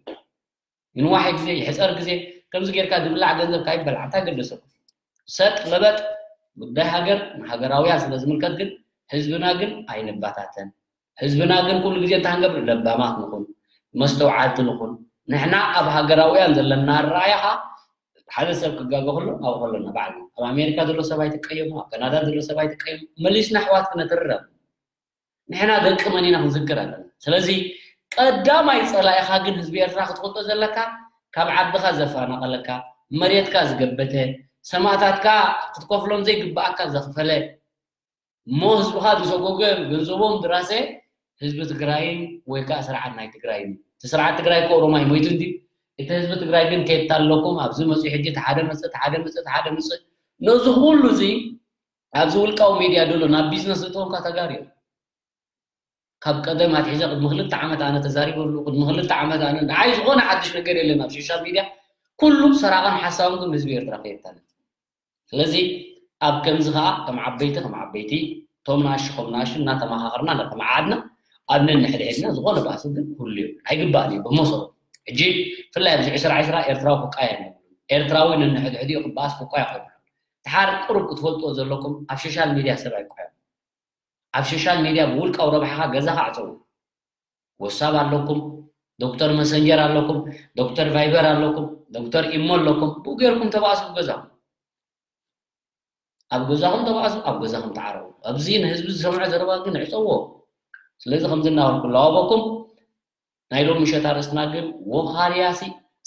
ይንዋሕ ግዜ፣ ይሕጸር ግዜ፣ ከምዚ ጌርካ ዝብላዕ ገንዘብ ካይበላዕ እንታይ ገደሰኩም? ሰጥ ለበጥ፣ ጉዳይ ሃገር ንሃገራውያን ስለ ዝምልከት ግን ህዝብና ግን ኣይንባታተን። ህዝብና ግን ኩሉ ግዜ እንታይ ክንገብር? ለባማት ንኹን፣ መስተውዓልቲ ንኹን። ንሕና ኣብ ሃገራውያን ዘለና ኣረኣእያ ኸኣ ሓደ ሰብ ክጋገ ከሎ ኣብኡ ከለና ባዕልና። ኣብ ኣሜሪካ ዘሎ ሰብ ኣይትቀየሙ፣ ኣብ ካናዳ ዘሎ ሰብ ኣይትቀየሙ። መሊስና ኣሕዋት ክነትርረብ። ንሕና ደቂ መን ኢና ክንዝክር ኣለና። ስለዚ ቀዳማይ ጸላኢኻ ግን ህዝቢ ኤርትራ ክትፈልጦ ዘለካ፣ ካብ ዓድኻ ዘፈናቐለካ፣ መሬትካ ዝገበተ፣ ሰማእታትካ ክትከፍሎም ዘይግብኣካ ዘኽፈለ፣ እሞ ህዝብኻ ዝሰጎገ፣ ገንዘቦም ዝራሰ ህዝቢ ትግራይን ወይ ከዓ ስርዓት ናይ ትግራይን እዩ። እቲ ስርዓት ትግራይ እኮ ኦሮማይ ሞይቱ እንዲ፣ እቲ ህዝቢ ትግራይ ግን ኬታ ኣለኩም፣ ኣብዚ መፅኡ ሕጂ እቲ ሓደ መፅእ፣ እቲ ሓደ መፅእ፣ እቲ ሓደ መፅእ። ነዚ ኩሉ እዚ ኣብዚ ውልቃዊ ሜድያ ዘሎ ናብ ቢዝነስ ዝእተወልካ ተጋሩ እዮም። ካብ ቀደም ኣትሒዘ ቅድሚ ክልተ ዓመት ኣነ ተዛሪበሉ፣ ቅድሚ ክልተ ዓመት ኣነ፣ ንዓይ ዝኾነ ሓድሽ ነገር የለን ኣብ ሶሻል ሚድያ። ኩሉ ሰራቕን ሓሳውን ግን ህዝቢ ኤርትራ ከየታልል። ስለዚ ኣብ ከምዚ ኸኣ ከም ዓበይቲ፣ ከም ዓበይቲ፣ እቶም ንኣሽቱ ከም ንኣሽቱ እናተመኻኸርና እናተመዓዓድና ኣብ ነንሕድሕድና ዝኾነ ባእሲ ግን ክህሉ እዩ። ኣይግባእን እዩ ብመሰረቱ። ሕጂ ብፍላይ ኣብዚ ዕስራ ዕስራ ኤርትራዊ ክቃየም የብሉን። ኤርትራዊ ነንሕድሕዲኡ ክበኣስ ክቋየ ኣይብሉን። ድሓር ቅሩብ ክትፈልጥዎ ዘለኩም ኣብ ሶሻል ሚድያ ሰብ ኣይቋየም። ኣብ ሶሻል ሚድያ ብውልቃዊ ረብሓኻ ገዛኻ ዕጸው። ወሳብ ኣለኩም፣ ዶክተር መሰንጀር ኣለኩም፣ ዶክተር ቫይበር ኣለኩም፣ ዶክተር ኢሞ ኣለኩም። ብኡ ጌርኩም ተባእሱ ኣብ ገዛኹም። ኣብ ገዛኹም ተባእሱ፣ ኣብ ገዛኹም ተዓረቡ። ኣብዚ ንህዝቢ ዝሰምዖ ዘረባ ግን ዕጸዎ። ስለዚ ከምዚ እናበልኩ ለዋበኩም። ናይ ሎሚ ምሸት ኣርእስትና ግን ወኻርያሲ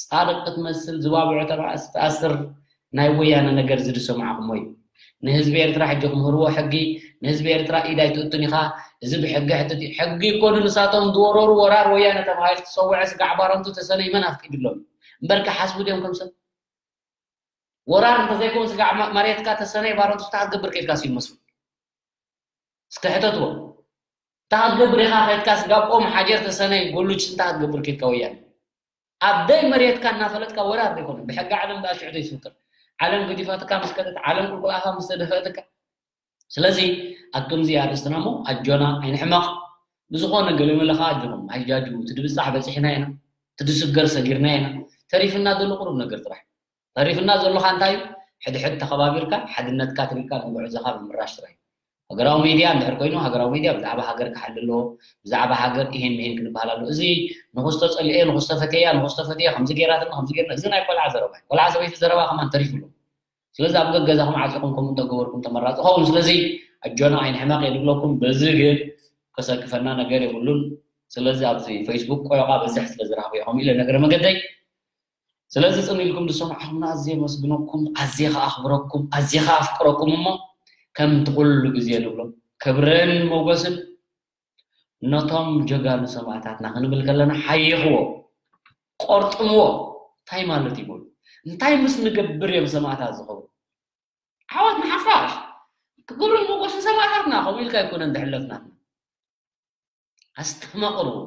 ጻድቕ ክትመስል ዝባብዑ ተባእስ ትኣስር ናይ ወያነ ነገር እዚ ዝሰማዕኹሞ እዩ። ንህዝቢ ኤርትራ ሕጂ ክምህርዎ ሕጊ፣ ንህዝቢ ኤርትራ ኢድ ኣይትእቱን ኢኻ፣ እዚ ብሕጊ ሕትት እዩ። ሕጊ እኮ ንሳቶም ዝወረሩ ወራር ወያነ ተባሂሉ ተሰውዐ ስጋዕ ባረንቱ ተሰነይ መን ኣፍቂድሎም? እምበርከ ሓስቡ ድዮም ከም ሰብ? ወራር እንተዘይኮን ስጋዕ ማ-፣ መሬትካ ተሰነይ ባረንቱ እንታይ ክትገብር ከይድካ ሲል መስሉ? እስከ ሕተትዎ። እንታይ ክትገብር ኢኻ ከይድካ ስጋብ ኦም ሓጀር ተሰነይ ጎሉች እንታይ ክትገብር ከይድካ ወያነ? ኣብ ደይ መሬትካ እናፈለጥካ ወራር ዘይኮነ፣ ብሕጊ ዓለም ደኣ ሽዑ ዘይትፍቅር። ዓለም ገዲፋትካ ምስ ከደት፣ ዓለም ቁልቁል ኣፋ ምስ ተደፈእትካ። ስለዚ ኣብ ከምዚ ኣርእስትና እሞ ኣጆና ኣይንሕመቕ። ብዝኾነ ገለ መለ ኸኣ ኣጆኹም ኣይትጃጅዉ። እቲ ድብጻሕ በጺሕና ኢና፣ እቲ ድስገር ሰጊርና ኢና። ተሪፍና ዘሎ ቁሩብ ነገር ጥራሕ። ተሪፍና ዘሎኻ እንታይ እዩ? ሕድሕድ ተኸባቢርካ፣ ሓድነትካ ኣትሪርካ ንጉዕዞኻ ምምራሽ ጥራይ። ሃገራዊ ሚድያ እንድሕር ኮይኑ፣ ሃገራዊ ሚድያ ብዛዕባ ሃገር ክሓሊ ኣለዎ፣ ብዛዕባ ሃገር ይሄን ምሄን ክንበሃል ኣለዎ። እዚ ንኹስቶ ጸሊኤ፣ ንኹስቶ ፈቴያ፣ ንኹስቶ ፈቴያ ከምዚ ገይራትና፣ ከምዚ ገይርና፣ እዚ ናይ ቆልዓ ዘረባ እዩ። ቆልዓ ሰበይቲ ዘረባ ከማን ተሪፉ ኣሎ። ስለዚ ኣብ ገገዛኹም ዓጺኹም ከምኡ እንተገበርኩም ተመራጺ ይኸውን። ስለዚ ኣጆና ኣይንሕመቕ እየ ዝብለኩም። በዚ ግን ከሰክፈና ነገር የብሉን። ስለዚ ኣብዚ ፌስቡክ ቆዮቓ በዝሕ ስለ ዝረኽበ እየ ከምኡ ኢለ ነገረ መገደይ። ስለዚ ጽን ኢልኩም ዝሰማዕኹምና ኣዝየ የመስግነኩም፣ ኣዝየ ከኣ ኣኽብረኩም፣ ኣዝየ ከኣ ኣፍቅረኩም። እሞ ከምቲ ኩሉ ግዜ ንብሎ ክብርን ሞገስን ነቶም ጀጋኑ ሰማእታትና ክንብል ከለና ሓይኽዎ፣ ቆርጥምዎ። እንታይ ማለት እዩ በሉ? እንታይ ምስ ንገብር እዮም ሰማእታት ዝኸብሩ? ዓወት ንሓፋሽ! ክብርን ሞገስን ሰማእታትና ከምኡ ኢልካ ኣይኮነን ዝሕለፍ ናትና። ኣስተማቕርዎ።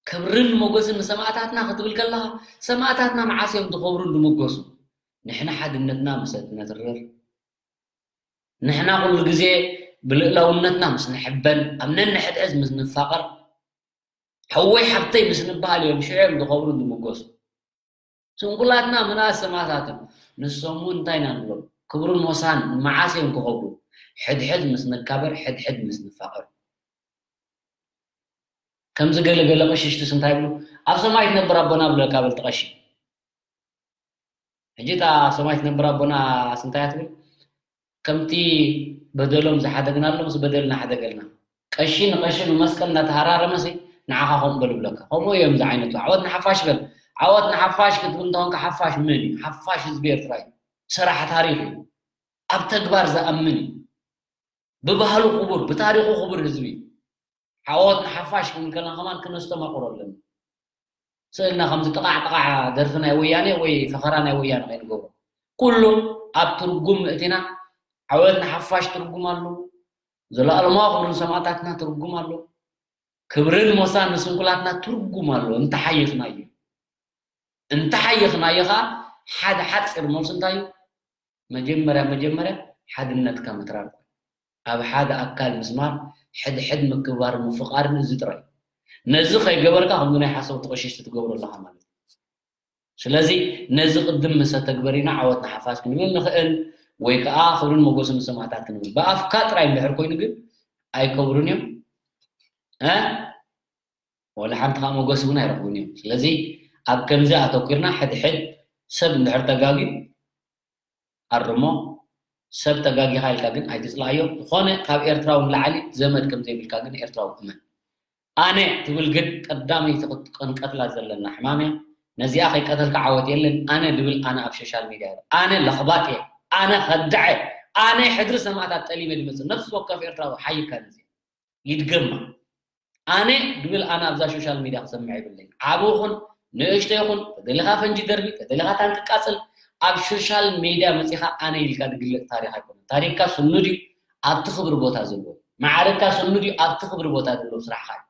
ክብርን ሞገስን ንሰማእታትና ክትብል ከለኻ፣ ሰማእታትና መዓስ እዮም ዝኸብሩን ዝምጎሱ? ንሕና ሓድነትና ምስ እትነትርር፣ ንሕና ኩሉ ግዜ ብልእላውነትና ምስ ንሕበን፣ ኣብ ነንሕድሕድ ምስ ንፋቐር፣ ሕወይ ሓብተይ ምስ ንበሃል እዮም ሽዑ እዮም ዝኸብሩን ዝምጎሱ። ስንኩላትና ምንኣስ ሰማእታትን ንሶም እውን እንታይ ኢና ንብሎም? ክብርን ሞሳን መዓስ እዮም ክኸብሩ? ሕድሕድ ምስ ንካበር፣ ሕድሕድ ምስ ንፋቐር። ከምዚ ገለ ገለ ቀሽሽትስ እንታይ ይብሉ? ኣብ ሰማይ ትነብር ኣቦና ብለካ በልቲ ቀሺ። ሕጂ እታ ሰማይ ትነብር ኣቦና እንታይ ትብል? ከምቲ በደሎም ዝሓደግናሎም ምስ በደልና ሓደገልና። ቀሺ ንቐሺ ብመስቀል እናተሃራረመሲ ንዓኻ ከምኡ በል ይብለካ። ከምኡ እዮም ዝዓይነቱ። ዓወት ንሓፋሽ በል። ዓወት ንሓፋሽ ክትብል እንተኾንካ ሓፋሽ መን እዩ? ሓፋሽ ህዝቢ ኤርትራ እዩ። ሰራሕ ታሪኽ እዩ። ኣብ ተግባር ዝኣምን እዩ። ብባህሉ ክቡር፣ ብታሪኹ ክቡር ህዝቢ እዩ። ዓወት ንሓፋሽ ክንብል ከለና ከማን ክነስተማቕሮ ኣለና። ስእልና ከምዚ ጥቓዕ ጥቓዕ ደርፊ ናይ ወያኔ ወይ ፈኸራ ናይ ወያኔ ከይንገብሮ። ኩሉ ኣብ ትርጉም ምእቲና ዓወት ንሓፋሽ ትርጉም ኣለዎ። ዘለኣለማዊ ክብሪ ንሰማእታትና ትርጉም ኣለዎ። ክብርን ሞሳን ንስንኩላትና ትርጉም ኣለዎ። እንተሓይኽናዮ። እንተሓይኽናዮ ኸዓ ሓደ ሓፂር መልሲ እንታይ እዩ? መጀመርያ መጀመርያ ሓድነትካ ምትራር። ኣብ ሓደ ኣካል ምስማር፣ ሕድሕድ ምክብባር ምፍቓርን እዚ ጥራይ። ነዚ ከይገበርካ ከምዚ ናይ ሓሰውቲ ቀሽሽቲ ትገብሮ ኣለኻ ማለት እዩ። ስለዚ ነዚ ቅድም ምስ ኣተግበሪና ዓወት ንሓፋሽ ክንብል ንኽእል ወይ ከዓ ክብርን ሞገስን ንሰማእታት ክንብል። ብኣፍካ ጥራይ እንድሕር ኮይኑ ግን ኣይከብሩን እዮም። እ? ወላ ሓንቲ ከዓ ሞገስ እውን ኣይረኽቡን እዮም። ስለዚ ኣብ ከምዚ ኣተኲርና ሕድሕድ ሰብ እንድሕር ተጋግዩ ኣርሞ፣ ሰብ ተጋጊኻ ኢልካ ግን ኣይትጽልኣዮ። ዝኾነ ካብ ኤርትራዊ ንላዕሊ ዘመድ ከም ዘይብልካ ግን ኤርትራዊ እመን። ኣነ ትብል ግን ቀዳመይቲ ክንቀትላ ዘለና ሕማም እያ። ነዚኣ ከይቀተልካ ዓወት የለን። ኣነ ድብል ኣነ ኣብ ሶሻል ሚድያ እየ። ኣነ ለኽባጥ እየ። ኣነ ኸዳዕ እየ። ኣነ ሕድሪ ሰማእታት ጠሊመ ድመጽእ። ነፍሲ ወከፍ ኤርትራዊ ሓይካ ነዚ ይድገማ። ኣነ ድብል ኣነ ኣብዛ ሶሻል ሚድያ ክሰምዕ የብለይ። ዓቢ ይኹን ንእሽቶ ይኹን፣ ተደሊኻ ፈንጂ ደርቢ፣ ተደሊኻ ታንኪ ቃጽል፣ ኣብ ሶሻል ሚድያ መጺኻ ኣነ ኢልካ ዝግለጽ ታሪኽ ኣይኮነን። ታሪኽካ ስኑድ እዩ ኣብቲ ክብሪ ቦታ ዘለዎ። ማዕረግካ ስኑድ እዩ ኣብቲ ክብሪ ቦታ ዘለዎ ስራሕኻ እዩ።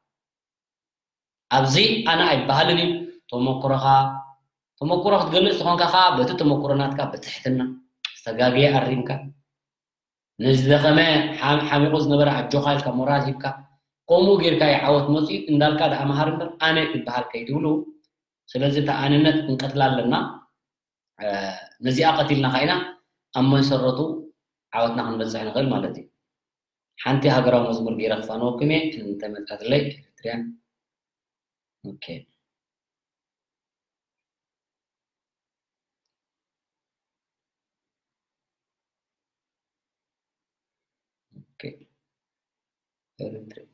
ኣብዚ ኣነ ኣይበሃልን እዩ። ተመኩሮኻ፣ ተመኩሮ ክትገልጽ ተኾንካ ኸዓ በቲ ተመኩሮ ናትካ ብትሕትና ዝተጋግየ ኣሪምካ፣ ንዝደኸመ ሓ-፣ ሓሚቑ ዝነበረ ኣጆኻ ኢልካ ሞራል ሂብካ፣ ከምኡ ጌርካ እዩ ዓወት መጺኡ እንዳልካ ደኣ መሃር እምበር ኣነ ክበሃል ከይትብሉ። ስለዚ እታ ኣነነት ክንቀትላ ኣለና። እ፣ ነዚኣ ቀቲልና ኸዓ ኢና ኣብ መሰረቱ ዓወትና ክንበጽሕ ንኽእል ማለት እዩ። ሓንቲ ሃገራዊ መዝሙር ገይረ ክፋነወኩም እየ፣ እንተመጻትለይ ኤርትርያን። ኦኬ። ኦኬ። ኤርትርያን።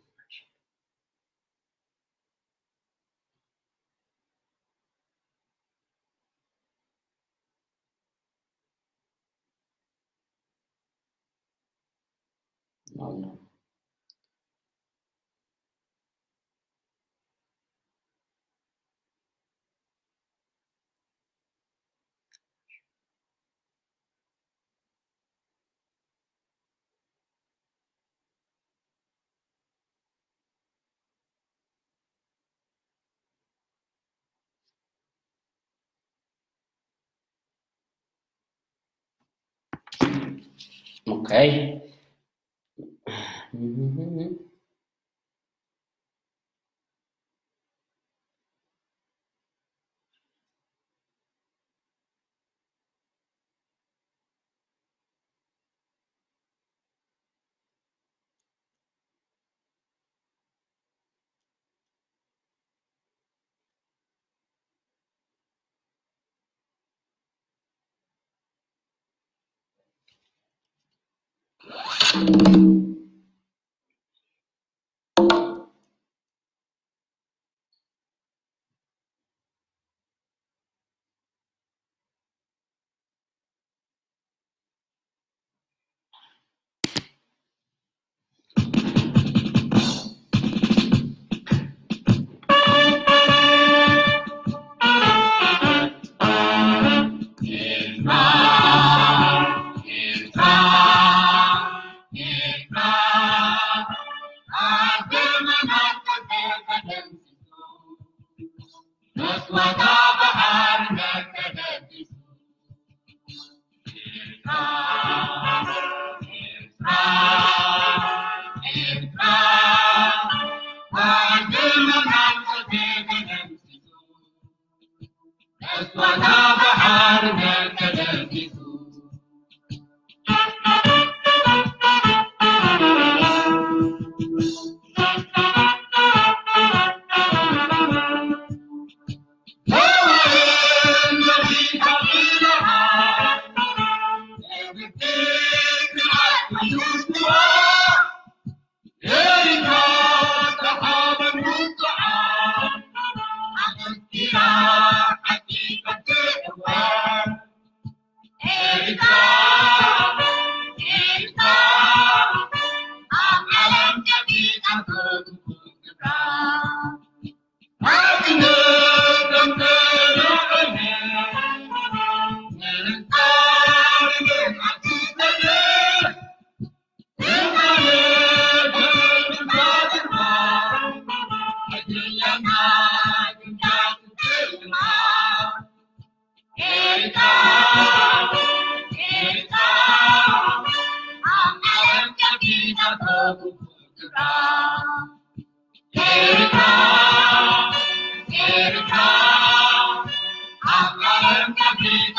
ኦኬ። ኤርትራ፣ ኤርትራ፣ ኣብ ዓለም ከፊታ